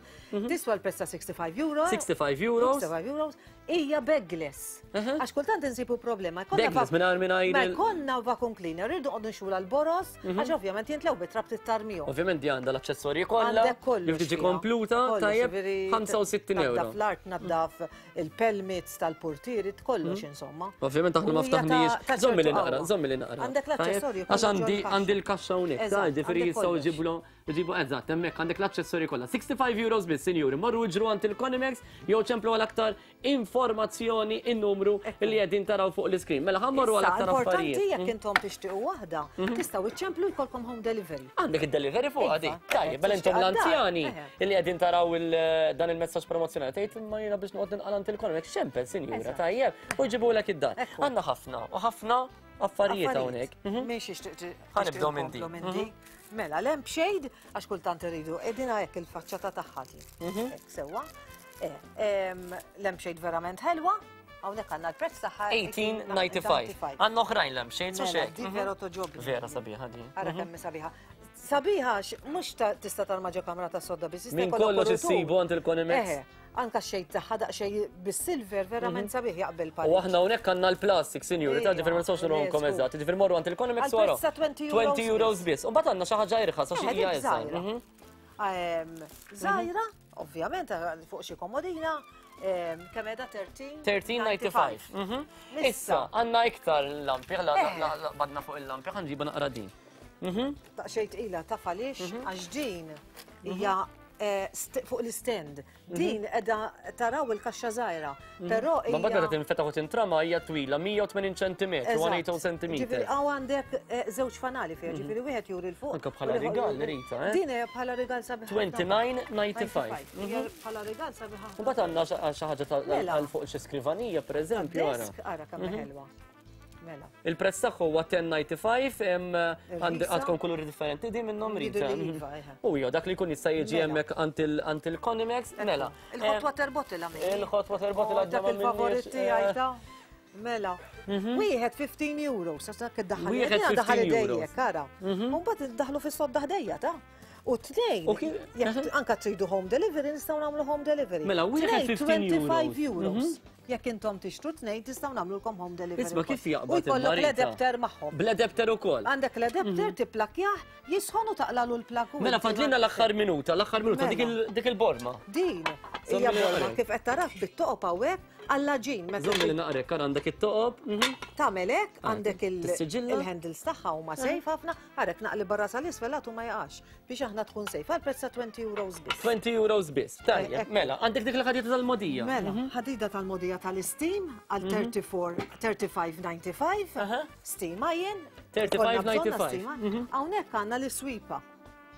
Tiswa l-prezz ta' 65 euro. 65 euros. 65 euros. Hija bagless. Għax kultant insibu problema. Jkollna Bagless, mingħajr Ma il- jkollna vacuum cleaner, rridu qogħdu nxula l-boros, għax ovvjament jintlew bit-trab tittarmihom. Ovvjament di għandha l-aċċessorji kollha. Għandek kollox. Li tiġi fiha. kompluta, Kollox, tajjeb, ġifieri 65 euro. Naddaf l-art, naddaf il-pelmits tal-portieri, kollox insomma. Ovvjament aħna ma U hija ta' ftaħniex. ta' Żommi li ċertu naqra, qawwa. żommi li naqra. Għandek l-aċċessorji Tajjeb? Għax kollu għandi ġol għandi l-kaxxa hawnhekk, ta' Eżatt, ġifieri għandek jistgħu kollox. jġiblu jġibu eżatt, hemmhekk għandek l-aċċessorji kollha. 65 euros biss, sinjuri, morru ġru għand il-Konimex jew ċemplu għal aktar informazzjoni in-numru li qegħdin taraw fuq l-iskrin. Mela ħa mmorru għal Issa, aktar importanti affarijiet. jekk intom tixtiequ waħda, tistgħu iċċemplu jkollkom home delivery. Għandek id-delivery fuq Iva, għadi. Tajjeb, mela intom tixtieq għad-dar, l-anzjani eħe. illi qegħdin taraw dan il-messaġġ promozzjonali tgħid imma jiena biex noqgħod ninqal għand il-Konimex ċempel, sinjura, tajjeb, u jġibulek id-dar. Għandna ħafna u ħafna affarijiet hawnhekk. Minn xiex Ħa nibdew minn din. minn din. Mela, lampshade, għax kultant iridu, edina hekk il-faċċata tagħha din. Hekk sewwa. Lampshade verament ħelwa, hawnhekk għandna l-prezz tagħha 1895. Għandna oħrajn lampshades u Mela, xejn. di vera toġobni. Vera sabiħa din. Ara kemm hi sabiħa. Sabiħa għax mhux tista' tarma ġo kamra ta' sodda biss. jista' Min jkollok kollox kuritur. issibu għand il-Konimex. Eħe, anka xejn tagħha daqsxejn bis-silver verament sabiħ jaqbel U pal. aħna hawnhekk għandna l-plastik, sinjuri, ta' ġifier ma nistgħux nurhomkom le, żgur. eżatt. Ġifier morru għand il-Konimex Għal wara. prezz ta' 20 euros 20 euros biss. U mbagħad għandna xi ħaġa irħas għax Eħe, hija dik iżgħar. żgħira. Żgħira, ovvjament, fuq xi komodina, kemm qiegħda 13? 13.95. Issa, għandna iktar lampi, Eħe. badna fuq il-lampi, ħa nġibu naqra din. Daqsxejn tqila taf għaliex għax din hija fuq l-stand. Din qiegħda taraw il-kaxxa żgħira, però Ma mbagħad meta hija tinfetaħ u tintrama hija twila 180 cm, 180 cm. Ġifieri hawn għandek żewġ fanali fiha, ġifieri wieħed juri 'l fuq. Anke bħala u l-ieħor rigal, juri- Rita, eh? Din hija bħala rigal sabiħ. 29.95. Hija bħala rigal sabiħ. U mbagħad għandna xi ħaġa Mela. għal fuq xi skrivanija pereżempju ara. Desk, ara kemm ħelwa. Mela. Il-prezz tagħha huwa 10.95, Irħisa. għandkom kuluri differenti din minnhom Jridu Rita. li iva, eħe. U jo, dak li jkun jista' jiġi Mela. hemmhekk għand il-Konimex, mela. Il-hot water bottle għamil. Il-hot water bottle Oh, għadna Dak ma il-favorit minniex, tiegħi ta' Mela. Wieħed 15 euro, sa dak iddaħħal. Wieħed Jiena daħal 15 euros. idejjek, ara. U mbagħad iddaħlu fis-sodda ħdejja ta' U tnejn, jekk anka tridu home delivery, nistgħu nagħmlu home delivery. Mela, wieħed Tnejn, 15 25 euros. euros. Jekk intom tixtru tnejn, tistgħu nagħmlulkom home delivery. Isma' kif ukoll. jaqbad U jkollok il-marita? l-adapter magħhom. Bl-adapter ukoll. Għandek l-adapter tipplakjah, jisħon u taqlalu l-plak. u Mela inti fadlina l-aħħar minuta, l-aħħar minuta, Mela. dik il-borma. Din Żommi hija li borma naqrek. kif qed taraf bit-toqob hawnhekk għall-ġin. meta Żommi li naqrek, ara għandek it-toqob. Tagħmel hekk għandek Tissiġilla? il-handles tagħha huma safe ħafna, għarek naqli barra sal-isfel għatu ma jaqax biex aħna tkun safe għal prezz ta' 20 euros biss. 20 euros biss. Tajjeb, Ekku. mela, għandek dik il-ħadida tal-modija. Mela, ħadida tal-modija tal-steam għal 34 35.95, steam iron. 35.95. Hawnhekk għandna l-iswipa.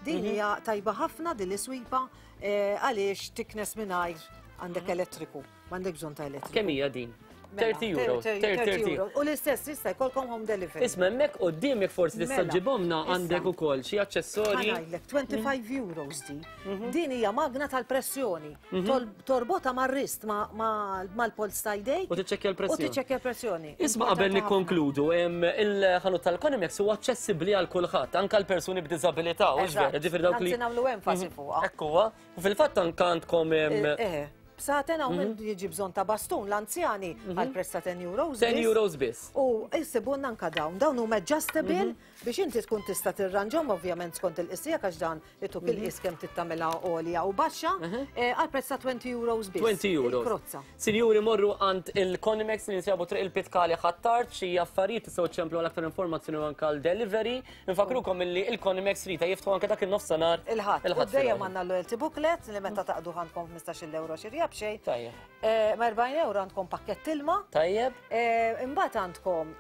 Din hija tajba ħafna din l-iswipa għaliex tiknes mingħajr għandek elettriku, m'għandek bżonn ta' elettriku. Kemm hija din? Mela, 30 euro. 30 euro. U l-istess jista' jkollkom home delivery. Isma' hemmhekk quddiemek forsi tista' Mela, ġibomna issa. għandek ukoll xi aċċessorji. Ħa ngħidlek, 25 euros di. Din hija magna tal-pressjoni. Torbota mar-wrist mal-polz ta' jdejk. U tiċċekkja U l-pressjoni. tiċċekkja l-pressjoni. Isma' qabel nikkonkludu, il-ħanut tal-Konimex huwa aċċessibbli għal kulħadd, anke għal persuni b'diżabilità, u Eżatt. vera, ġifieri dawk li. Anzi nagħmlu enfasi fuqha. Ekku huwa. U fil-fatt anke għandkom Eh, bsaten hawn min jiġi bżonn ta' bastun l-anzjani għal prezz ta' 10 euros. 10 euros biss. U jsibulna anka dawn, dawn huma adjustable biex inti tkun tista' tirranġhom ovvjament skont il-qies tiegħek għax dan ituk il-qies kemm trid tagħmilha għolja u baxxa għal prezz ta' 20 euros biss. 20 euros. Il-krozza. Sinjuri morru għand il-Conimex li jinsabu triq il-Pitkali Ħ'Attard xi affarijiet tistgħu ċċemplu għal aktar informazzjoni u anke għal delivery. Infakrukom illi il-Conimex Rita jiftħu anke dak in-nofsinhar. Il-Ħadd. U dejjem għandna l-loyalty booklet li meta taqdu għandkom 15-il euro xirja b'xejn. Tajjeb. Ma' 40 euro għandkom pakkett ilma. Tajjeb. Imbagħad għandkom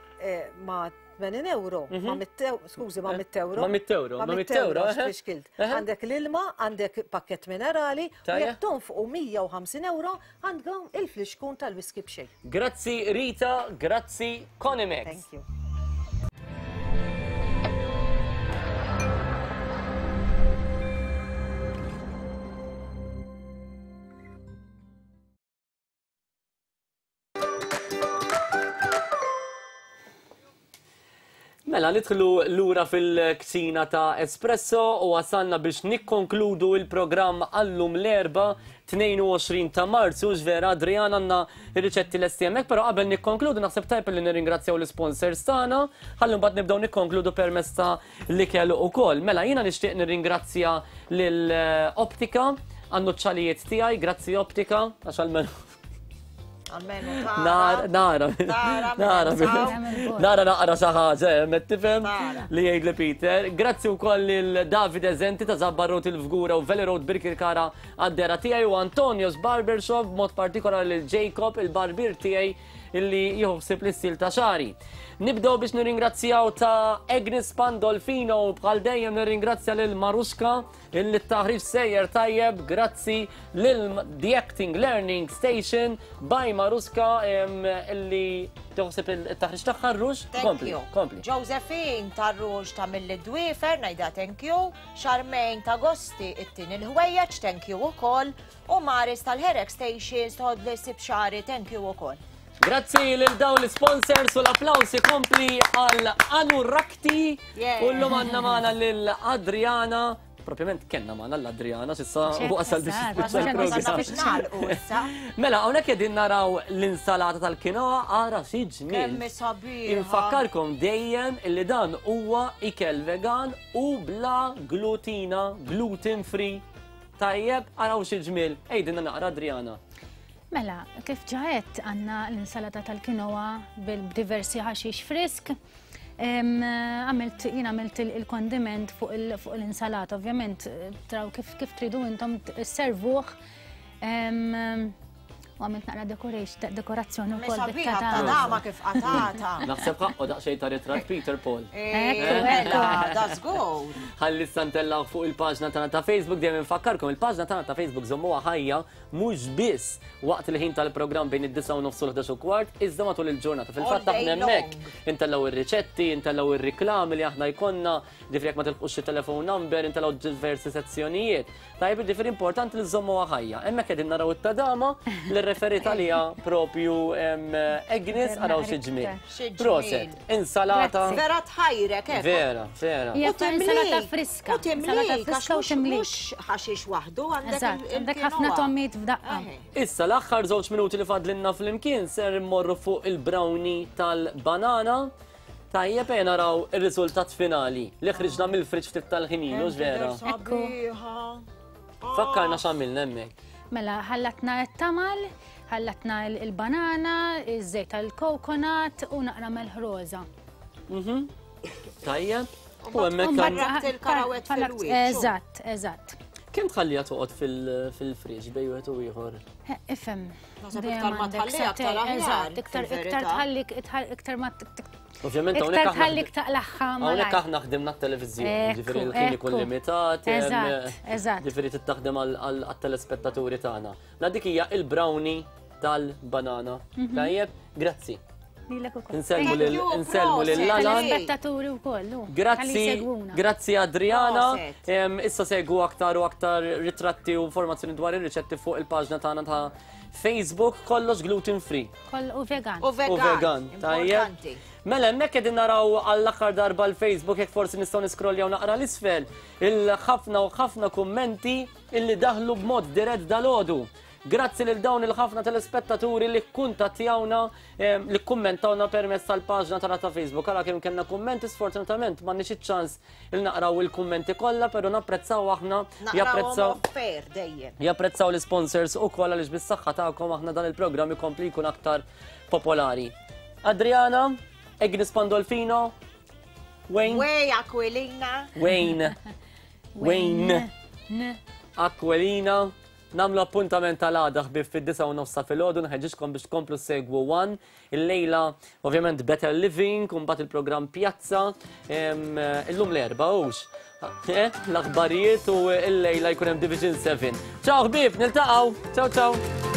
ma' 80 euro, ma' 100 euro, skużi, ma' 100 euro. Ma' 100 euro, ma' 100 euro, għax tfixkilt. Għandek l-ilma, għandek pakkett minerali, u jekk tonfqu 150 euro, għandkom il-flixkun tal-whisky b'xejn. Grazzi Rita, grazzi Conimex. Thank you. Mela, nidħlu lura fil-kċina ta' Espresso u wasalna biex nikkonkludu il-programm għallum l-Erbgħa 22 ta' Marzu, x'vera Adriana għandna ir-riċetti lesti hemmhekk, però qabel nikkonkludu naħseb tajjeb li nirringrazzjaw l-isponsors tagħna, ħalli mbagħad nibdew nikkonkludu permezz ta' l-ikel ukoll. Mela jiena nixtieq nirringrazzja lil Optika għan-nuċċalijiet tiegħi, grazzi Optika, għax almenu Almenu Nara, nara, nara, nara naqra xi ħaġa, eh, met tifhem li jgħidli Peter. Grazzi wkoll lil David Eżenti ta' Zabbar Road il-Fgura u Valley Road Birkirkara għad-dera tiegħi u Antonio's Barbershop b'mod partikolari lil Jacob il-barbier tiegħi illi jieħu ħsieb l-istil ta' xagħri. Nibdew biex nirringrazzjaw ta' Agnes Pandolfino u bħal dejjem nirringrazzja lil Maruska illi t-taħriġ sejjer tajjeb grazzi lil The Acting Learning Station by Maruska illi tieħu il-taħriġ tagħha rux. Kompli, kompli. Josephine tar-rux ta' mill dwifer ngħidha thank you, Charmaine ta' Gosti it-tieni l-ħwejjeġ thank you ukoll U Maris tal-Hair Extensions tħoddli ssib xagħri thank you ukoll. Grazzi lil dawn l-sponsors u l-applaus ikompli għal Anurakti u llum għandna magħna lil Adriana. Propjament kellna magħna l-Adriana s'issa wasal biex jispiċċa. Mela hawnhekk qegħdin naraw l-insalata tal-kinoa ara xi ġmiel. Infakkarkom dejjem li dan huwa ikel vegan u bla glutina, gluten free. Tajjeb, araw xi ġmiel. Għidilna naqra Adriana. Mela, kif ġa għedt għandna l-insalata tal-kinoa bil-diversi ħaxix frisk. Għamilt, jien għamilt il-kondiment fuq l-insalata, ovvjament traw kif kif tridu intom servuh. U għamilt naqra dekorazzjoni wkoll bit-tadama kif qatata. Naħseb ħaqqu daqsxejn ta' ritratt Peter Paul. Ekku, mela, da żgur. Ħalli issa fuq il-paġna tagħna ta' Facebook dejjem infakkarkom il-paġna tagħna ta' Facebook żommuha ħajja mhux biss waqt il-ħin tal-programm bejn id-9 u nofs u l-11 u kwart, iżda matul il-ġurnata. Fil-fatt aħna hemmhekk intellgħu ir-riċetti, intellgħu ir-riklami li aħna jkollna, ġifieri jekk ma tilħqux xi telephone number, intellgħu diversi sezzjonijiet. Tajjeb, jiġifieri importanti li żommuha ħajja. Hemmhekk qegħdin naraw it-tadama li rreferit għaliha propju Agnes araw xi ġmiel. Proset, insalata. Vera tħajrek, eh. Vera, vera. U insalata friska. U timlik, għax mhux ħaxix waħdu għandek. Għandek ħafna tommiet f'daqqa. Issa l-aħħar żewġ minuti li fadlinna flimkien ser immorru fuq il-brownie tal-banana. Tajjeb ejja naraw ir-riżultat finali li ħriġna mill-friġġ ftit tal-ħin ilu, vera. Ekku. Fakkarna x'għamilna hemmhekk. Mela, ħallatna t-tamal, ħallatna il-banana, iż-żejt tal-coconut u naqra melħ roża. Tajjeb. U hemmhekk Barrabt il-karawet fil-wiċċ. Eżatt, eżatt. Kemm tħalliha toqgħod fil-friġġ bejn wieħed u ieħor? Ifhem. Naħseb iktar ma tħalliha aktar aħjar. Iktar iktar tħallik iktar ma Ovvjament hawnhekk iktar tħallik taqlaħħa. Hawnhekk aħna ħdimna t-televiżjoni, ġifieri l-ħin ikun limitat. Eżatt, eżatt. Ġifieri tittaħdem għat-telespettaturi tagħna. La dik hija il-brownie tal-banana. Mhm. Tajjeb, grazzi. Insellmu lil insellmu lil Alan. Spettaturi wkoll. Grazzi, grazzi Adriana. Issa segwu aktar u aktar ritratti u informazzjoni dwar ir-riċetti fuq il-paġna tagħna ta' Facebook kollox gluten free. Koll u vegan. U vegan. Tajjeb. Mela hemmhekk qegħdin naraw għall-aħħar darba l-Facebook jekk forsi nistgħu niskroljaw naqra l-isfel il-ħafna u ħafna kummenti illi daħlu b'mod dirett dalodu. Grazzi lil dawn il-ħafna telespettaturi li kkuntattjawna, li kkummentawna permezz tal-paġna tagħna ta' Facebook. Ara kemm kellna kummenti, sfortunatament m'għandniex iċ-ċans il naqraw il-kummenti kollha, però napprezzaw aħna. Japprezzaw fair dejjem. Japprezzaw l-sponsors ukoll għaliex bis-saħħa tagħkom aħna dan il-programm ikompli jkun aktar popolari. Adriana, Agnes Pandolfino, Wayne. Way Aquilina. Wayne. Wayne. Aquilina. Nagħmlu appuntament għal għada ħbieb fid-disgħa u nofs ta' filgħodu, nħeġġiġkom biex tkomplu ssegwu One. Illejla ovvjament Better Living, u mbagħad il-programm Pjazza, illum l-Erbgħa hux. Eh, l-aħbarijiet u illejla jkun hemm Division 7. Ciao ħbieb, niltaqgħu. Ciao ciao.